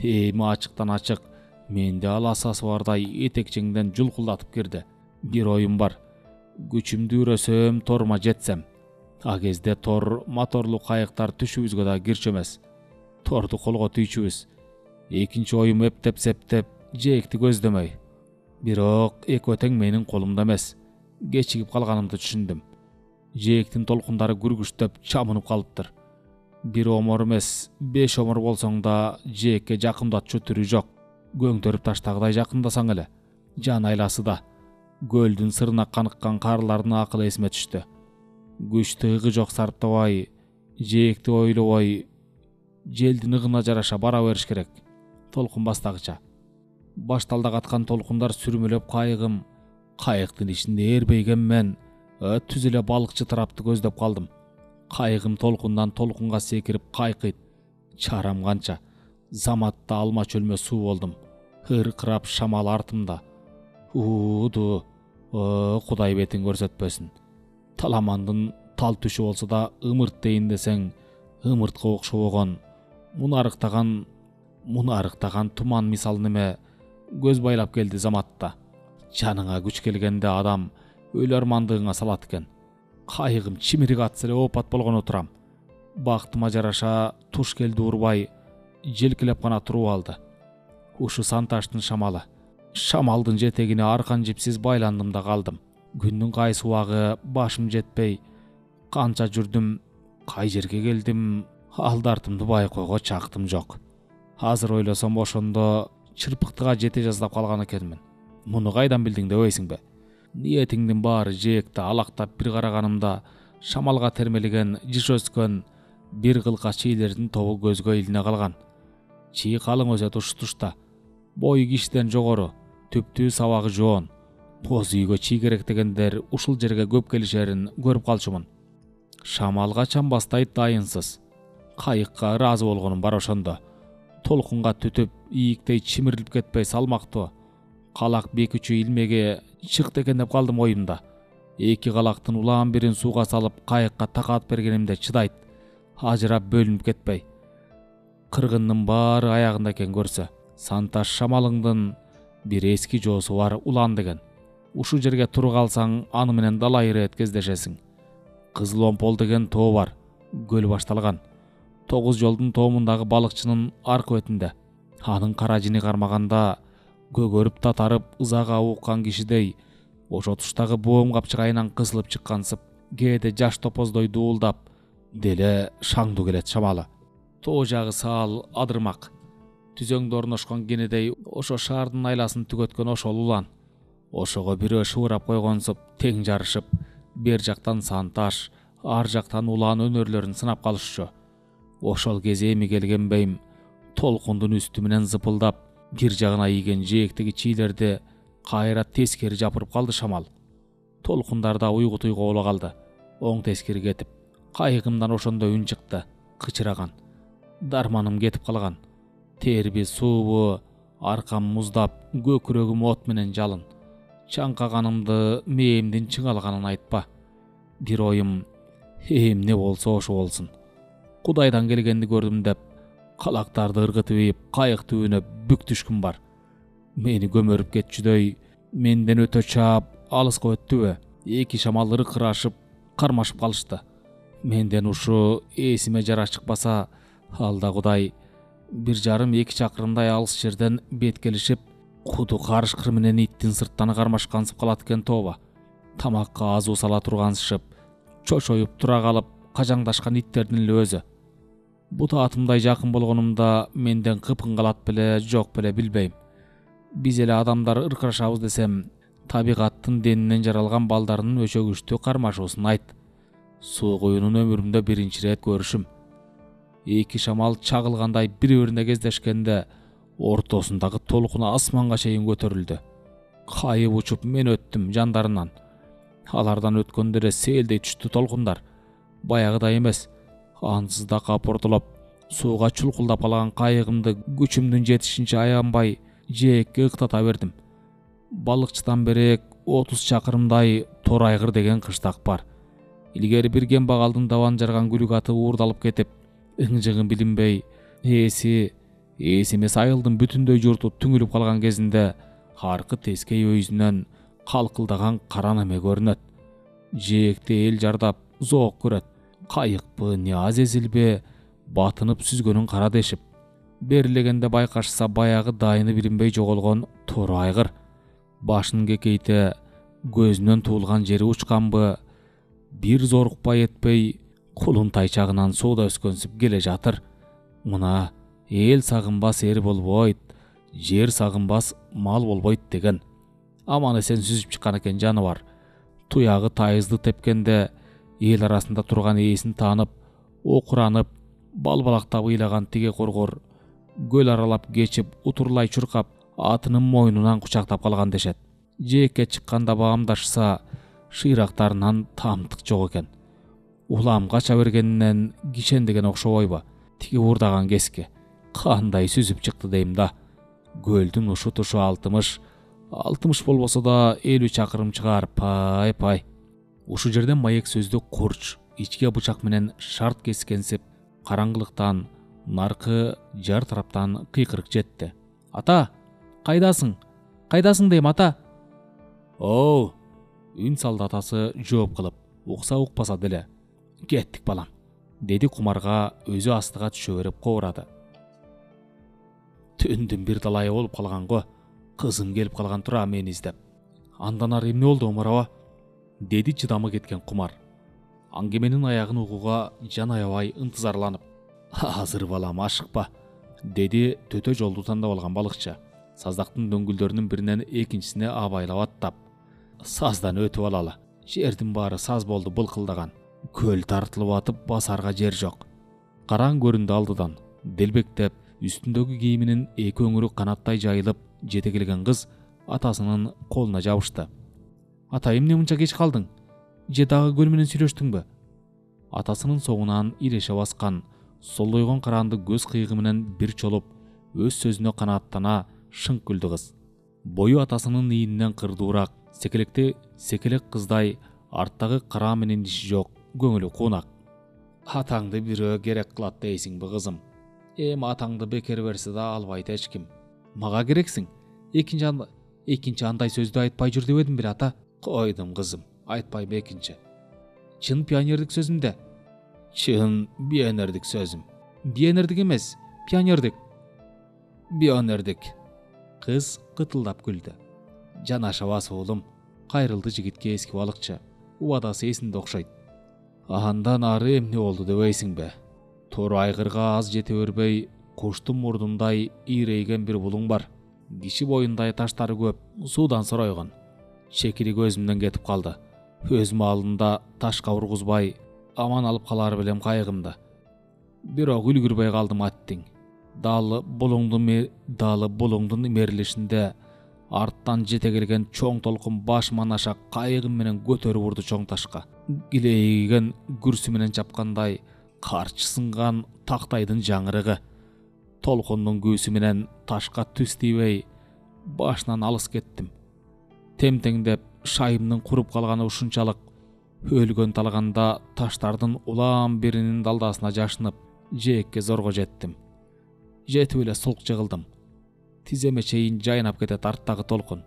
Эми ачыктан ачык, менде аласасы бардай этекчеңден жулкулдатып кирди. Бир оюм бар. Күчүмдү үрөсөм, торма жетсем. А кезде тор моторлуу кайыктар түшүбүзгө да кирчү эмес. Торду колго түйчүбүз. Экинчи оюм эптеп-септеп, жээкти көздөмөй. Бирок экөө тең менин колумда эмес. Кечигип калганымды түшүндүм. Жээктин толкундары күргүчтөп чамынып калыптыр. Бир омор эмес, 5 омор болсоң да жээкке жакындатчу түрү жок. Көңтөрүп таштагыдай жакындасаң эле. Жан айласы да. Көлдүн сырына каныккан карлардын акылы эсиме түштү. Күчтү ыгы жок сарптабай, жээкти ойлобой, желдин ыгына жараша бара бериш керек. Толкун бастагыча. Башталда каткан толкундар сүрмөлөп кайыктын ичинде эрбейген мен түз эле балыкчы тарапты көздөп калдым. Кайыгым толкундан толкунга секирип кайкыйт. Чарам канча. Заматта алма чөлмө суу болдум. Ыркырап шамал артымда. Ууду. Кудай бетин көрсөтпөсүн. Таламандын тал түшү болсо да ымырт дейин десең, ымыртка окшобогон, мунарыктаган туман мисал неме көз байлап келди заматта. Жаныңа күч келгенде адам өлө армандыгыңа салат экен. Кайыгым чимирик атса эле опат болгоно турам. Бактыма жараша туш келди урбай, желкелеп гана туруп алды. Ушу Санташтын шамалы. Шамалдын жетегине аркан жипсиз байландым да калдым. Күндүн кайсы убагы башым жетпей, канча жүрдүм, кай жерге келдим, алдартымды байкоого чактым жок. Азыр ойлосом ошондо чырпыктыга жете жаздап калган экенмин. Муну кайдан билдиң дебейсиңби? Ниетиңдин баары жээкте алактап бир караганымда шамалга термелеген жыш өскөн бир кылка чийлердин тобу көзгө илине калган. Чий калың өсөт ушу тушта. Бою кишиден жогору, түптүү сабагы жоон. Боз үйгө чий керек дегендер ушул жерге көп келишерин көрүп калчумун. Шамалга чамбастайт дайынсыз. Кайыкка ыраазы болгонум бар ошондо. Толкунга түтүп, ийиктей чимирилип кетпей салмактуу. Калак бекүчү илмеге чыкты экен деп калдым оюмда. 2 калактын улаан бирин сууга салып кайыкка такаат бергенимде чыдайт. Ажырап бөлүнүп кетпей. Кыргындын баары аягында экен көрсө. Санташ шамалыңдын бир эски жоосу бар улан деген. Ушу жерге туруп калсаң, аны менен далай ирет кездешесиң. Кызыл Омпол деген тоо бар. Көл башталган. 9 жолдун тоомундагы балыкчынын аркы бетинде. Анын кара жини кармаганда көгөрүп татарып ызага ууккан кишидей ошо туштагы боом капчыгайынан кысылып чыккансып, кээде жаш топоздой дуулдап, деле шаңдуу келет шамалы. Тоо жагы саал адырмак. Түзөңдө орношкон кенедей ошо шаардын айласын түгөткөн ошол улан. Ошого бирөө шыбырап койгонсуп тең жарышып, бер жактан санташ, ар жактан улан өнөрлөрүн сынап калышчу. Ошол кез эми келген бейим толкундун үстү менен зыпылдап, бир жагына ийген жээктеги чийлерди кайра тескери жапырып калды шамал. Толкундарда уйгутуйга боло калды. Оң тескери кетип, кайыгымдан ошондо үн чыкты, кычыраган. Дарманым кетип калган. Терби суубу, аркам муздап, көкүрөгүм от менен жалын. Чаңкаганымды мээмдин чыңалганын айтпа. Бир оюм, эмне болсо ошо болсун. Кудайдан келгенди көрдүм деп, калактарды ыргытып ийип, кайык түбүнө бүк түшкүн бар. Мени көмөрүп кетчүдөй, менден өтө чаап, алыска өттүбү? Эки шамал ыркырашып, кармашып калышты. Менден ушу эсиме жара чыкпаса, алда Кудай 1,5-2 чакырымдай алыс жерден беткелишип, куду карышкыр менен иттин сырттан кармашкансып калат экен тооба. Тамакка азуу сала тургансышып, чочоюп тура калып, кажаңдашкан иттердин эле өзү. Бутаатымдай жакын болгонумда менден кыпкын калат беле, жок беле билбейм. Биз эле адамдар ыркырашабыз десем, табигаттын денинен жаралган балдарынын өчөгүчтүү кармашуусун айт. Суу куюнун өмүрүмдө биринчи ирет көрүшүм. Эки шамал чагылгандай бири-бирине кездешкенде, ортосундагы толкун асманга чейин көтөрүлдү. Кайып учуп мен өттүм жандарынан. Алардан өткөндө эле селдей түштү толкундар. Баягыдай эмес, ансыз да капортолоп, сууга чулкулдап калган кайыгымды күчүмдүн жетишинче аянбай жээкке ыктата бердим. Балыкчыдан берек 30 чакырымдай Торайгыр деген кыштак бар. Илгери бир кембагалдын dabан жарган күлүк аты уурдалып кетип, ыңжыгын билинбей, эсиме сайылдын бүтүндөй журту түңүлүп калган кезинде, аркы тескей өйүзүнөн калкылдаган кара неме көрүнөт. Жээкте эл жардап, зоок көрөт. Кайыкпы, Ниаз эзилбе, батынып сүзгөнүн кара дешип. Берилегенде байкашса баягы дайыны билинбей жоголгон Торайгыр. Башын кекейте, көзүнөн туулган жери учканбы, бир зорукпай этпей, кулун тайчагынан сууда өскөнсүп келе жатыр. Мына эл сагынбас эр болбойт, жер сагынбас мал болбойт деген. Аман эсен сүзүп чыккан экен жаныбар. Туягы тайызды тепкенде эл арасында турган ээсин таанып, окуранып, балбалактап ыйлаган тиге коргор көл аралап кечип, утурлай чуркап, атынын мойнунан кучактап калган дешет. Жээкке чыкканда баамдашса, шыйрактарынан тамтык жок экен. Улам кача бергенинен кишендеген окшобойбу? Тиги уурдаган кеске кандай сүзүп чыкты дейм да. Көлдүн ушу тушу 60 болбосо да 50 чакырым чыгар, пай. Ушу жерден маек сөздү курч, ичке бычак менен шарт кескенсип, караңгылыктан наркы жар тараптан кыйкырык жетти. Ата, кайдасың? Кайдасың дейм, ата? Оу, үн салды атасы жооп кылып, укса укпаса деле. Кеттик балам, деди кумарга өзү астыга түшө берип кобурады. Түндүн бир талайы болуп калган го, кызым келип калган тура мени издеп. Андан ары эмне болду омарова? Деди чыдамы кеткен кумар. Аңгеменин аягын угууга жан аябай ынтызарланып. Азыр балам, ашыкпа, деди төтө жолду тандап алган балыкчы. Саздактын дөңгүлдөрүнүн биринен экинчисине абайлап аттап. Саздан өтүп алалы. Жердин баары саз болду былкылдаган. Көл тартылып атып, басарга жер жок. Караң көрүндү алдыдан. Делбектеп, үстүндөгү кийиминин эки өңүрү канаттай жайылып жете келген кыз атасынын колуна жабышты. Ата, эмне мынча кеч калдың? Же дагы көл менен сүйлөштүңбү? Атасынын соңунан иреше баскан, солдойгон каранды көз кыйыгы менен бир чолуп, өз сөзүнө канааттана шыңк күлдү кыз. Бою атасынын ийининен кырдуураак, секелек кыздай, арттагы кара менен иши жок, көңүлү куунак. Атаңды бирөө керек кылат дейсиңби кызым? Эми атаңды бекер берсе да албайт эч ким. Мага керексиң? Экинчи андай сөздү айтпай жүр дебедим бир, ата? Койдум кызым, айтпайм экинчи. Чын пионердик сөзүмдө? Чын пионердик сөзүм. Пионердик эмес, пионердик. Пионердик. Кыз кытылдап күлдү. Жанашабас уулум, кайрылды жигитке эски балыкчы. Убадасы эсинде окшойт. Андан ары эмне болду дебейсиңби? Тор айгырга аз жете бербей, куштун мурдундай ийрейген бир булуң бар. Киши боюндай таштары көп, суудан соройгон. Шекири көзүмдөн кетип калды. Өз маалында ташка ургузбай, аман алып калар белем кайыгымды. Бирок үлгүрбөй калдым аттиң. Далы булуңдун имерилишинде арттан жете келген чоң толкун башыман аша кайыгым менен көтөрүп урду чоң ташка. Илейген күрсү менен чапкандай карчы сынган тактайдын жаңырыгы. Толкундун күүсү менен ташка түз тийбей башынан алыс кеттим. Темтеңдеп шайымдын куруп калганы ушунчалык өлгөн талганда таштардын улам биринин далдасына жашынып, жээкке зорго жеттим. Жетип эле сулк жыгылдым. Тиземе чейин жайнап кетет арттагы толкун.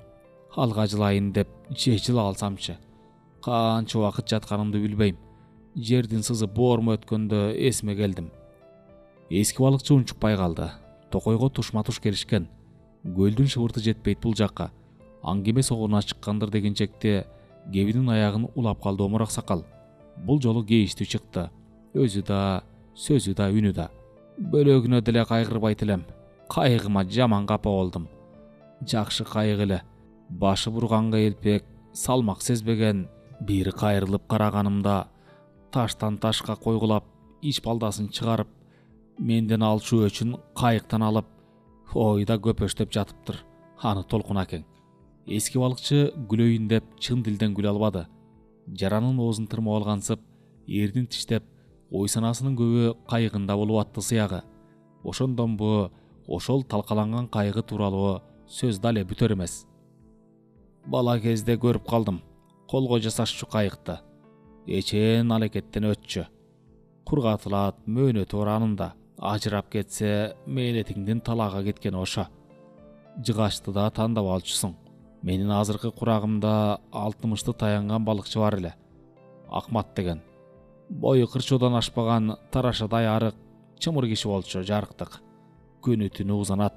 Алга жылайын деп жыла алсамчы. Канча убакыт жатканымды билбейм. Жердин сызы боормо өткөндө эсиме келдим. Эски балыкчы унчукпай калды. Токойго тушма-туш келишкен. Көлдүн шыбырты жетпейт бул жакка. Аңгеме согууна чыккандыр дегенчекте кебинин аягын улап калды омур аксакал. Бул жолу кейиштүү чыкты. Өзү да, сөзү да, үнү да. Бөлөгүнө деле кайгырбайт элем. Кайыгыма жаман капа болдум. Жакшы кайык эле. Башы бурганга элпек, салмак сезбеген. Бири кайрылып караганымда таштан ташка койгулап, ич балдасын чыгарып, менден алчу өчүн кайыктан алып, ойда көпөштөп жатыптыр аны толкун акең. Эски балыкчы күлөйүн деп чын дилден күлө албады. Жаранын оозун тырмап алгансып, эрдин тиштеп, ой санасынын көбү кайыгында болуп атты сыягы. Ошондон бу ошол талкаланган кайыгы тууралуу сөз дале бүтөр эмес. Бала кезде көрүп калдым. Колго жасашчу кайыкты. Эчен алекеттен өтчү. Кургатылат, мөөнөтү бар анында. Ажырап кетсе, мээлетиңдин талаага кеткени ошо. Жыгачты да тандап алчусуң. Менин азыркы курагымда 60 таянган балыкчы бар эле. Акмат деген. Бою кырчуудан ашпаган тарашадай арык, чымыр киши болчу, жарыктык. Күнү түнү узанат.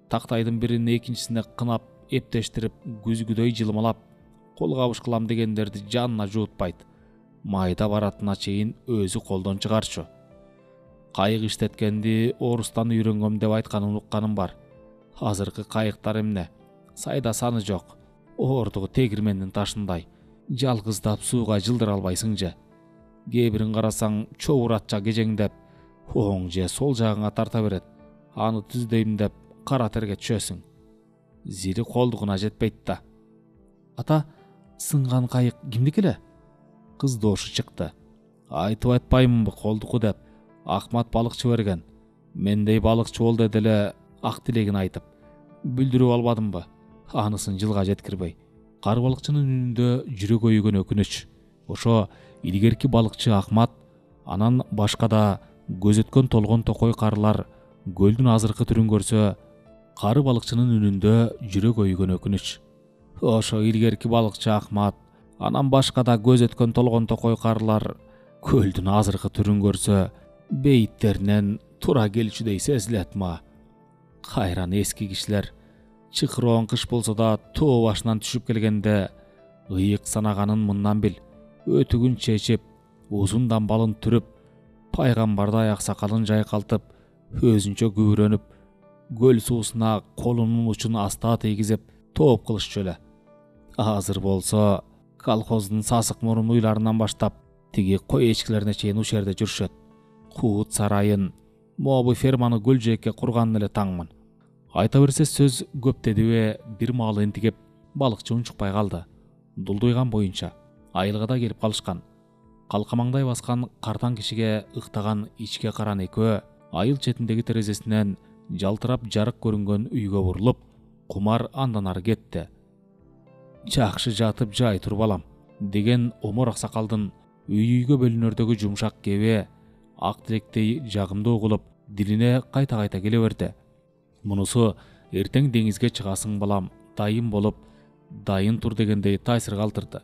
Тактайдын бирин экинчисине кынап, эптештирип, күзгүдөй жылмалап, кол кабыш кылам дегендерди жанына жуутпайт. Майда баратына чейин өзү колдон чыгарчу. Кайык иштеткенди орустан үйрөнгөм деп айтканын укканым бар. Азыркы кайыктар эмне? Сайда саны жок. Оордугу тегирмендин ташындай. Жалгыздап сууга жылдыра албайсың же. Кээ бирин карасаң чобуратча кежеңдеп, оң же сол жагыңа тарта берет. Аны түздөйм деп кара терге түшөсүң. Зили колдугуна жетпейт да. Ата, сынган кайык кимдики эле? Кыз доошу чыкты. Айтып атпаймынбы колдуку деп. Акмат балыкчы берген. Мендей балыкчы бол деди эле ак тилегин айтып. Бүлдүрүп албадымбы? Анысын жылга жеткирбей. Кар балыкчынын үнүндө жүрөк өйгөн өкүнүч. Ошо илгерки балыкчы Акмат, анан башка да көзөткөн толгон токой карылар көлдүн азыркы түрүн көрсө, кары балыкчынын үнүндө жүрөк өйгөн өкүнүч. Ошо илгерки балыкчы Акмат, анан башка да көзөткөн толгон токой карылар көлдүн азыркы түрүн көрсө, бейиттеринен тура келчүдөй сезилет ма. Кайран эски кишилер чыкыроон кыш болсо да тоо башынан түшүп келгенде ыйык санаганын мындан бил. Өтүгүн чечип, узун дамбалын түрүп, пайгамбардай аксакалын жайкалтып, өзүнчө күбүрөнүп, көл суусуна колунун учун аста тийгизип тооп кылышчу эле. Азыр болсо колхоздун сасык мурун уйларынан баштап тиги кой эчкилерине чейин ушерде жүрүшөт. Куут сарайын, могу ферманы гүл жээкке курганын эле таңмын. Айта берсе сөз көп дедибе, бир маал энтигип балыкчы унчукпай калды. Дулдуйган боюнча айылгада келип калышкан. Калкамаңдай баскан картаң кишиге ыктаган ичке каран экөө айыл четиндеги терезесинен жалтырап жарык көрүнгөн үйгө бурулуп, кумар андан ары кетти. Жакшы жатып жай тур балам деген омор аксакалдын үй-үйгө бөлүнөрдөгү жумшак кебе ак тилектей жагымдуу угулуп, дилине кайта-кайта келе берди. Мунусу эртең деңизге чыгасың балам, дайын болуп, дайын тур дегендей таасир калтырды.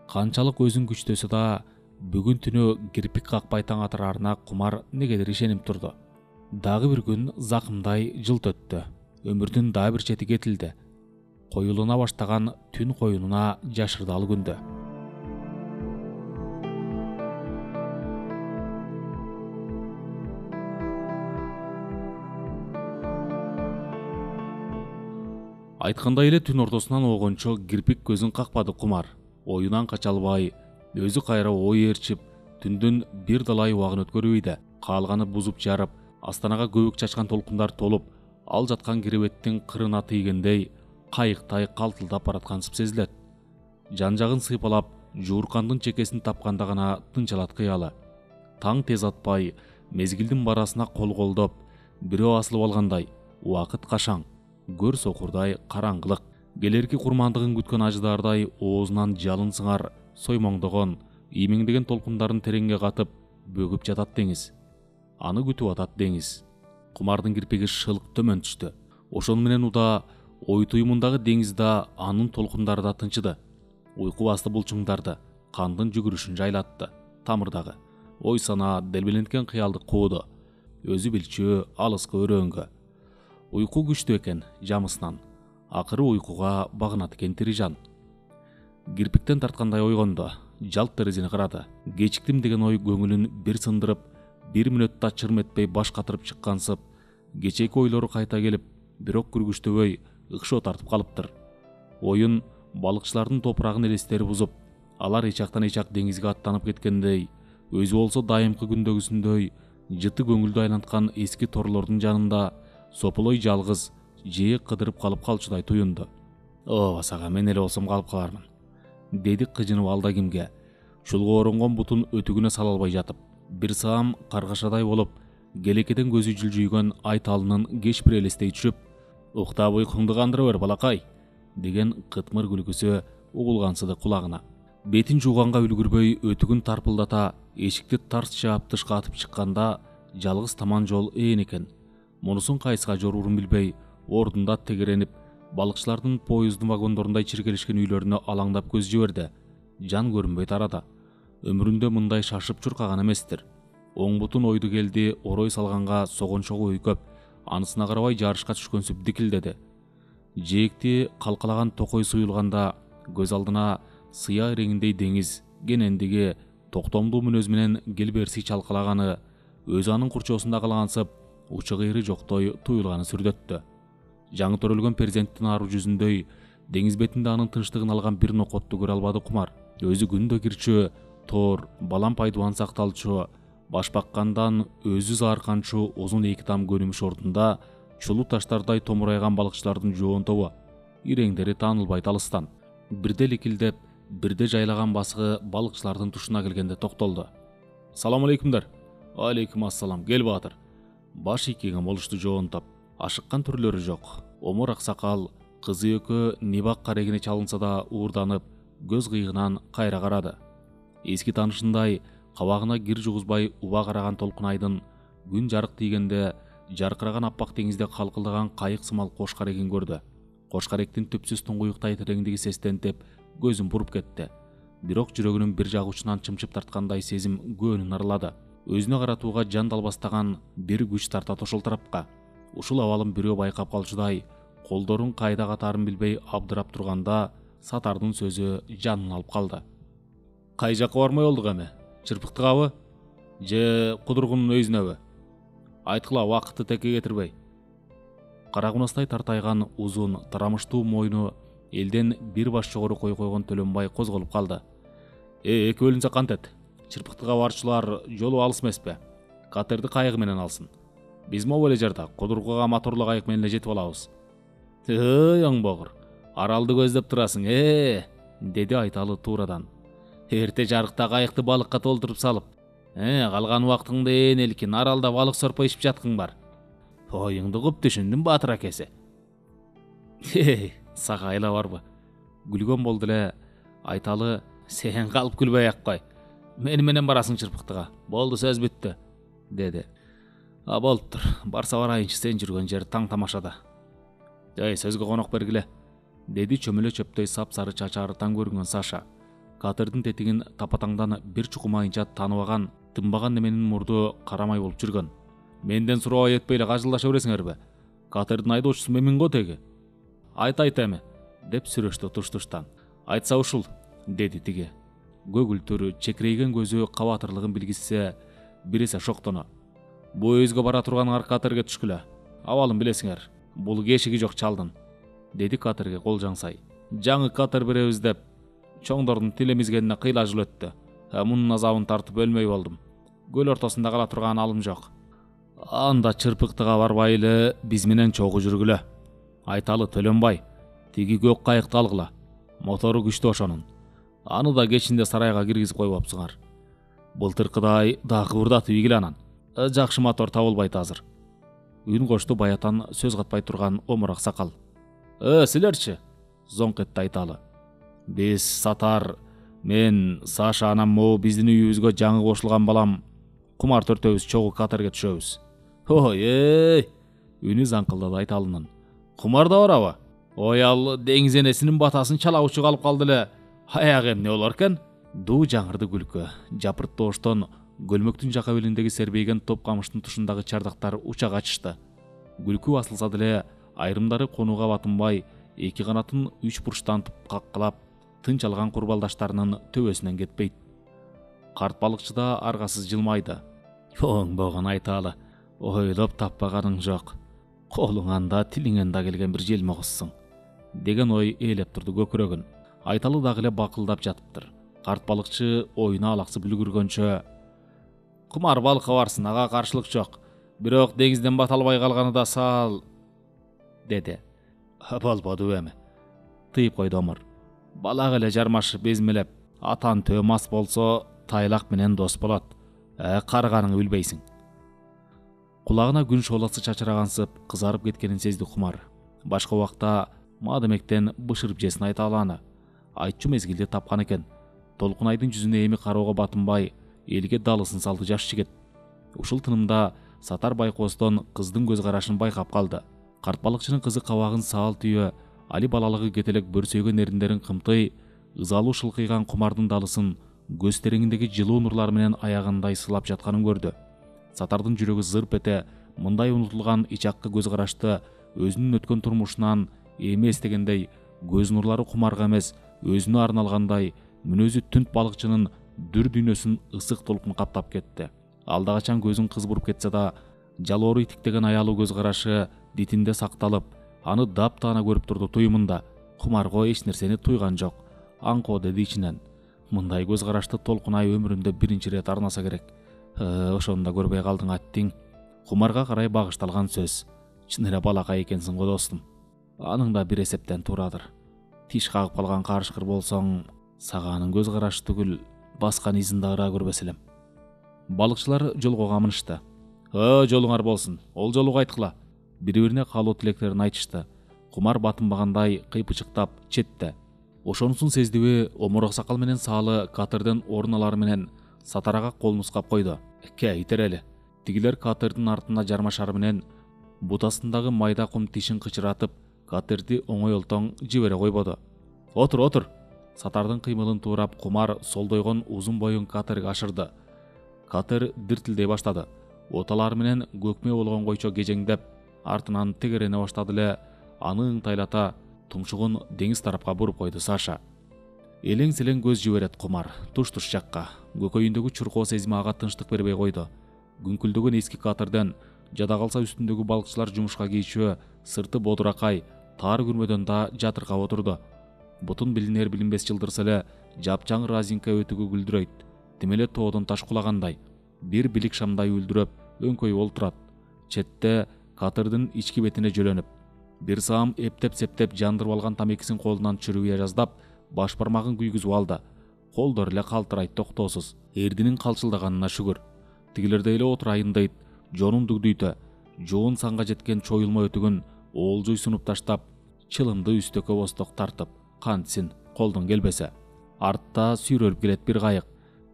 Канчалык өзүн күчтөсө да, бүгүн түнү кирпик какпай таң атырарына кумар негедир ишенип турду. Дагы бир күн закымдай жылт өттү. Өмүрдүн дагы бир чети кетилди. Коюлуна баштаган түн коюнуна жашырдалы күндө. Айткандай эле түн ортосунан огончо кирпик көзүн какпады Кумар. Оюнан кача албай, өзү кайра ой ээрчип, түндүн бир далай убагын өткөрбөйдө. Каалганы бузуп жарып, астанага көбүк чачкан толкундар толуп, ал жаткан киребеттин кырына тийгендей кайыктай калтылдап бараткансып сезилет. Жан жагын сыйпалап, жууркандын чекесин тапканда гана тынчалат кыялы. Таң тез атпай, мезгилдин барасына кол колдоп, бирөө асылып алгандай, убакыт кашаң, көр сокурдай караңгылык. Келерки курмандыгын күткөн ажыдардай оозунан жалын сыңар, соймоңдогон, иймеңдеген толкундарын тереңге катып, бөгүп жатат деңиз. Аны күтүп атат деңиз. Кумардын кирпиги шылк төмөн түштү. Ошону менен уда ой туйумундагы деңиз да, анын толкундары да тынчыды. Уйку басты булчуңдарды, кандын жүгүрүшүн жайлатты. Тамырдагы ой сана делбеленткен кыялды кууду. Өзү билчү алыска өрөөнгө. Уйку күчтүү экен жамысынан. Акыры уйкуга багынат экен тири жан. Кирпиктен тарткандай ойгондо, жалт терезени карады. Кечиктим деген ой көңүлүн бир сындырып, бир мүнөттө чырм этпей баш катырып чыккансып, кечеки ойлору кайта келип, бирок күргүчтөбөй ыкшоо тартып калыптыр. Оюн балыкчылардын топурагын элестери бузуп, алар эчактан эчак деңизге аттанып кеткендей, өзү болсо дайымкы күндөгүсүндөй жыты көңүлдү айланткан эски торлордун жанында сополой жалгыз жээ кыдырып калып калчудай туюнду. Ооба сага, мен эле болсом калып калармын, деди кыжынып алда кимге. Шулга оронгон бутун өтүгүнө сала албай жатып, бир саам каргашадай болуп, келекеден көзү жылжүйгөн Айталынын кеч бир элестей түшүп, уктап уйкуңду кандыра бер балакай, деген кытмыр күлкүсү угулгансыды кулагына. Бетин жууганга үлгүрбөй өтүгүн тарпылдата эшикти тарс жаап тышка атып чыкканда, жалгыз таман жол ээн экен. Мунусун кайсыга жоруурун билбей, ордунда тегеренип, балыкчылардын поезддин вагондорундай чиркелешкен үйлөрүнө алаңдап көз жиберди. Жан көрүнбөй тарады. Өмүрүндө мындай шашып чуркаган эместир. Оң бутун ойду келди, орой салганга согончогу ой көп. Анысына карабай жарышка түшкөнсүп дикилдеди. Жээкти калкалаган токой суюлганда көз алдына сыя реңиндей деңиз, кенендиги, токтомдуу мүнөз менен келберси чалкалаганы, өзү анын курчоосунда калгансып, учу кыйры жоктой туюлганы сүрдөттү. Жаңы төрөлгөн перзенттин ару жүзүндөй деңиз бетинде анын тынчтыгын алган бир нокотту көрө албады Кумар. Өзү күндө кирчү, тор, балам пайдубан сакталчу, баш баккандан өзү заарканчу узун эки там көнүмүш ордунда чулуу таштардай томурайган балыкчылардын жоон тобу, иреңдери таанылбайт алыстан. Бирде ликилдеп, бирде жайлаган басыгы балыкчылардын тушуна келгенде токтолду. Салам алейкумдар. Алейкум ассалам, кел баатыр. Баш ийкеген болушту жоон топ. Ашыккан түрлөрү жок. Омор аксакал кызы экөө нибак карегине чалынса да уурданып, көз кыйыгынан кайра карады. Эски таанышындай кабагына кир жугузбай уба караган толкунайдын күн жарык тийгенде жаркыраган аппак деңизде калкылдаган кайык сымал кош карегин көрдү. Кош каректин түпсүз туңгуюктай тереңдиги сестентип, көзүн буруп кетти. Бирок жүрөгүнүн бир жагы учунан чымчып тарткандай сезим көөнүн арылады. Өзүнө каратууга жан далбастаган бир күч тартат ошол тарапка. Ушул абалын бирөө байкап калчудай, колдорун кайда катаарын билбей абдырап турганда, Сатардын сөзү жанын алып калды. Кай жакка бармай болдук эми? Чырпыктыгабы? Же кудургунун өйүзүнөбү? Айткыла, убакытты текке кетирбей. Карагунастай тартайган узун, тарамыштуу мойну элден бир баш жогору кой койгон Төлөнбай козголуп калды. Эки бөлүнсө кантет? Чырпыктыга барчылар жолу алыс эмеспи? Катерди кайыгы менен алсын. Биз могу эле жерде кудургуга моторлуу кайык менен эле жетип алабыз. Оңбогур, аралды көздөп турасың, деди Айталы туурадан. Эрте жарыкта кайыкты балыкка толтуруп салып, калган убактыңды ээн элкин, аралда балык сорпо ичип жаткың бар. Оюңду куп түшүндүм, Баатыр акеси. Сага айла барбы? Күлгөн болду эле Айталы. Сен калып күлбөй ак кой. Мени менен барасың чырпыктыга. Болду, сөз бүттү, деди. Болуптур. Барса барайынчы, сен жүргөн жер таң тамашада. Сөзгө конок бергиле, деди чөмөлө чөптөй сап-сары чачары таң көрүнгөн Саша. Катердин тетигин тапатаңдан бир чукумайынча таныбаган, тынбаган неменин мурду карамай болуп жүргөн. Менден сурабай өтпөй эле кажылдаша бересиңерби? Катердин айдоочусу мен го теги. Айт эми, деп сүрөштү туш-туштан. Айтса ушул, деди тиги. Көгүлтүр, чекирейген көзү кабатырлыгын билгизсе, бир эсе шоктону. Бу өзгө бара турган катерге түшкүлө. Абалын билесиңер. Бул кешиги жок чалдын. деди катерге кол жаңсай. Жаңы катер беребиз деп чоңдордун тилемизгенине кыйла жыл өттү. Мунун азабын тартып өлмөй болдум. Көл ортосунда кала турган алым жок. Анда чырпыктыга барбай эле биз менен чогуу жүргүлө. Айталы Төлөнбай, тиги көк кайыкты алгыла. Мотору күчтүү ошонун. Аны да кечинде сарайга киргизип койбопсуңар. Былтыркыдай да кыбырдатып ийгиле анан. Жакшы мотор табылбайт азыр. Үн кошту баятан сөз катпай турган омур аксакал. Силерчи? Зоңк этти Айталы. Биз Сатар, мен, Саша анам могу биздин үйүбүзгө жаңы кошулган балам Кумар төртөөбүз чогуу катерге түшөбүз. Ой, үнү заңкылдады Айталынын. Кумар да барабы? Ой, ал деңиз энесинин батасын чалабычы калып калды эле. Аягы эмне болор экен? Дуу жаңырды күлкү. Жапырттуу оштон көлмөктүн жака белиндеги сербейген топ камыштын тушундагы чардактар учак ачышты. Күлкү басылса деле айрымдары конууга батынбай, эки канатын үч бурчтантып каккылап, тынч алган курбалдаштарынын төбөсүнөн кетпейт. Карт балыкчы да аргасыз жылмайды. Оңбогон Айталы, ойлоп таппаганың жок. Колуңан да тилиңен да келген бир желмогуссуң, деген ой ээлеп турду көкүрөгүн. Айталы дагы эле бакылдап жатыптыр. Карт балыкчы оюна алаксып үлгүргөнчө: Кумар балыкка барсын, ага каршылык жок. Бирок деңизден бата албай калганы да сал, деди. Болбоду эми, тыйып койду омур. Балак эле жармашып безмелеп, атан төө мас болсо тайлак менен дос болот. Карыганыңы билбейсиң. Кулагына күн шооласы чачырагансып, кызарып кеткенин сезди Кумар. Башка убакта мадемектен бышырып жесин Айталаны. Айтчу мезгилди тапкан экен. Толкун айдын жүзүнө эми кароого батынбай, элге далысын салды жаш жигит. Ушул тынымда Сатар байкоостон кыздын көз карашын байкап калды. Карт балыкчынын кызы кабагын саал түйө, али балалыгы кетелек бөрсөйгөн эриндерин кымтый, ызалуу шылкыйган Кумардын далысын көз тереңиндеги жылуу нурлар менен аягандай сылап жатканын көрдү. Сатардын жүрөгү зырп эте, мындай унутулган ичакка көз карашты өзүнүн өткөн турмушунан эми эстегендей, көз нурлары Кумарга эмес, өзүнө арналгандай, мүнөзү түнт балыкчынын дүр дүйнөсүн ысык толкун каптап кетти. Алда качан көзүн кыз буруп кетсе да, жалоору итиктеген аялуу көз карашы дитинде сакталып, аны таптаана көрүп турду туюмунда. Кумарго эч нерсени туйган жок. Аңко деди ичинен. Мындай көз карашты Толкун ай өмүрүндө биринчи ирет арнаса керек. Ошону да көрбөй калдың аттиң. Кумарга карай багышталган сөз. Чын эле балакай экенсиң го достум. Аның да бир эсептен туурадыр. Тиш кагып калган карышкыр болсоң, саганын көз карашы түгүл, баскан изин да ыраа көрбөс элем. Балыкчылар жолго камынышты. Жолуңар болсун, ол жолу кайткыла. Бири-бирине каалоо тилектерин айтышты. Кумар батынбагандай кыйпычыктап четте. Ошонусун сездиби, омур аксакал менен Саалы катерден орун алары менен Сатарага кол нускап койду. Итер эле. Тигилер катердин артына жармашары менен бутасындагы майда кум тишин кычыратып, катерди оңойлтоң жибере койбоду. Отур. Сатардын кыймылын туурап Кумар солдойгон узун боюн катерге ашырды. Катер диртилдей баштады. Оталары менен көкмө болгон койчо кежеңдеп, артынан тегерене баштады эле. Аны ыңтайлата тумшугун деңиз тарапка буруп койду Саша. Элең-селең көз жиберет Кумар, туш-туш жакка. Көкөйүндөгү чуркоо сезими ага тынчтык бербей койду. Күңкүлдөгөн эски катерден жада калса үстүндөгү балыкчылар жумушка кийчү, сырты бодуракай, таар күрмөдөн да жатыркап отурду. Бутун билинер билинбес жылдырса эле жапжаңыр разинка өтүгү гүлдүрөйт. Тим эле тоодон таш кулагандай. Бир билик шамдай үлдүрөп, өңкөйүп олтурат. Четте катердин ички бетине жөлөнүп, бир саам эптеп-септеп жандырып алган тамекисин колунан чүрүгүя жаздап, баш бармагын күйгүзүп алды. Колдору эле калтырайт токтоосуз. Эрдинин калчылдаганына шүгүр. Тигилерде эле отурайын дейт, жонун дүгдүйтө. Жоон санга жеткен чоюлма өтүгүн оолжуй сунуп таштап, чылымды үстөккө босток тартып, кантсин колдон келбесе. Артта сүйрөлүп келет бир кайык.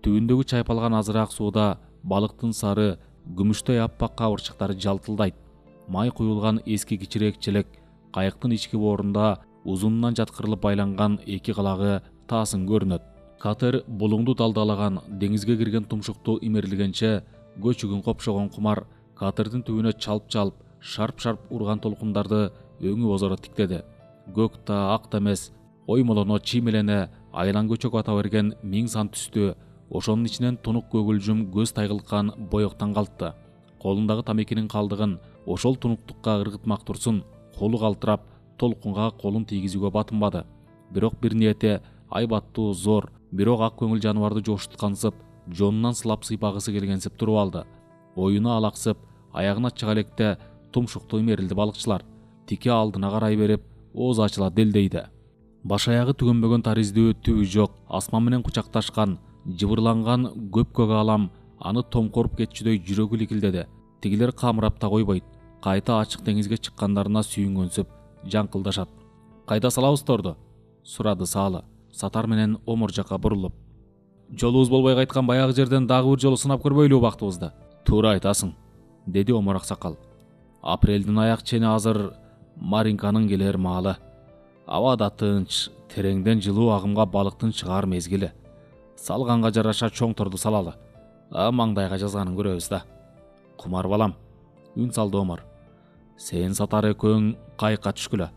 Түбүндөгү чайпалган азыраак сууда балыктын сары, күмүштөй аппак кабырчыктары жалтылдайт. Май куюлган эски кичирээк челек кайыктын ички боорунда узунунан жаткырылып байланган эки калагы таасын көрүнөт. Катер булуңду далдалаган деңизге кирген тумшукту имерлигенче көчүгүн копшогон Кумар катердин түбүнө чалп-чалп, шарп-шарп урган толкундарды өңү озоро тиктеди. Көк да ак да эмес, оймолоно чиймелене айлан көчөк ата берген миң сан түстүү, ошонун ичинен тунук көгүлжүм көз тайгылткан боёктан калтты. Колундагы тамекинин калдыгын ошол тунуктукка ыргытмак турсун, колу калтырап, толкунга колун тийгизүүгө батынбады. Бирок бир ниети айбаттуу, зор, бирок ак көңүл жаныбарды жошуткансып, жонунан сылап сыйпагысы келгенсип туруп алды. Боюну алаксып, аягына чыга электе тумшуктуу мерилди балыкчылар. Тике алдына карай берип, оозу ачыла делдейди. Баш аягы түгөнбөгөн тарыздүү, түбү жок, асман менен кучакташкан, жыбырланган көк алам аны томкоруп кетчүдөй жүрөгү ликилдеди. Тигилер камырап да койбойт. Кайта ачык деңизге чыккандарына сүйүнгөнсүп жаңкылдашат. Кайда салабыз торду? Сурады Салы, Сатар менен Омор жака бурулуп. Жолубуз болбой кайткан баягы жерден дагы бир жолу сынап көрбөйлүбү бактыбызды? Туура айтасың, деди Омор аксакал. Апрелдин аяк чени азыр Маринканын келер маалы. Аба да тынч, тереңден жылуу агымга балыктын чыгаар мезгили. Салганга жараша чоң торду салалы. Маңдайга жазганын көрөбүз да. Кумар балам, үн салды Омор. Сен Сатар экөөң кайыкка түшкүлө.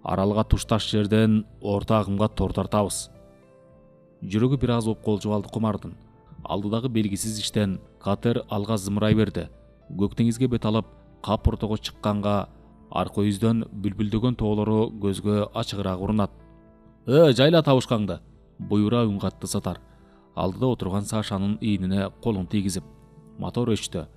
Аралга тушташ жерден орто агымга тор тартабыз. Жүрөгү бир аз опколжуп алды Кумардын. Алдыдагы белгисиз иштен катер алга зымырай берди. Көк деңизге бет алып, кап ортого чыкканга арка үздөн бүлбүлдөгөн тоолору көзгө ачыгыраак урунат. Жайла табышкаңды, буйруа үн катты Сатар. Алдыда отурган Сашанын ийнине колун тийгизип. Мотор өчтү.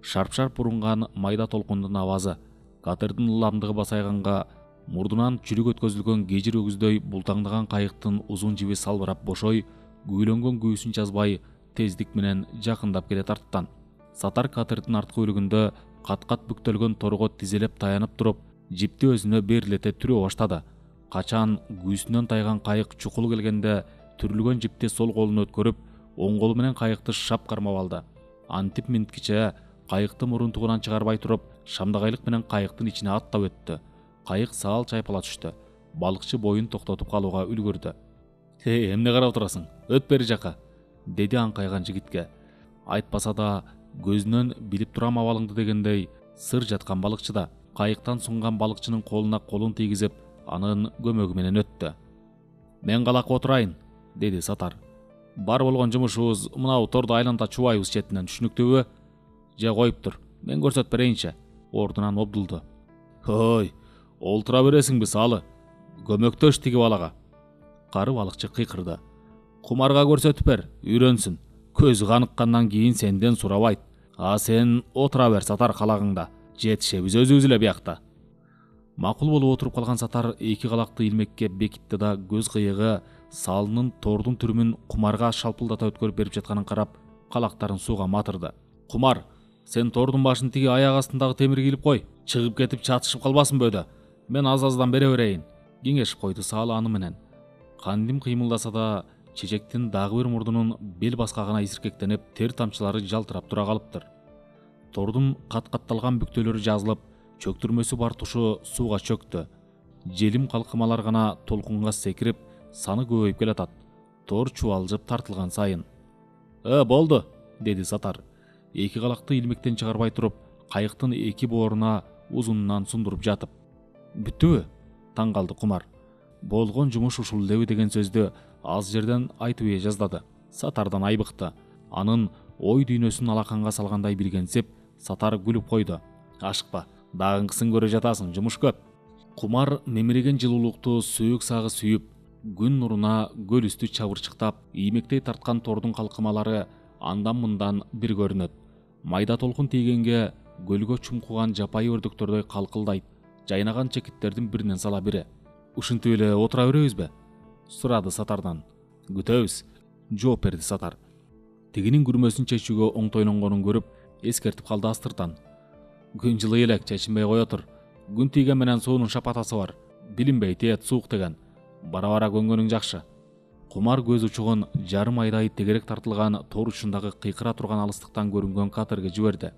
Шарп-шарп урунган майда толкундун авазы катердин ыламдыгы басайганга мурдунан чүрүк өткөзүлгөн кежир өгүздөй бултаңдаган кайыктын узун жиби салбырап бошой, күүлөнгөн күүсүн жазбай тездик менен жакындап келе тарттан. Сатар катердин арткы бөлүгүндө кат-кат бүктөлгөн торго тизелеп таянып туруп, жипти өзүнө берилете түрө баштады. Качан күүсүнөн тайган кайык чукул келгенде түрүлгөн жипти сол колуна өткөрүп, оң колу менен кайыкты шап кармап алды. Антип минткиче кайыкты мурунтугунан чыгарбай туруп, шамдагайлык менен кайыктын ичине аттап өттү. Кайык саал чайпала түштү. Балыкчы боюн токтотуп калууга үлгүрдү. Эмне карап турасың? Өт бери жака, деди аңкайган жигитке. Айтпаса да көзүнөн билип турам абалыңды дегендей сыр жаткан балыкчыда. Кайыктан сунган балыкчынын колуна колун тийгизип, анын көмөгү менен өттү. Мен калак отурайын, деди Сатар. Бар болгон жумушубуз мынау торду айланта чубайбыз четинен, түшүнүктүүбү? Же коюп тур, мен көрсөтүп берейинчи. Ордунан обдулду. Ой, олтура бересиңби Салы? Көмөктөш тиги балага. Кары балыкчы кыйкырды. Кумарга көрсөтүп бер, үйрөнсүн. Көзү каныккандан кийин сенден сурабайт. Сен отура бер Сатар калагыңда. Жетишебиз өзүбүз эле биякта. Макул болуп отуруп калган Сатар эки калакты илмекке бекитти да көз кыйыгы Салынын тордун түрүмүн Кумарга шалпылдата өткөрүп берип жатканын карап, калактарын сууга матырды. Кумар, сен тордун башын тиги аяк астындагы темирге илип кой. Чыгып кетип чатышып калбасын бөөдө. Мен аз-аздан бере берейин, кеңешип койду Салы аны менен. Кандим кыймылдаса да, чечектин дагы бир мурдунун бел баскагына исиркектенип, тер тамчылары жалтырап тура калыптыр. Тордун кат-катталган бүктөлөрү жазылып, чөктүрмөсү бар тушу сууга чөктү. Желим калкымалар гана толкунга секирип, саны көбөйүп келатат. Тор чубалжып тартылган сайын. Болду, деди Сатар. Эки калакты илмектен чыгарбай туруп, кайыктын эки бооруна узунунан сундуруп жатып. Бүттүбү? Таң калды Кумар. Болгон жумуш ушул элеби деген сөздү аз жерден айтып жаздады. Сатардан айбыкты. Анын ой дүйнөсүн алаканга салгандай билгенсип, Сатар күлүп койду. Ашыкпа, дагыңкысын көрө жатасың, жумуш көп. Кумар немиреген жылуулукту сөөк сагы сүйүп, күн нуруна көл үстү чабырчыктап, иймектей тарткан тордун калкымалары андан-мындан бир көрүнөт. Майда толкун тийгенге көлгө чумкуган жапайы өрдөктөрдөй калкылдайт. Жайнаган чекиттердин биринен сала бири. Ушинтип эле отура беребизби? Сурады Сатардан. Күтөбүз, жооп берди Сатар. Тигинин күрмөсүн чечүүгө оңтойлонгонун көрүп, эскертип калды астыртан. Күн жылый элек, чечинбей кое тур. Күн тийген менен суунун шапатасы бар. Билинбей тиет суук деген. Бара-бара көнгөнүң жакшы. Кумар көз учугун жарым айдай тегерек тартылган тор учундагы кыйкыра турган алыстыктан көрүнгөн катерге жиберди.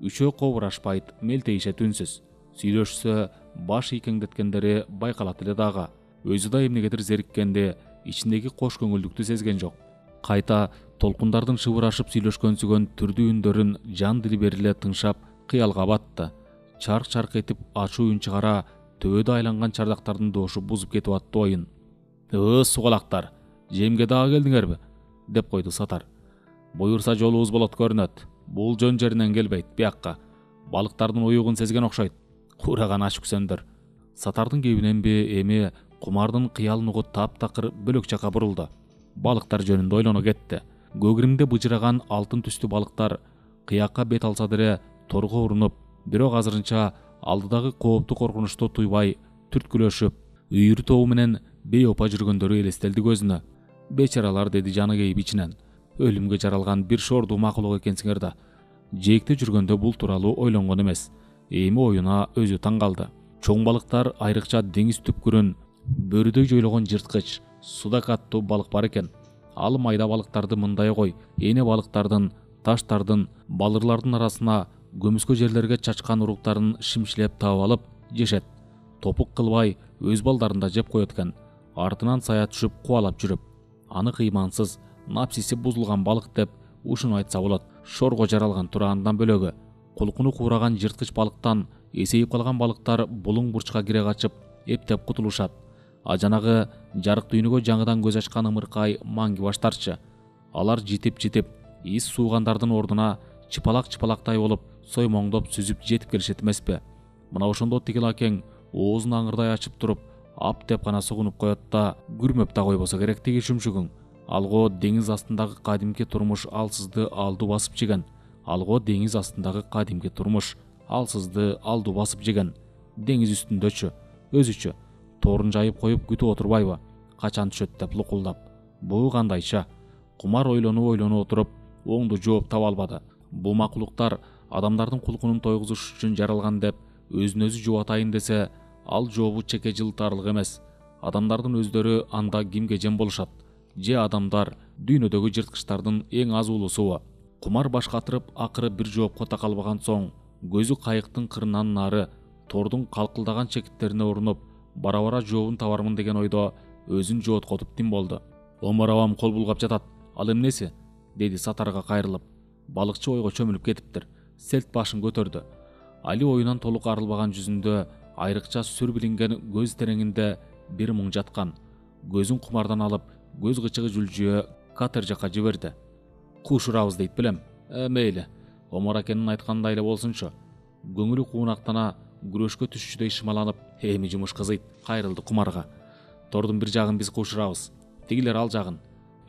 Үчөө кобурашпайт, мелтейишет үнсүз. Сүйлөшсө, баш ийкеңдеткендери байкалат эле дагы. Өзү да эмнегедир зериккенде, ичиндеги кош көңүлдүктү сезген жок. Кайта толкундардын шыбырашып сүйлөшкөнсүгөн түрдүү үндөрүн жан дили бериле тыңшап, кыялга батты. Чарк-чарк этип ачуу үн чыгара, төбөдө айланган чардактардын доошу бузуп кетип атты оюн. Сугалактар, жемге дагы келдиңерби? Деп койду Сатар. Буйурса жолубуз болот көрүнөт. Бул жөн жеринен келбейт, биякка. Балыктардын уюгун сезген окшойт. Кураган аш күсөндөр. Сатардын кебиненби эми кумардын кыялын угуп таптакыр бөлөк жака бурулду. Балыктар жөнүндө ойлоно кетти. Көгүрүмдө быжыраган алтын түстүү балыктар кыякка бет алса деле торго урунуп, бирок азырынча алдыдагы коопту коркунучту туйбай түрткүлөшүп, үйүр тобу менен бейопа жүргөндөрү элестелди көзүнө. Бечаралар, деди жаны кейип ичинен. Өлүмгө жаралган бир шордуу макулук экенсиңер да. Жээкте жүргөндө бул тууралуу ойлонгон эмес. Эми оюна өзү таң калды. Чоң балыктар, айрыкча деңиз түпкүрүн бөрүдөй жойлогон жырткыч, судак аттуу балык бар экен. Ал майда балыктарды мындай кой, эне балыктардын, таштардын, балырлардын арасына көмүскө жерлерге чачкан уруктарын шимшилеп таап алып жешет. Топук кылбай өз балдарын да жеп коет экен. Артынан сая түшүп кубалап жүрүп. Аны кыймансыз, напсиси бузулган балык деп ушуну айтса болот. Шорго жаралган тураандан бөлөгү кулкуну куураган жырткыч балыктан эсейип калган балыктар булуң бурчка кире качып эптеп кутулушат. А жанагы жарык дүйнөгө жаңыдан көз ачкан ымыркай маңги баштарчы. Алар житип из суугандардын ордуна чыпалак-чыпалактай болуп соймоңдоп сүзүп жетип келишет эмеспи? Мына ошондо тигил акең оозун аңырдай ачып туруп, ап деп гана сугунуп коет да, күрмөп да койбосо керек тиги шүмшүгүң. Алго деңиз астындагы кадимки турмуш алсызды алдуу басып жеген. Алго деңиз астындагы кадимки турмуш алсызды алдуу басып жеген. Деңиз үстүндөчү, өзүчө торун жайып коюп күтүп отурбайбы? Качан түшөт деп лукулдап. Буу кандайча? Кумар ойлонуп отуруп, оңду жооп таба албады. Бул макулуктар адамдардын кулкунун тойгузуш үчүн жаралган деп өзүн өзү жубатайын десе, ал жообу чеке жылтарлык эмес. Адамдардын өздөрү анда кимге жем болушат? Же адамдар дүйнөдөгү жырткычтардын эң аз улусубу? Кумар баш катырып, акыры бир жоопко такалбаган соң, көзү кайыктын кырынан нары тордун калкылдаган чекиттерине урунуп, бара-бара жообун табармын деген ойдо өзүн жооткотуп тим болду. Омар абам кол булгап жатат. Ал эмнеси? Деди Сатарга кайрылып. Балыкчы ойго чөмүлүп кетиптир. Селт башын көтөрдү. Али оюнан толук арылбаган жүзүндө айрыкча сүр билинген көз тереңинде бир муң жаткан. Көзүн кумардан алып, көз кычыгы жүлжүө катер жака жиберди. Куш урабыз дейт белем. Мейли. Омар акенин айткандай эле болсунчу. Көңүлү куунактана, күрөшкө түшчүдөй шымаланып, эми жумуш кызыйт. Кайрылды кумарга. Тордун бир жагын биз кушурабыз. Тигилер ал жагын.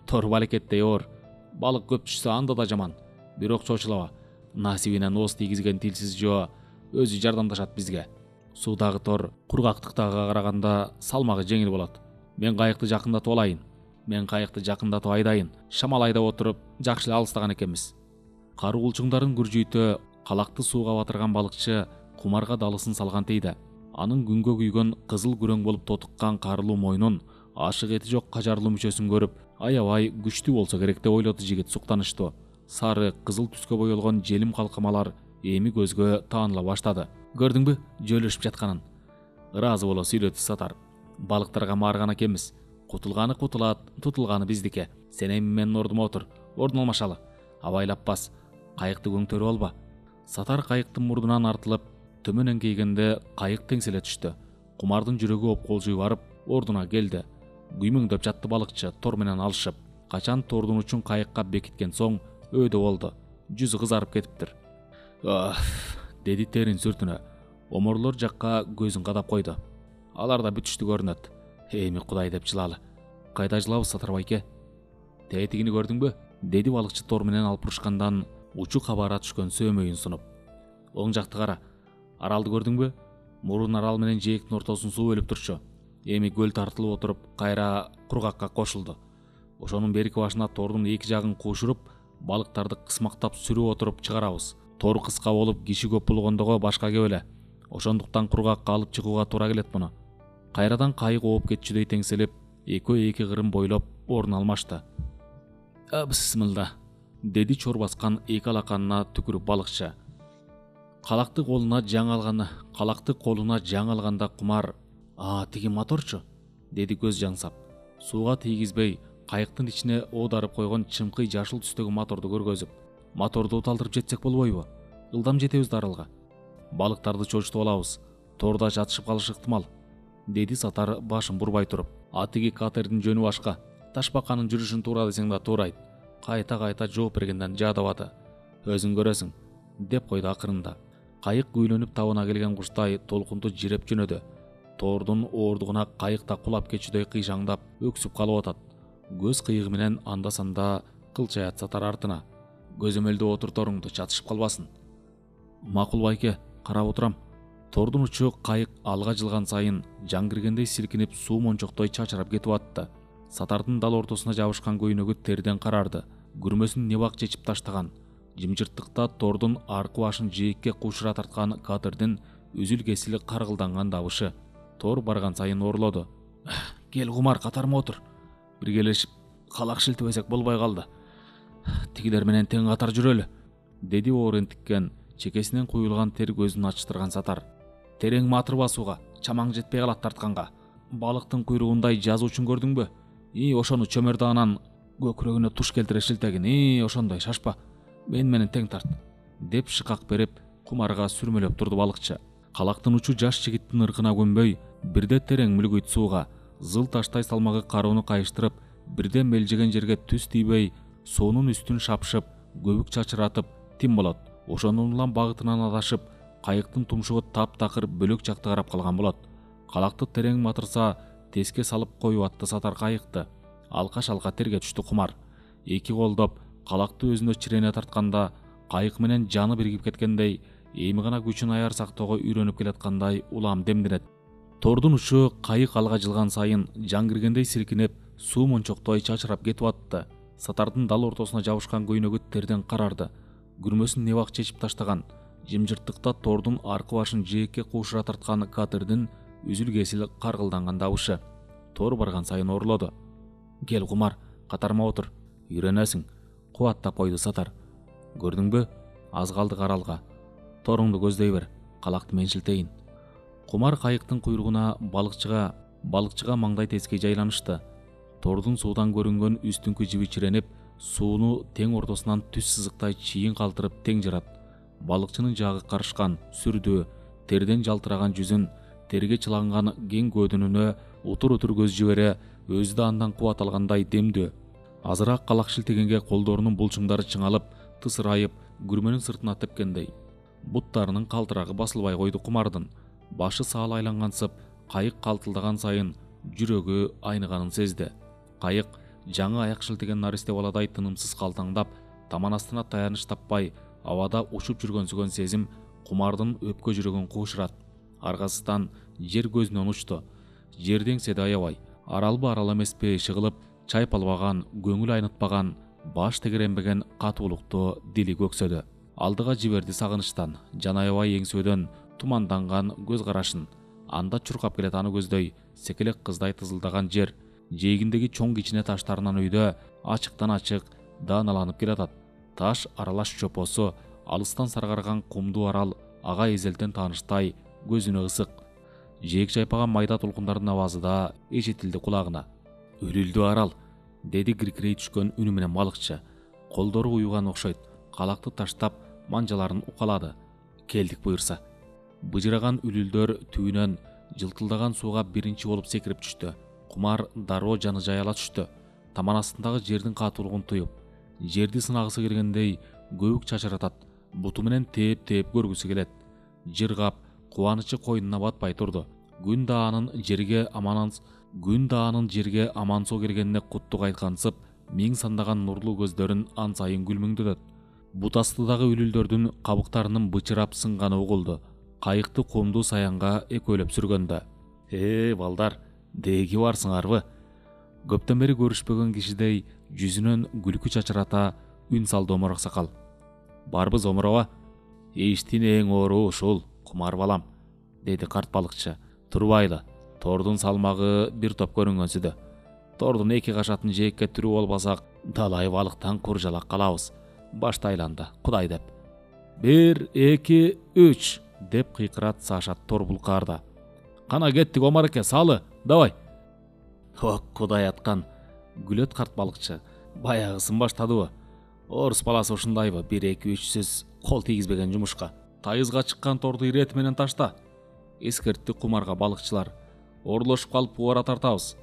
Тор балекеттей оор. Балык көп түшсө анда да жаман. Бирок чочулаба. Насибинен ооз тийгизген тилсиз жоо өзү жардамдашат бизге. Суудагы тор кургактыктагыга караганда салмагы жеңил болот. Мен кайыкты жакындатып айдайын. Шамал айдап отуруп, жакшы эле алыстаган экенбиз. Каруулчуңдарын күржүйтө калакты сууга батырган балыкчы кумарга далысын салган тийди. Анын күнгө күйгөн кызыл күрөң болуп тотуккан карылуу мойнун, ашык эти жок кажарлуу мүчөсүн көрүп, аябай күчтүү болсо керек деп ойлоду жигит суктаныштуу. Сары, кызыл түскө боелгон желим калкамалар эми көзгө тааныла баштады. Көрдүңбү, жөлөшүп жатканын? Ыраазы боло сүйлөдү Сатар. Балыктарга маарган экенбиз. Кутулганы кутулат, тутулганы биздики. Сен эми менин ордума отур. Ордун алмашалы. Абайлап бас. Кайыкты көңтөрүп алба. Сатар кайыктын мурдунан артылып, төмөн эңкейгенде кайык теңселе түштү. Кумардын жүрөгү опколжуй барып, ордуна келди. Күймөңдөп жатты балыкчы тор менен алышып. Качан тордун учун кайыкка бекиткен соң өйдө болду. Жүзү кызарып кетиптир. Деди терин сүртүнө. Оморлор жакка көзүн кадап койду. Алар да бүтүштү көрүнөт. Эми кудай деп жылалы. Кайда жылабыз, Сатар байке? Тетигини көрдүңбү? Деди балыкчы тор менен алпурушкандан учу кабара түшкөн сөөмөйүн сунуп. Оң жакты кара. Аралды көрдүңбү? Мурун арал менен жээктин ортосун суу бөлүп турчу. Эми көл тартылып отуруп, кайра кургакка кошулду. Ошонун берки башына тордун эки жагын кушуруп, балыктарды кысмактап сүрүп отуруп чыгарабыз. Тор кыска болуп, киши көп болгондого башка кеп эле. Ошондуктан кургакка алып чыгууга туура келет муну. Кайрадан кайык ооп кетчүдөй теңселип, экөө эки кырын бойлоп орун алмашты. Бисмилла, деди чор баскан эки алаканына түкүрүп балыкчы. Калакты колуна жаң алганда кумар, тиги моторчу, деди көз жаңсап. Сууга тийгизбей, кайыктын ичине оодарып койгон чымкый жашыл түстөгү моторду көргөзүп. Моторду уталтырып жетсек болбойбу? Ылдам жетебиз да аралга. Балыктарды чочутуп алабыз. Торда жатышып калышы ыктымал, деди Сатар башын бурбай туруп. Атиги катердин жөнү башка. Ташбаканын жүрүшүн туура десең да туурайт. Кайта жооп бергенден жадабады. Өзүң көрөсүң, деп койду акырында. Кайык күйлөнүп табына келген куштай толкунду жиреп жөнөдү. тордун оордугуна кайыкта кулап кетүүдөй кыйшаңдап өксүп калып атат. Көз кыйыгы менен анда санда кылчаят сатар артына. Көзөмөлдө отур торуңду, чатышып калбасын. Макул байке, карап отурам. Тордун учу кайык алга жылган сайын жан киргендей силкинип суу мончоктой чачырап кетип атты. Сатардын дал ортосуна жабышкан көйнөгү терден карарды. Күрмөсүн небак чечип таштаган. Жымжырттыкта тордун аркы башын жээкке кушура тарткан катырдын үзүл кесили каргылданган дабышы. Тор барган сайын орлоду. Кел Кумар, катарыма отур. Биргелешип калак шилтебесек болбой калды. Тигилер менен тең катар жүрөлү, деди оор энтиккен, чекесинен куюлган тер көзүн ачтырган Сатар. Терең матыр басууга, чамаң жетпей калат тартканга. Балыктын куйругундай жазуучун көрдүңбү? Ошону чөмөрдаанан көкүрөгүнө туш келтире шилтегин. Ошондой шашпа. Менен тең тарт, деп шыкак берип Кумарга сүрмөлөп турду балыкчы. Калактын учу жаш жигиттин ыркына көнбөй, бирде терең мүлгүйт сууга, зыл таштай салмагы кароону кайыштырып, бирде мелжеген жерге түз тийбей, суунун үстүн шапшып, көбүк чачыратып тим болот. Ошонун улам багытынан адашып, кайыктын тумшугу таптакыр бөлөк жакты карап калган болот. Калакты терең матырса, теске салып коюп атты Сатар кайыкты. Алкаш-алка терге түштү Кумар. Эки колдоп калакты өзүнө чирене тартканда, кайык менен жаны биригип кеткендей, эми гана күчүн аяр сактоого үйрөнүп келаткандай улам демденет. Тордун учу кайык алга жылган сайын жан киргендей силкинеп, суу мончоктой чачырап кетип атты. Сатардын дал ортосуна жабышкан көйнөгү терден карарды. Күрмөсүн небак чечип таштаган. Жымжырттыкта тордун аркы башын жээкке кушура тарткан катырдын үзүл кесили каргылданган дабышы. Тор барган сайын орлоду. Кел Кумар, катарыма отур. Үйрөнөсүң, кубаттап койду Сатар. Көрдүңбү? Аз калдык аралга. Торуңду көздөй бер, калакты мен шилтейин. Кумар кайыктын куйругуна балыкчыга маңдай тескей жайланышты. Тордун суудан көрүнгөн үстүңкү жиби чиренип, сууну тең ортосунан түз сызыктай чийин калтырып тең жарат. Балыкчынын жагы карышкан, сүрдүү, терден жалтыраган жүзүн, терге чыланган кең көөдүнүнө утур-утур көз жибере, өзү да андан кубат алгандай демдүү. Азыраак калак шилтегенге колдорунун булчуңдары чыңалып, тысырайып, күрмөнүн сыртына тепкендей. Буттарынын калтырагы басылбай койду Кумардын. Башы саал айлангансып, кайык калтылдаган сайын жүрөгү айныганын сезди. Кайык жаңы аяк шилтеген наристе баладай тынымсыз калтаңдап, таман астына таяныч таппай, абада учуп жүргөнсүгөн сезим Кумардын өпкө жүрөгүн куушурат. Аргасынан жер көзүнөн учту. Жерди эңседи аябай. Аралбы арал эмеспи шыгылып, чайпалбаган, көңүл айнытпаган, баш тегеренбеген катуулукту дили көксөдү. Алдыга жиберди сагынычтан, жан аябай эңсөөдөн туманданган көз карашын. Анда чуркап келет аны көздөй, секелек кыздай тызылдаган жер. Жээгиндеги чоң кичине таштарынан үйдө ачыктан ачык дааналанып келатат. Таш аралаш чопосу, алыстан саргарган кумдуу арал ага эзелтен тааныштай, көзүнө ысык. Жээк чайпаган майда толкундардын абазы да эшетилди кулагына. Үрүлдү арал, деди киркирей түшкөн үнү менен балыкчы. Колдору уюган окшойт. Калакты таштап, манжаларын укалады. Келдик буюрса. Быжыраган үлүлдөр түбүнөн жылтылдаган сууга биринчи болуп секирип түштү. Кумар дароо жаны жаяла түштү. Таман астындагы жердин катуулугун туюп, жерди сынагысы келгендей көбүк чачыратат. Буту менен тээп көргүсү келет. Жыргап, кубанычы койнуна батпай турду. Күн да анын жерге амансоо келгенине куттук айткансып, миң сандаган нурлуу көздөрүн ан сайын күлмүңдөтөт. Бут астыдагы үлүлдөрдүн кабыктарынын бычырап сынганы угулду. Кайыкты кумдуу саянга экөөлөп сүргөндө. Балдар, деги барсыңарбы? Көптөн бери көрүшпөгөн кишидей жүзүнөн күлкү чачырата үн салды Омар аксакал. Барбыз Омарова? Иштин эң оору ушул, Кумар балам, деди карт балыкчы. Турбайлы, тордун салмагы бир топ көрүнгөнсүдө. Тордун эки кашатын жээкке түрүп албасак, далай балыктан куржалак калабыз. Башта айланды, Кудай деп. 1, 2, 3 деп кыйкырат Саша тор булкаарда. Кана кеттик Омар эке, салы, давай. Кудай аткан, күлөт карт балыкчы. Баягысын баштадыбы? Орус баласы ушундайбы, 1, 2, 3 сөз кол тийгизбеген жумушка. Тайызга чыккан торду ирети менен ташта. Эскертти Кумарга балыкчылар. Орлошуп калып убара тартабыз.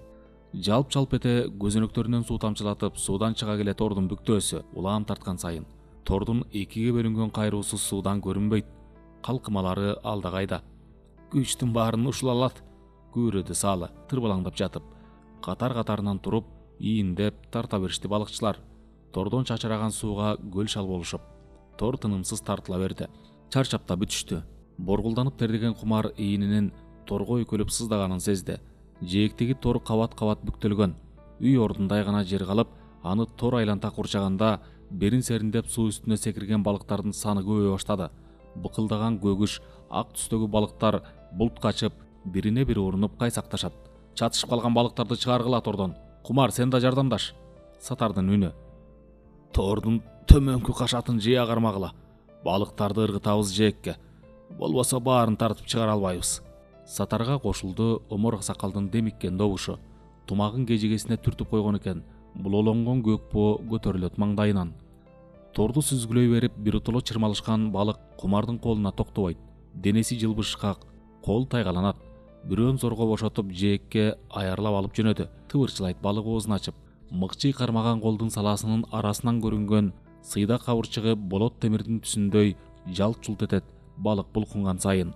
Жалп-жалп эте көзөнөктөрүнөн суу тамчылатып, суудан чыга келе тордун бүктөөсү улам тарткан сайын. Тордун экиге бөлүнгөн кайруусу суудан көрүнбөйт. Калкымалары алда кайда. Күчтүн баарын ушул алат. күбүрөдү Салы тырбалаңдап жатып. Катар-катарынан туруп, ийиндеп тарта беришти балыкчылар. Тордон чачыраган сууга көл шал болушуп, тор тынымсыз тартыла берди. Чарчап да бүтүштү. Боргулданып тердеген Кумар ийининин торго өкөлүп сыздаганын сезди. Жээктеги тор кабат-кабат бүктөлгөн. Үй ордундай гана жер калып, аны тор айланта курчаганда берин сериндеп суу үстүнө секирген балыктардын саны көбөйө баштады. Быкылдаган көгүш, ак түстөгү балыктар булт качып, бирине бири урунуп кайсакташат. Чатышып калган балыктарды чыгаргыла тордон. Кумар, сен да жардамдаш. Сатардын үнү. Тордун төмөнкү кашатын жыя кармагыла. Балыктарды ыргытабыз жээкке. Болбосо баарын тартып чыгара албайбыз. Сатарга кошулду Омор аксакалдын демиккен добушу. Тумагын кежигесине түртүп койгон экен. Булолонгон көк боо көтөрүлөт маңдайынан. Торду сүзгүлөй берип, биротоло чырмалышкан балык Кумардын колуна токтобойт. Денеси жылбышкак, кол тайгаланат. Бирөөн зорго бошотуп жээкке аярлап алып жөнөдү. Тыбырчылайт балык оозун ачып. Мыкчый кармаган колдун саласынын арасынан көрүнгөн сыйда кабырчыгы болот темирдин түсүндөй жалт-жулт этет балык булкунган сайын.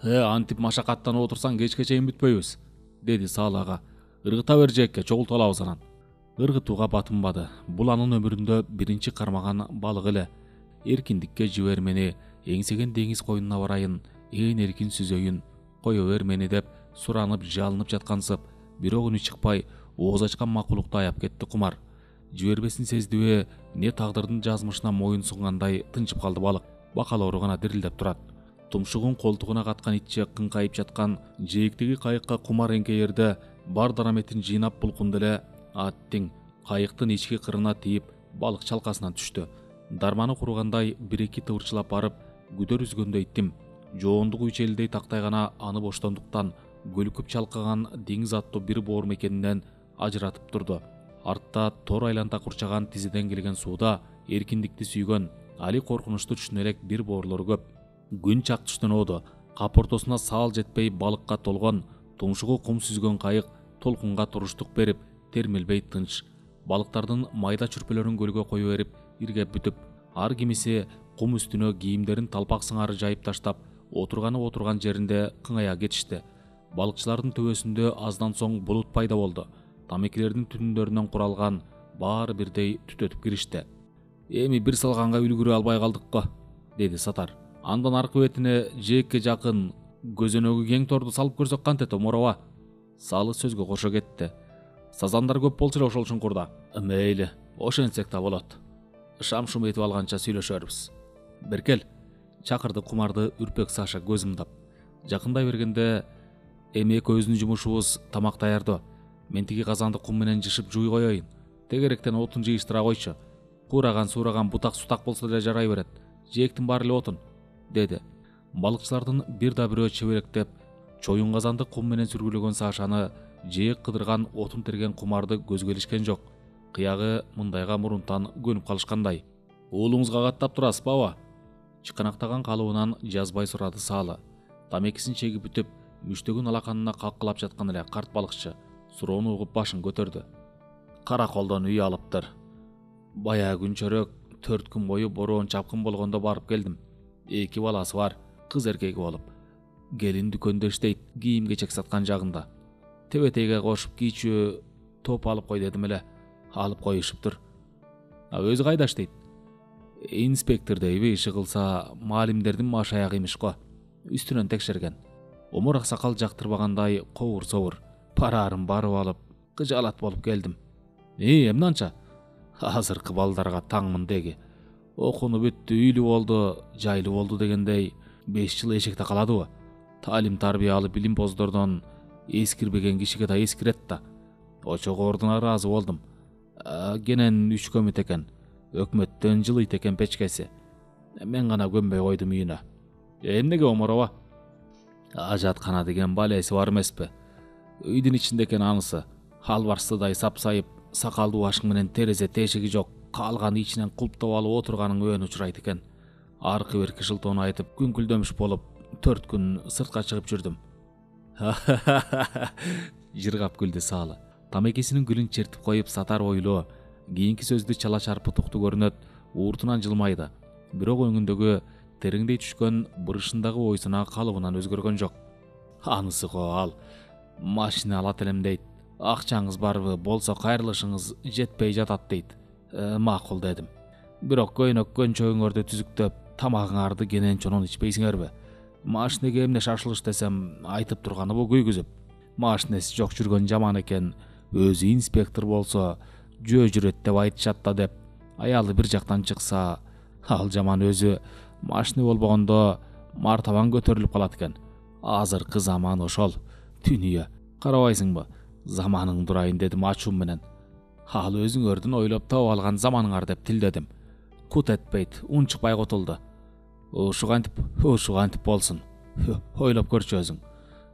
Антип машакаттанып отурсаң кечке чейин бүтпөйбүз, деди Салы ага. Ыргыта бер жээкке, чогултуп алабыз анан. Ыргытууга батынбады. Бул анын өмүрүндө биринчи кармаган балык эле. Эркиндикке жибермени, эңсеген деңиз коюнуна барайын, ээн эркин сүзөйүн, кое бер мени деп суранып, жалынып жаткансып, бирок үнү чыкпай, ооз ачкан макулукту аяп кетти Кумар. Жибербесин сездиби, не тагдырдын жазмышына моюн сунгандай тынчып калды балык. Бакалоору гана дирилдеп турат. Тумшугун колтугуна каткан итче кыңкайып жаткан жээктеги кайыкка Кумар эңкейерде бар дараметин жыйнап булкунду эле. Аттиң кайыктын ички кырына тийип, балык чалкасынан түштү. Дарманы куругандай бир-эки тыбырчылап барып, күдөр үзгөндө иттим. Жоондугу үчелдей тактай гана аны боштондуктан көлүкүп чалкаган деңиз аттуу бир боор мекенинен ажыратып турду. Артта тор айланта курчаган тизеден келген сууда эркиндикти сүйгөн, али коркунучту түшүнө элек бир боорлор көп. Күн чак түштөн оодо, кап ортосуна саал жетпей балыкка толгон, тумшугу кум сүзгөн кайык толкунга туруштук берип, термелбей тынч. Балыктардын майда чүрпөлөрүн көлгө кое берип, иргеп бүтүп, ар кимиси кум үстүнө кийимдерин талпак сыңары жайып таштап, отурган жеринде кыңая кетишти. Балыкчылардын төбөсүндө аздан соң булут пайда болду. Тамекилердин түтүндөрүнөн куралган баары бирдей түтөтүп киришти. Эми бир салганга үлгүрө албай калдык го, деди Сатар. Андан аркы бетине жээкке жакын көзөнөгү кең торду салып көрсөк кантет, Омороба? Салы сөзгө кошо кетти. Сазандар көп болчу эле ошол чуңкурда. Мейли, ошентсек да болот. Шам-шум этип алганча сүйлөшөрбүз. Беркел, чакырды Кумарды үрпек Саша көз ымдап. Жакындай бергенде, эми экөөбүздүн жумушубуз тамак даярдоо. Мен тиги казанды кум менен жышып жууй коеюн. Тегеректен отун жыйыштыра койчу. Кураган-сураган бутак-сутак болсо деле жарай берет. Жээктин баары эле отун, деди. Балыкчылардын бир да бирөө чеберектеп, чоюн казанды кум менен сүргүлөгөн Сашаны, жээк кыдырган отун терген Кумарды көзгө илишкен жок. Кыягы мындайга мурунтан көнүп калышкандай. Уулуңузга каттап турасыз баба? Чыканактаган калыбынан жазбай сурады Салы. Тамекисин чегип бүтүп, мүчтөгүн алаканына калкалап жаткан эле карт балыкчы суроону угуп башын көтөрдү. Караколдон үй алыптыр. Баягы күнчөрөк 4 күн бою бороон чапкын болгондо барып келдим. 2 баласы бар, кыз эркеги болуп. Келин дүкөндө иштейт, кийим-кечек саткан жагында. Тебетейге кошуп кийчү топ алып кой дедим эле. Алып коюшуптур. Өзү кайда иштейт? Инспектор дейби, иши кылса маалимдердин маш аягы имиш го. Үстүнөн текшерген. Омор аксакал жактырбагандай ковур-совур. Парарын барып алып, кыжаалат болуп келдим. Эмне анча? Азыркы балдарга таңмын деги. Окууну бүттү, үйлүү болду, жайлуу болду дегендей 5 жыл эшекте каладыбы? Талим тарбия алып билимпоздордон эскирбеген кишиге да эскирет да. Очого ордуна ыраазы болдум. Кенен 3 көмүт экен. Өкмөттөн жылыйт экен печкеси. Мен гана көнбөй койдум үйүнө. Эмнеге, Омороба? Ажаткана деген балеси бар эмеспи? Үйдүн ичинде экен анысы. Албарсыдай сапсайып, сакалдуу башың менен терезе тешиги жок, калган ичинен кулптап алып отурганың өөн учурайт экен. Аркы берки шылтоону айтып, күңкүлдөмүш болуп 4 күн сыртка чыгып жүрдүм. Жыргап күлдү Салы. Тамекисинин гүлүн чертип коюп Сатар ойлоо. Кийинки сөздү чала чарпытуктуу көрүнөт, ууртунан жылмайды. Бирок өңүндөгү тереңдей түшкөн бырышындагы ойсуна калыбынан өзгөргөн жок. Анысы го ал. Машина алат элем дейт. Акчаңыз барбы, болсо кайрылышыңыз жетпей жатат дейт. Макул дедим. Бирок көйнөк көнчөгүңөрдү түзүктөп, тамагыңарды кененчонун ичпейсиңерби? Машинеге эмне шашылыш десем, айтып турганы бу күйгүзүп. Машинеси жок жүргөн жаман экен, өзү инспектор болсо жөө жүрөт деп айтышат да деп. Аялы бир жактан чыкса, ал жаман өзү машина болбогондо мартабан көтөрүлүп калат экен. Азыркы заман ошол. Дүнүйө карабайсыңбы? Заманың дурайын дедим ачуум менен. Ал өзүңөрдүн ойлоп таап алган заманыңар деп тилдедим. Кут этпейт, унчукпай кутулду. Ушугантип болсун. Ойлоп көрчү өзүң.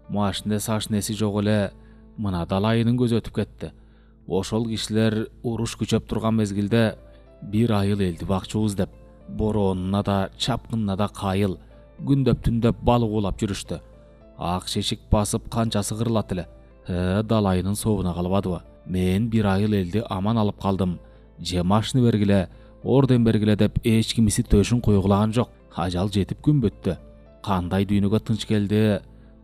Машинеси жок эле мына далайынын көзү өтүп кетти. Ошол кишилер уруш күчөп турган мезгилде бир айыл элди бакчубуз деп, боронуна да чапкынына да кайыл, күндөп түндөп балык улап жүрүштү. Ак шешик басып канчасы кырылат эле. Далайынын сообуна калбадыбы? Мен бир айыл элди аман алып калдым. Же машина бергиле, орден бергиле деп эч кимиси төшүн койгулаган жок. Ажал жетип күн бүттү. Кандай дүйнөгө тынч келди,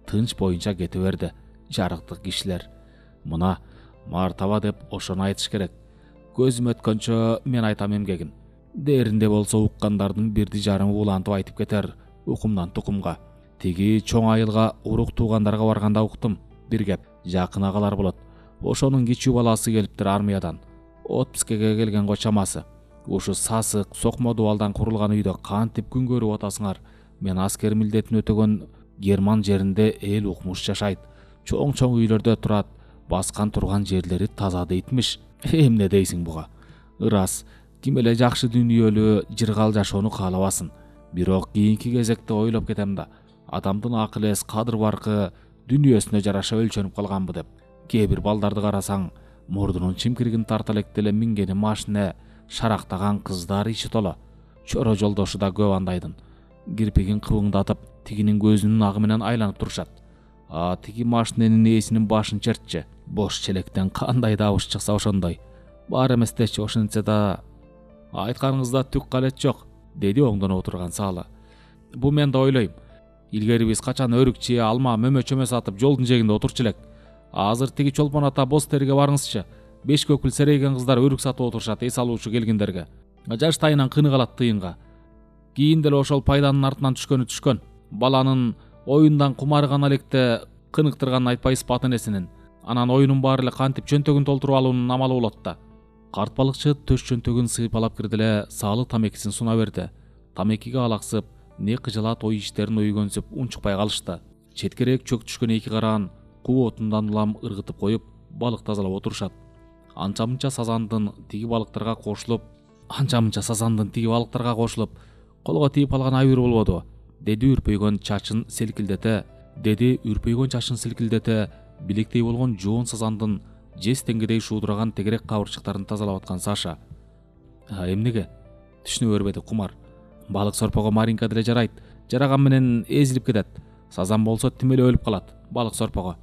тынч боюнча кете берди. Жарыктык кишилер. Мына мартаба деп ошону айтыш керек. Көзүм өткөнчө мен айтам эмгегин. Дээринде болсо уккандардын бирди жарымы улантып айтып кетер, укумдан тукумга. Тиги чоң айылга урук туугандарга барганда уктум. Бир кеп, жакын агалар болот. Ошонун кичүү баласы келиптир армиядан. Отпускеге келген го чамасы. Ушу сасык, сокмо дубалдан курулган үйдө кантип күн көрүп атасыңар? Мен аскер милдетин өтөгөн Герман жеринде эл укмуш жашайт. Чоң үйлөрдө турат. Баскан турган жерлери таза дейтмиш. Эмне дейсиң буга? Ырас, ким эле жакшы дүйнөлүү жыргал жашоону каалабасын. Бирок кийинки кезекте ойлоп кетем да, адамдын акыл эс, кадыр баркы дүйнөсүнө жараша өлчөнүп калганбы деп. Кээ бир балдарды карасаң, мурдунун чимкиригин тарта электе эле мингени машина, шарактаган кыздар ичи толо. Чоро жолдошу да көп андайдын. Кирпигин кыбыңдатып, тигинин көзүнүн агы менен айланып турушат. Тиги машиненин ээсинин башын чертчи. Бош челектен кандай добуш чыкса ошондой. Бар эместечи ошентсе да. Айтканыңызда түк калет жок, деди оңдон отурган Салы. Бу мен да ойлойм. Илгери биз качан өрүкчү, алма, мөмө-чөмө сатып жолдун жээгинде отурчу элек. Азыр тиги чолпон ата боз терге барыңызчы. 5 көкүл серейген кыздар өрүк сатып отурушат эс алуучу келгиндерге. Жаштайынан кыны калат тыйынга. Кийин деле ошол пайданын артынан түшкөн. Баланын оюндан кумары гана электе кыныктырганын айтпайсыз бат энесинин. Анан оюнун баары эле кантип чөнтөгүн толтуруп алуунун амалы болот да. Карт балыкчы төш чөнтөгүн сыйпалап кирди эле Салы тамекисин суна берди. Тамекиге алаксып, не кыжалат ой иштерин өйгөнсүп унчукпай калышты. Четкерээк чөк түшкөн эки караан куу отундан улам ыргытып коюп, балык тазалап отурушат. Анча-мынча сазандын тиги балыктарга кошулуп, колго тийип калган айыр болбоду, деди үрпөйгөн чачын селкилдете, билектей болгон жоон сазандын жез теңгедей шуудураган тегерек кабырчыктарын тазалап аткан Саша. Эмнеге? Түшүнө бербеди Кумар. Балык сорпого Маринка деле жарайт. Жараган менен эзилип кетет. Сазан болсо тим эле өлүп калат. Балык сорпого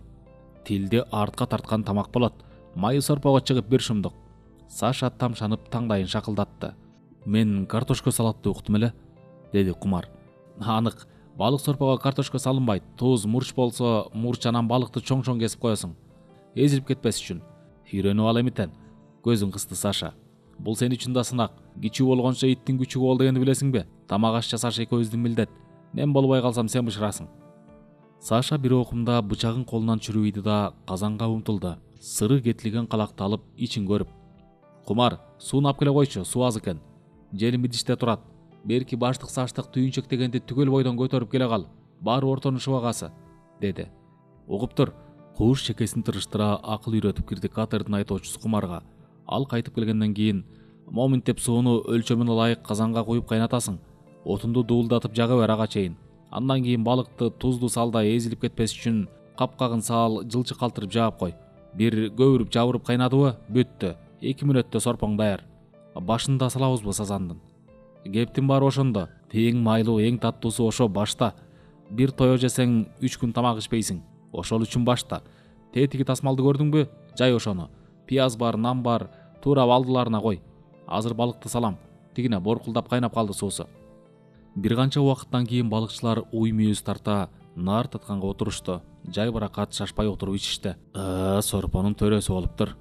тилди артка тарткан тамак болот. Майы сорпого чыгып бир шумдук. Саша тамшанып таңдайын шакылдатты. Мен картошка салатты уктум эле, деди Кумар. Анык, балык сорпого картошка салынбайт. Туз, мурч болсо, мурч анан балыкты чоң-чоң кесип коесуң. Эзилип кетпес үчүн. Үйрөнүп ал эмитен. Көзүн кысты Саша. Бул сен үчүн да сынак. Кичүү болгончо иттин күчү бол дегенди билесиңби? Тамак аш жасаш экөөбүздүн милдет. Мен болбой калсам сен бышырасың. Саша бир окумда бычагын колунан чүрүп да казанга умтулду. Сыры кетилген калакты алып ичин көрүп. Кумар, сууну алып келе койчу, суу аз экен. Желим идиште турат. Берки баштык саштык түйүнчөк дегенди түгөл бойдон көтөрүп келе кал. Баары ортонун шыбагасы, деди. Угуп тур. Кууш чекесин тырыштыра акыл үйрөтүп кирди катердин айтоочусу Кумарга. Ал кайтып келгенден кийин момент деп сууну өлчөмүнө ылайык казанга куюп кайнатасың. Отунду дуулдатып жага бер ага чейин. Андан кийин балыкты тузду салда эзилип кетпес үчүн капкагын сал, жылчы калтырып жаап кой. Бир көбүрүп жабырып кайнадыбы? Бүттү. 2 мүнөттө сорпоң даяр. Башында салабызбы сазандын? Кептин баары ошондо. Эң майлуу, эң таттуусу ошо башта. Бир тое жесең 3 күн тамак ичпейсиң. Ошол үчүн башта. Тетиги тасмалды көрдүңбү? Жай ошону. Пияз бар, нан бар, туура алдыларына кой. Азыр балыкты салам. Тигине боркулдап кайнап калды суусу. Бир канча убакыттан кийин балыкчылар уй мүйүз тарта нар татканга отурушту. Жай баракат шашпай отуруп ичишти. Сорпонун төрөсү болуптур.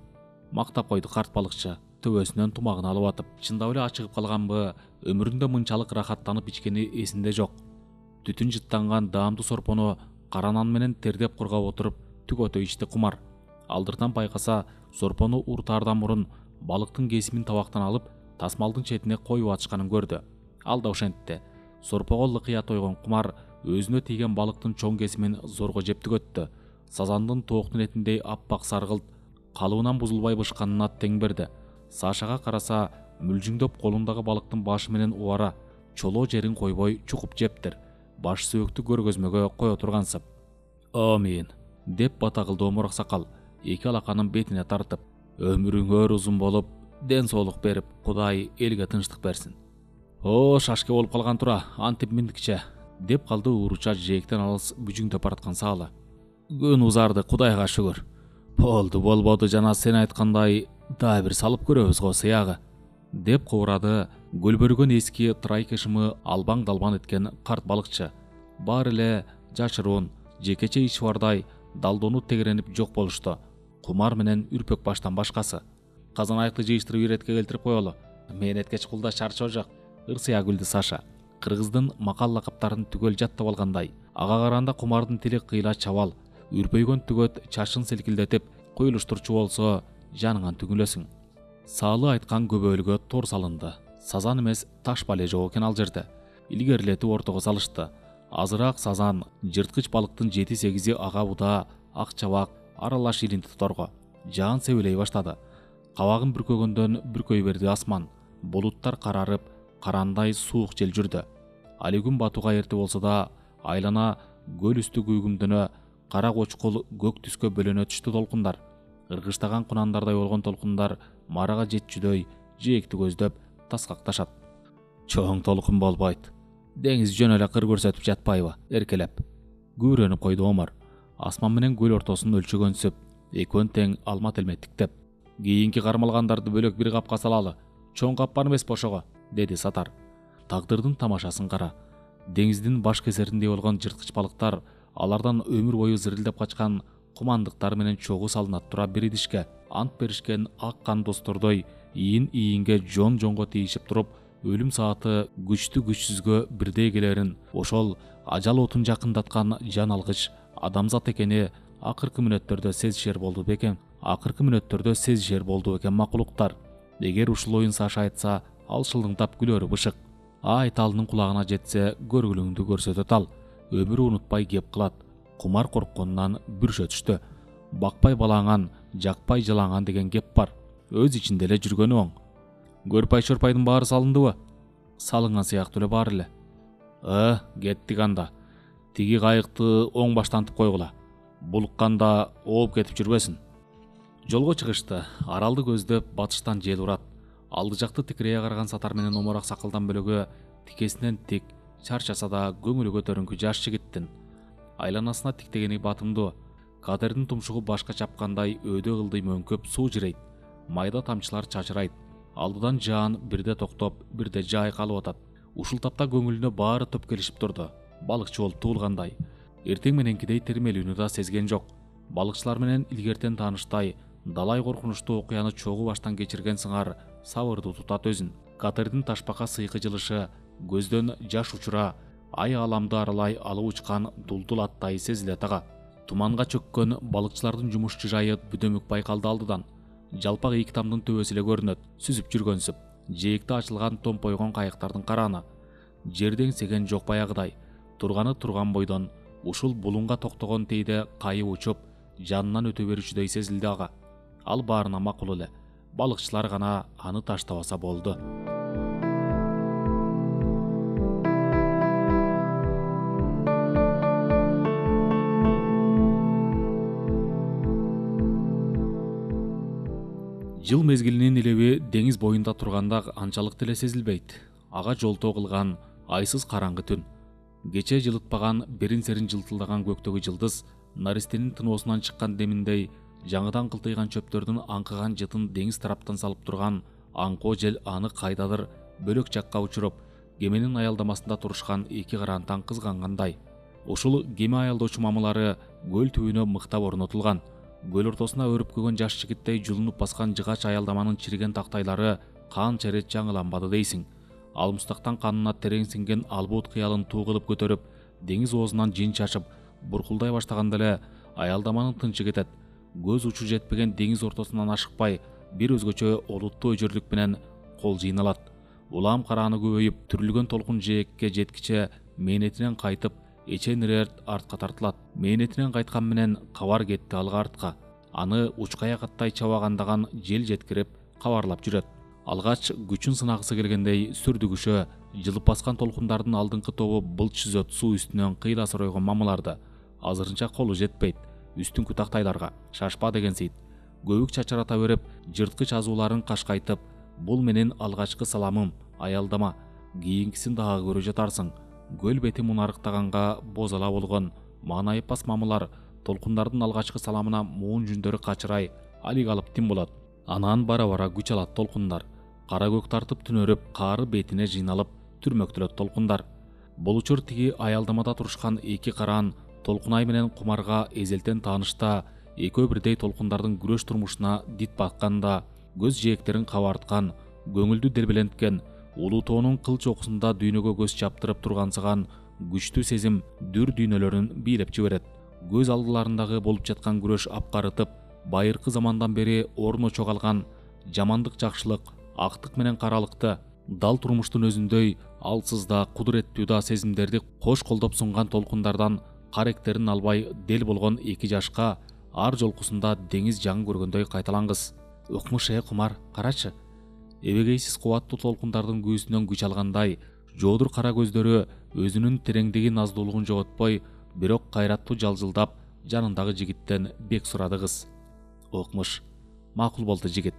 Мактап койду карт балыкчы, төбөсүнөн тумагын алып атып. Чындап эле ачыгып калганбы, өмүрүндө мынчалык рахаттанып ичкени эсинде жок. Түтүн жыттанган даамдуу сорпону кара нан менен тердеп кургап отуруп түгөтө ичти кумар. Алдыртан байкаса, сорпону уртаардан мурун балыктын кесимин табактан алып, тасмалдын четине коюп атышканын көрдү. Ал да ошентти. Сорпого лыкыя тойгон кумар өзүнө тийген балыктын чоң кесимин зорго жеп түгөттү. Сазандын тооктун этиндей аппак саргылт, калыбынан бузулбай бышканына тең берди. Сашага караса, мүлжүңдөп колундагы балыктын башы менен убара, чолоо жерин койбой чукуп жептир. Баш сөөктү көргөзмөгө кое тургансып. Амин, деп бата кылды омур аксакал, эки алаканын бетине тартып. Өмүрүңөр узун болуп, ден соолук берип, Кудай элге тынчтык берсин. Шашке болуп калган тура, антип миндикче, деп калды ууруча жээктен алыс бүжүңдөп бараткан Саалы. Күн узарды, Кудайга шүгүр. Болбоду жана сен айткандай дагы бир салып көрөбүз го сыягы, деп кубурады көлбөргөн эски трайкышымы албаң далбан эткен карт балыкчы. Баары эле жашыруун, жекече иш бардай далдонуп тегеренип жок болушту. Кумар менен үрпөк баштан башкасы. Казан айыкты жыйыштырып иретке келтирип коелу. Мен эткеч кулда чарчоо жок, ырсыя күлдү Саша. Кыргыздын макал лакаптарын түгөл жаттап алгандай. Ага караганда Кумардын тили кыйла чабал, үрпөйгөн түгөт чашын силкилдетип куюлуштурчу болсо жаныңан түгүлөсүң. Саалы айткан көбөлгө тор салынды. Сазан эмес таш бале жок экен ал жерде. Илгерилетип ортого салышты. Азыраак сазан, жырткыч балыктын 7-8 ага буда, ак чабак аралаш илинти торго. Жаан себелей баштады. Кабагын бүркөгөндөн бүркөй берди асман. Булуттар карарып, карандай суук жел жүрдү. Али күн батууга эрте болсо да, айлана көл үстү күйгүмдөнө, кара кочкул көк түскө бөлөнө түштү толкундар. Ыргыштаган кунандардай болгон толкундар марага жетчүдөй жээкти көздөп таскакташат. Чоң толкун болбойт. Деңиз жөн эле кыр көрсөтүп жатпайбы, эркелеп. Күбүрөнүп койду Омар. Асман менен көл ортосун өлчөгөнсүп, экөөн тең алма телметтиктеп. Кийинки кармалгандарды бөлөк бир капка салалы. Чоң кап бар эмес бошого, деди Сатар. Тагдырдын тамашасын кара. Деңиздин баш кесериндей болгон жырткыч балыктар алардан өмүр бою зырылдап качкан кумандыктар менен чогуу салынат тура бир идишке. Ант беришкен ак кан достордой ийин-ийинге жон-жонго тийишип туруп, өлүм сааты күчтүү күчсүзгө бирдей келерин, ошол ажал отун жакындаткан жан алгыч адамзат экени акыркы мүнөттөрдө сезишер болду бекен. Макулуктар. Эгер ушул оюн Саша айтса, ал шылыңдап күлөрү бышык. Айталынын кулагына жетсе, көргүлүңдү көрсөтөт ал. Өмүрү унутпай кеп кылат. Кумар коркконунан бүршө түштү. Бакпай балаңан, жакпай жалаңан деген кеп бар. Өз ичинде эле жүргөнү оң. Көрпай-шорпайдын баары салындыбы? Салынган сыяктуу эле баары эле. Кеттик анда. Тиги кайыкты оң баштантып койгула. Булукканда ооп кетип жүрбөсүн. Жолго чыгышты. Аралды көздөп батыштан жел урат. Алды жакты тикирее караган Сатар менен Омор аксакалдан бөлөгө тикесинен тик, чарчаса да көңүлү көтөрүңкү жаш жигиттин. Айланасына тиктегени батымдуу. Кадердин тумшугу башка чапкандай өйдө кылдый мөңкөп суу жирейт. Майда тамчылар чачырайт. Алдыдан Жаан бирде токтоп, бирде жай калып атат. Ушул тапта көңүлүнө баары топ келишип турду. Балыкчы болуп туулгандай. Эртең мененкидей термелүүнү да сезген жок. Балыкчылар менен илгертен тааныштай, далай коркунучтуу окуяны чогуу баштан кечирген сыңар сабырдуу тутат өзүн. Катердин ташпакка сыйкы жылышы, көздөн жаш учура, ай аламды аралай алып учкан дулдул аттай сезилет ага. Туманга чөккөн балыкчылардын жумушчу жайы бүдөмүк байкалды алдыдан. Жалпак ийик тамдын төбөсү эле көрүнөт, сүзүп жүргөнсүп. Жээкте ачылган томпойгон кайыктардын карааны. Жерден сеген жок баягыдай. Турганы турган бойдон, ушул булунга токтогон тейде кайып учуп, жанынан өтө берүүчүдөй сезилди ага. Ал баарына макул эле. Балыкчылар гана аны таштабаса болду. Жыл мезгилинин илеби деңиз боюнда турганда анчалык деле сезилбейт. Ага жолтоо кылган айсыз караңгы түн. Кече жылытпаган берин-серин жылтылдаган көктөгү жылдыз наристенин тыноосунан чыккан деминдей жаңыдан кылтыйган чөптөрдүн аңкыган жытын деңиз тараптан салып турган аңкоо жел аны кайдадыр бөлөк жакка учуруп, кеменин аялдамасында турушкан эки карантан кызгангандай. Ушул кеме аялдоочу мамылары көл түбүнө мыктап орнотулган. Көл ортосуна өрүп-көгөн жаш жигиттей жулунуп баскан жыгач аялдаманын чириген тактайлары канча ирет жаңыланбады дейсиң. Алмустактан канына терең сиңген албут кыялын туу кылып көтөрүп, деңиз оозунан жин чачып, буркулдай баштаганда эле аялдаманын тынчы кетет. Көз учу жетпеген деңиз ортосунан ашыкпай, бир өзгөчө олуттуу өжөрлүк менен кол жыйналат. Улам карааны көбөйүп, түрүлгөн толкун жээкке жеткиче мээнетинен кайтып, эчен ирет артка тартылат. Мээнетинен кайткан менен кабар кетти алга артка. Аны учкая каттай чабагандаган жел жеткирип, кабарлап жүрөт. Алгач күчүн сынагысы келгендей сүрдүгүшө, жылып баскан толкундардын алдыңкы тобу былч сүзөт суу үстүнөн кыйла соройгон мамыларды. Азырынча колу жетпейт. Үстүңкү тактайларга шашпа деген сейт. Көбүк чачырата берип, жырткыч азууларын кашкайтып, бул менин алгачкы саламым, аялдама. Кийинкисин дагы көрө жатарсың. Көл бети мунарыктаганга бозала болгон маанайыппас мамылар толкундардын алгачкы саламына муун жүндөрү качырай, алик алып тим болот. Анан бара-бара күч алат толкундар. Кара көк тартып түнөрүп, каары бетине жыйналып, түрмөктөлөт толкундар. Бул учур тиги аялдамада турушкан эки караан Толкунай менен Кумарга эзелтен таанышта, экөө бирдей толкундардын күрөш турмушуна дит батканда, көз жээктерин кабарткан, көңүлдү делбеленткен, улуу тоонун кыл чокусунда дүйнөгө көз чаптырып тургансыган күчтүү сезим дүр дүйнөлөрүн бийлеп жиберет. Көз алдыларындагы болуп жаткан күрөш апкарытып, байыркы замандан бери орно чогалган жамандык жакшылык, актык менен каралыкты, дал турмуштун өзүндөй алсыз да кудуреттүү да сезимдерди кош колдоп сунган толкундардан каректерин албай дел болгон эки жашка ар жолкусунда деңиз жаңы көргөндөй кайталангыс. Укмуш Кумар, карачы. Эбегейсиз кубаттуу толкундардын күүсүнөн күч алгандай, жоодур кара көздөрү өзүнүн тереңдиги наздуулугун жоготпой, бирок кайраттуу жалжылдап, жанындагы жигиттен бек сурады кыз. Укмуш: макул болду жигит.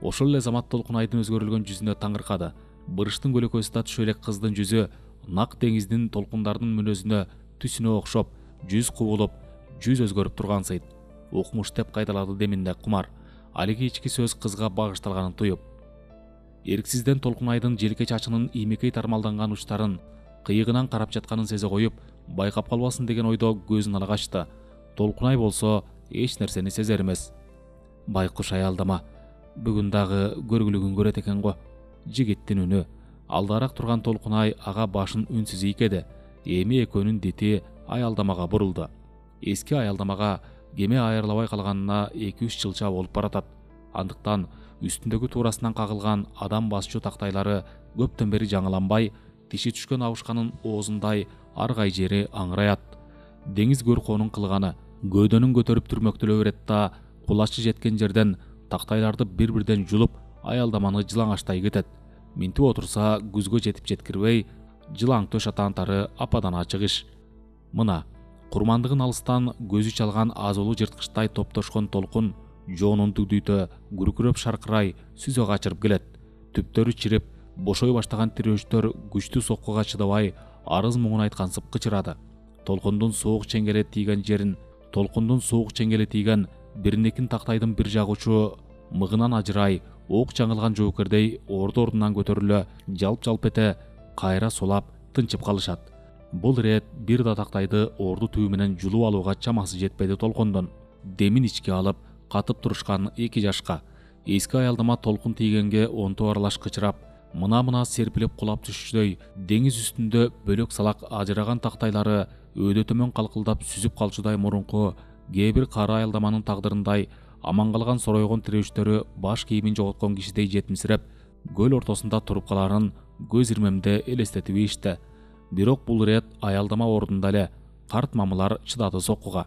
Ошол эле замат Толкунайдын өзгөрүлгөн жүзүнө таңыркады. Бырыштын көлөкөсү түшө элек кыздын жүзү нак деңиздин толкундардын мүнөзүнө, түсүнө окшоп, жүз кубулуп, жүз өзгөрүп тургансыйт. Укмуш деп кайталады деминде Кумар, алиги ички сөз кызга багышталганын туюп. Эрксизден Толкунайдын желке чачынын иймекей тармалданган учтарын кыйыгынан карап жатканын сезе коюп, байкап калбасын деген ойдо көзүн ала качты. Толкунай болсо эч нерсени сезер эмес. Байкуш аялдама, бүгүн дагы көргүлүгүн көрөт экен го. Жигиттин үнү. Алдарак турган Толкунай ага башын үнсүз ийкеди. Эми экөөнүн дити аялдамага бурулду. Эски аялдамага кеме айырылабай калганына 2-3 жылча болуп баратат. Андыктан үстүндөгү туурасынан кагылган адам басчу тактайлары көптөн бери жаңыланбай, тиши түшкөн абышканын оозундай аргай жери аңыраят. Деңиз көркөөнүн кылганы көөдөнүн көтөрүп түрмөктөлө берет да, кулачы жеткен жерден тактайларды бир-бирден жулуп, аялдаманы жылаңачтай кетет. Минтип отурса күзгө жетип жеткирбей, жылаң төш атаантары ападан ачык иш. Мына, курмандыгын алыстан көзү чалган азулуу жырткычтай топтошкон толкун жоонун дүгдүйтө күркүрөп шаркырай сүзө качырып келет. Түптөрү чирип, бошой баштаган тирөөчтөр күчтүү соккуга чыдабай, арыз муңун айткансып кычырады. Толкундун суук чеңгели тийген биринекин тактайдын бир жагучу мыгынан ажырай, ок жаңылган жоокердей ордунан көтөрүлө, жалп-жалп эте, кайра сулап, тынчып калышат. Бул ирет бир да тактайды орду түбү менен жулуп алууга чамасы жетпеди толкундун. Демин ичке алып, катып турушкан эки жашка. Эски аялдама толкун тийгенге онто аралаш кычырап, мына серпилип кулап түшүшдөй, деңиз үстүндө бөлөк салак ажыраган тактайлары өйдө төмөн калкылдап сүзүп калчудай мурунку кээ бир кара аялдаманын тагдырындай аман калган соройгон тирөөчтөрү баш кийимин жоготкон кишидей жетимсиреп, көл ортосунда туруп каларын көз ирмемде элестетип ийишти. Бирок бул ирет аялдама ордунда эле. Карт мамылар чыдады соккуга.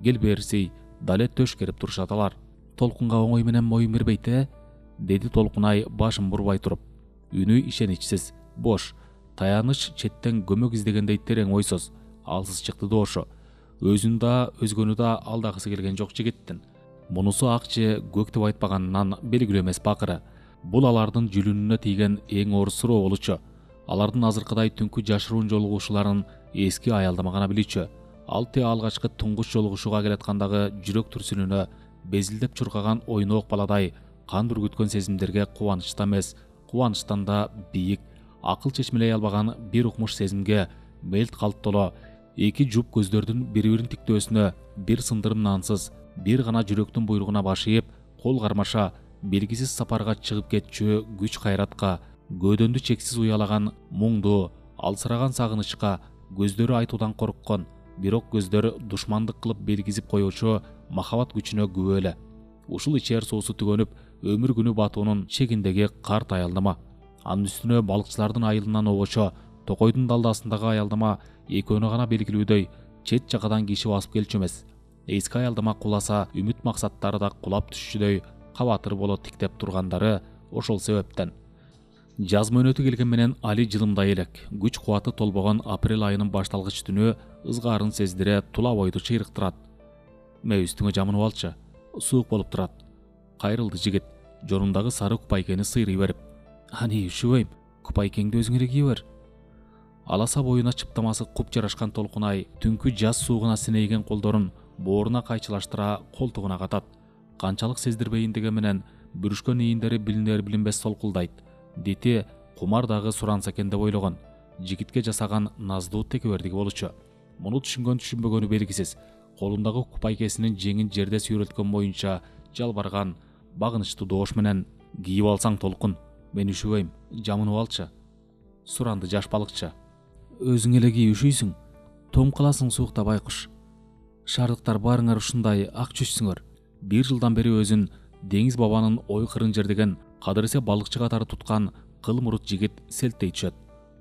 Кел берсей, дале төш керип турушат алар. Толкунга оңой менен моюн бербейт, деди Толкунай башын бурбай туруп. Үнү ишеничсиз, бош, таяныч четтен көмөк издегендей терең ойсуз, алсыз чыкты дошу. Өзүн да, өзгөнү да алдагысы келген жок жигиттин. Мунусу акчы көк деп айтпаганынан белгилүү эмес бакыры. Бул алардын жүлүнүнө тийген эң оор суроо болчу. Алардын азыркыдай түнкү жашыруун жолугушууларын эски аялдама гана билчү. Ал те алгачкы туңгуч жолугушууга келаткандагы жүрөк түрсүнүнө безилдеп чуркаган ойноок баладай кан бүргүткөн сезимдерге кубанычта эмес, кубанычтан да бийик, акыл чечмелей албаган бир укмуш сезимге мелт калттоло эки жуп көздөрдүн бири бирин тиктөөсүнө бир сындырым нансыз, бир гана жүрөктүн буйругуна баш ийип, кол кармаша белгисиз сапарга чыгып кетчү күч кайратка, көөдөндү чексиз уялаган муңду, алсыраган сагынычка, көздөрү айтуудан корккон, бирок көздөр душмандык кылып белгизип коюучу махабат күчүнө күбө эле. Ушул ичер суусу түгөнүп, өмүр күнү батуунун чегиндеги карт аялдама. Анын үстүнө балыкчылардын айылынан обочо, токойдун далдасындагы аялдама экөөнө гана белгилүүдөй чет жакадан киши басып келчү эмес. Эски аялдама куласа, үмүт максаттары да кулап түшчүдөй кабатыр боло тиктеп тургандары ошол себептен. Жаз мөөнөтү келген менен Али жылымдай элек. Күч кубаты толбогон апрель айынын башталгыч түнү ызгаарын сездире тула бойду чыйрыктырат. Мээ үстүңө жамынып алчы, суук болуп турат. Кайрылды жигит, жонундагы сары купайкени сыйрый берип. Ани üşүбөйм, купайкеңди өзүң эле кие бер. Аласа боюна чыптамасы куп жарашкан Толкунай түнкү жаз суугуна синейген колдорун бооруна кайчылаштыра колтугуна катат. Канчалык сездирбейин деген менен бүрүшкөн ийиндери билинер билинбес солкулдайт. Дити кумар дагы суранса экен деп ойлогон. Жигитке жасаган наздуу текебердиги болчу. Муну түшүнгөн түшүнбөгөнү белгисиз. Колундагы купайкесинин жеңин жерде сүйрөткөн боюнча жалбарган, багынычтуу доош менен: "Кийип алсаң Толкун, мен üşүбөйм, жамынып алчы", суранды жаш балыкчы. "Өзүң эле кий, üşүйсүң. Том каласың суукта байкуш. Шаардыктар баарыңар ушундай ак чүчсүңөр." Бир жылдан бери өзүн деңиз бабанын ой кырын жердеген, кадыресе балыкчы катары туткан кыл мурут жигит селттей түшөт.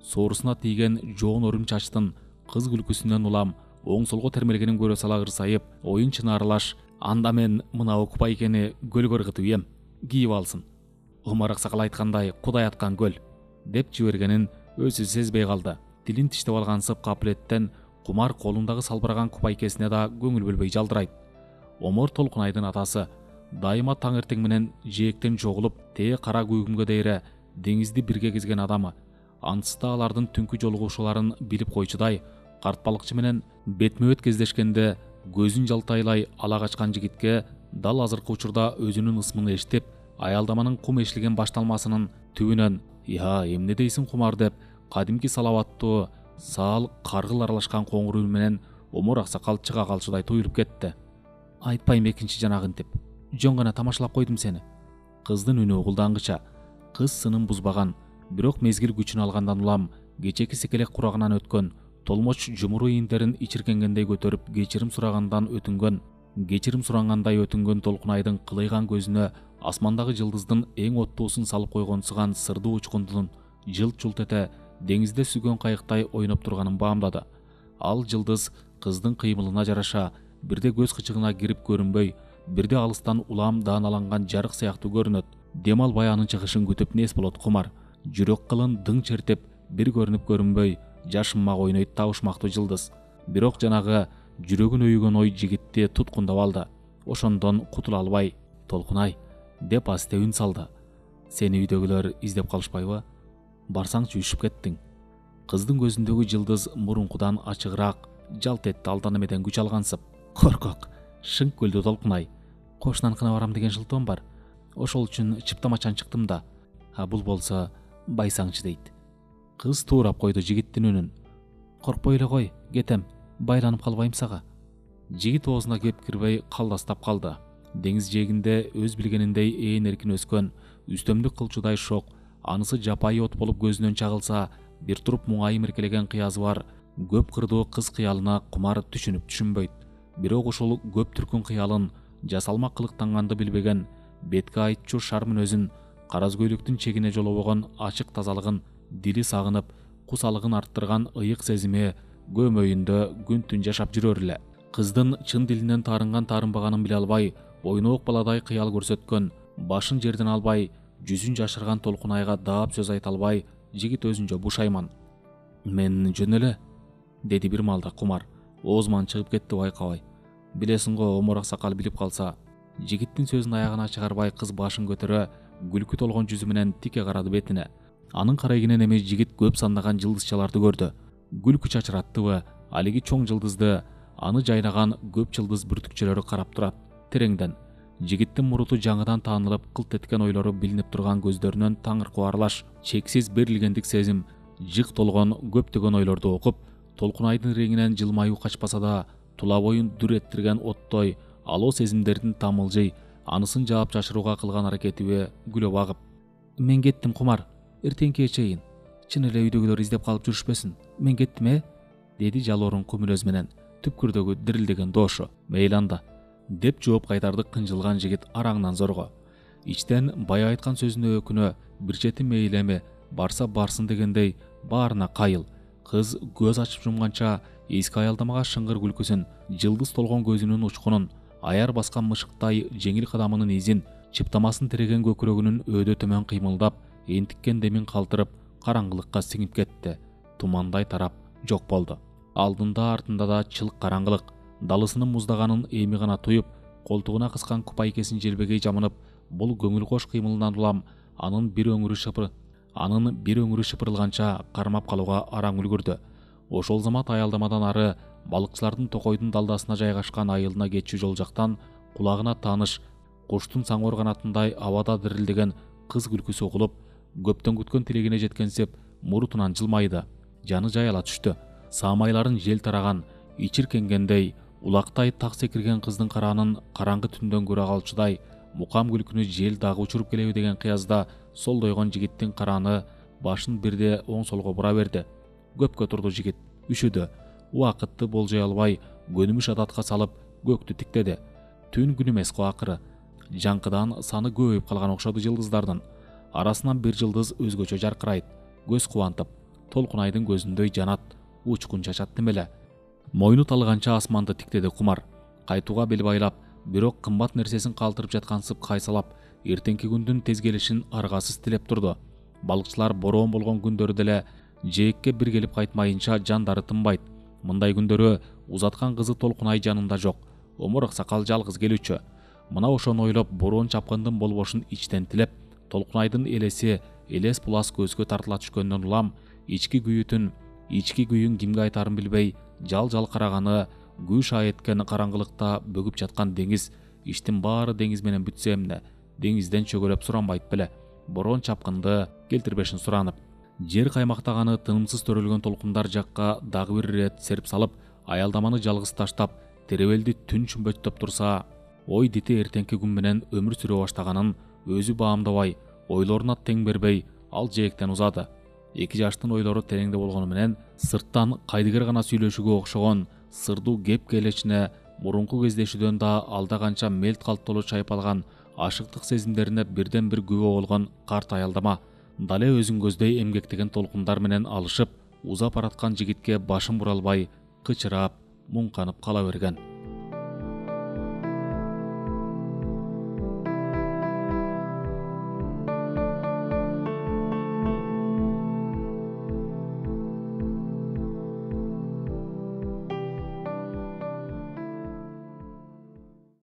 Соорусуна тийген жоон өрүм чачтын кыз күлкүсүнөн улам оң солго термелгенин көрө сала ырсайып, оюн чыны аралаш: "Анда мен мына купайкени көлгө ыргытып ийем, кийип алсын. Омар аксакал айткандай, Кудай аткан көл", деп жибергенин өзү сезбей калды. Тилин тиштеп алган сып капилеттен кумар колундагы салбыраган купайкесине да көңүл бөлбөй жалдырайт. Омор Толкунайдын атасы. Дайыма таң эртең менен жээктен чогулуп, тээ кара күйгүмгө дейре деңизди бирге кезген адамы. Ансыз да алардын түнкү жолугушууларын билип койчудай, карт балыкчы менен бетме бет кездешкенде көзүн жалтайлай ала качкан жигитке дал азыркы учурда өзүнүн ысмын эшитип, аялдаманын кум эшилген башталмасынын түбүнөн "Я, эмне дейсиң кумар" деп кадимки салаваттуу, саал каргыл аралашкан коңур үн менен Омор аксакал чыга калчудай туюлуп кетти. "Айтпайм экинчи жанагын" деп. "Жөн гана тамашалап койдум сени." Кыздын үнү угулдангыча. Кыз сынын бузбаган, бирок мезгил күчүн алгандан улам кечеки секелек курагынан өткөн, толмоч жумуру ийиндерин ичиркенгендей көтөрүп кечирим сурангандай өтүнгөн Толкунайдын кылыйган көзүнө асмандагы жылдыздын эң оттуусун салып койгонсуган сырдуу учкундун жылт-жулт эте деңизде сүгөн кайыктай ойноп турганын баамдады. Ал жылдыз кыздын кыймылына жараша бирде көз кычыгына кирип көрүнбөй, бирде алыстан улам дааналанган жарык сыяктуу көрүнөт. Дем албай анын чыгышын күтүп нес болот кумар. Жүрөк кылын дың чертип, бир көрүнүп көрүнбөй, жашынмак ойнойт табышмактуу жылдыз. Бирок жанагы жүрөгүн өйгөн ой жигитти туткундап алды. Ошондон кутула албай: "Толкунай" деп асте үн салды. "Сени үйдөгүлөр издеп калышпайбы? Барсаңчы, үшүп кеттиң." Кыздын көзүндөгү жылдыз мурункудан ачыгыраак жалт этти алдан эмеден күч алгансып. "Коркок", шыңк күлдү Толкунай. "Кошунаныкына барам деген жылтоом бар. Ошол үчүн чыптамачан чыктым да. А бул болсо байсаңчы" дейт. Кыз туурап койду жигиттин үнүн. "Коркпой эле кой, кетем. Байланып калбайм сага." Жигит оозуна кеп кирбей калдастап калды. Деңиз жээгинде өз билгениндей ээн эркин өскөн, үстөмдүк кылчудай шок, анысы жапайы от болуп көзүнөн чагылса, бир туруп муңайым эркелеген кыязы бар көп кырдуу кыз кыялына кумар түшүнүп түшүнбөйт. Бирок ушул көп түркүн кыялын жасалма кылыктанганды билбеген, бетке айтчу шар мүнөзүн, караз көйлөктүн чегине жолобогон ачык тазалыгын, дили сагынып, кусалыгын арттырган ыйык сезими көмөйүндө күн түн жашап жүрөр эле. Кыздын чын дилинен таарынган таарынбаганын биле албай, ойноок баладай кыял көрсөткөн, башын жерден албай, жүзүн жашырган Толкунайга даап сөз айта албай, жигит өзүнчө бушайман. "Мен жөн эле", деди бир маалда кумар. Оозуман чыгып кетти байкабай. "Билесиң го, Омор аксакал билип калса." Жигиттин сөзүн аягына чыгарбай кыз башын көтөрө, күлкү толгон жүзү менен тике карады бетине. Анын карайгинен эми жигит көп сандаган жылдызчаларды көрдү. Күлкү чачыраттыбы, алиги чоң жылдызды, аны жайнаган көп жылдыз бүртүкчөлөрү карап турат тереңден. Жигиттин муруту жаңыдан таанылып, кылт эткен ойлору билинип турган көздөрүнөн таңыркоо аралаш чексиз берилгендик сезим, жык толгон көптөгөн ойлорду окуп, Толкунайдын реңинен жылмаюу качпаса да, тула боюн дүр эттирген оттой алоо сезимдердин тамылжый анысын жаап жашырууга кылган аракетиби күлөп агып: "Мен кеттим Кумар, эртеңкиге чейин. Чын эле үйдөгүлөр издеп калып жүрүшпөсүн. Мен кеттим, деди жалоорун күмүлөз менен түпкүрдөгү дирилдеген дошу. "Мейли анда", деп жооп кайтарды кынжылган жигит араңдан зорго. Ичтен бая айткан сөзүнө өкүнө, бир чети мейли эми, барса барсын дегендей баарына кайыл. Кыз көз ачып жумганча эски аялдамага шыңгыр күлкүсүн, жылдыз толгон көзүнүн учкунун, аяр баскан мышыктай жеңил кадамынын изин, чыптамасын тиреген көкүрөгүнүн өйдө төмөн кыймылдап, энтиккен демин калтырып, караңгылыкка сиңип кетти. Тумандай тарап жок болду. Алдында артында да чылык караңгылык. Далысынын муздаганын эми гана туюп, колтугуна кыскан купайкесин желбегей жамынып, бул көңүл кош кыймылынан улам анын бир өңүрү шыпырылганча кармап калууга араң үлгүрдү. Ошол замат аялдамадан ары балыкчылардын токойдун далдасына жайгашкан айылына кетчү жол жактан кулагына тааныш, куштун саңгор канатындай абада дирилдеген кыз күлкүсү угулуп, көптөн күткөн тилегине жеткенсип мурутунан жылмайды. Жаны жайыла түштү. Саамайларын жел тараган, ичиркенгендей, улактай так секирген кыздын караанын караңгы түндөн көрө калчудай, мукам күлкүнү жел дагы учуруп келеби деген кыязда солдойгон жигиттин карааны башын бирде оң солго бура берди. Көпкө турду жигит, үшүдү. Убакытты болжой албай, көнүмүш адатка салып, көктү тиктеди. Түн күн эмес го акыры. Жаңкыдан саны көбөйүп калган окшоду жылдыздардын. Арасынан бир жылдыз өзгөчө жаркырайт, көз кубантып, Толкунайдын көзүндөй жанат, учкун чачат немеле. Мойну талганча асманды тиктеди Кумар. Кайтууга бел байлап, бирок кымбат нерсесин калтырып жаткансып кайсалап, эртеңки күндүн тез келишин аргасыз тилеп турду. Балыкчылар бороон болгон күндөрү деле жээкке бир келип кайтмайынча жандары тынбайт. Мындай күндөрү узаткан кызы Толкунай жанында жок. Омурак сакал жалгыз келүүчү. Мына ошону ойлоп, бороон чапкындын болбошун ичтен тилеп, Толкунайдын элеси элес булас көзгө тартыла түшкөндөн улам, ички күйүн кимге айтарын билбей, жал караганы, күйш эткен караңгылыкта бөгүп жаткан деңиз, иштин баары деңиз менен бүтсө эмне, деңизден чөгөлөп суранбайт беле. Бороон чапкынды келтирбешин суранып, жер каймактаганы тынымсыз төрөлгөн толкундар жакка дагы бир ирет серп салып, аялдаманы жалгыз таштап, теребелди түн чүмбөттөп турса, ой дити эртеңки күн менен өмүр сүрө баштаганын өзү баамдабай, ойлоруна тең бербей, ал жээктен узады. Эки жаштын ойлору тереңде болгону менен, сырттан кайдыгер гана сүйлөшүүгө окшогон сырдуу кеп келечине мурунку кездешүүдөн да алда канча мелт калттолуу чайпалган ашыктык сезимдерине бирден бир күбө болгон карт аялдама. Дале өзүн көздөй эмгектеген толкундар менен алышып, узап бараткан жигитке башын бура албай, кычырап, муңканып кала берген.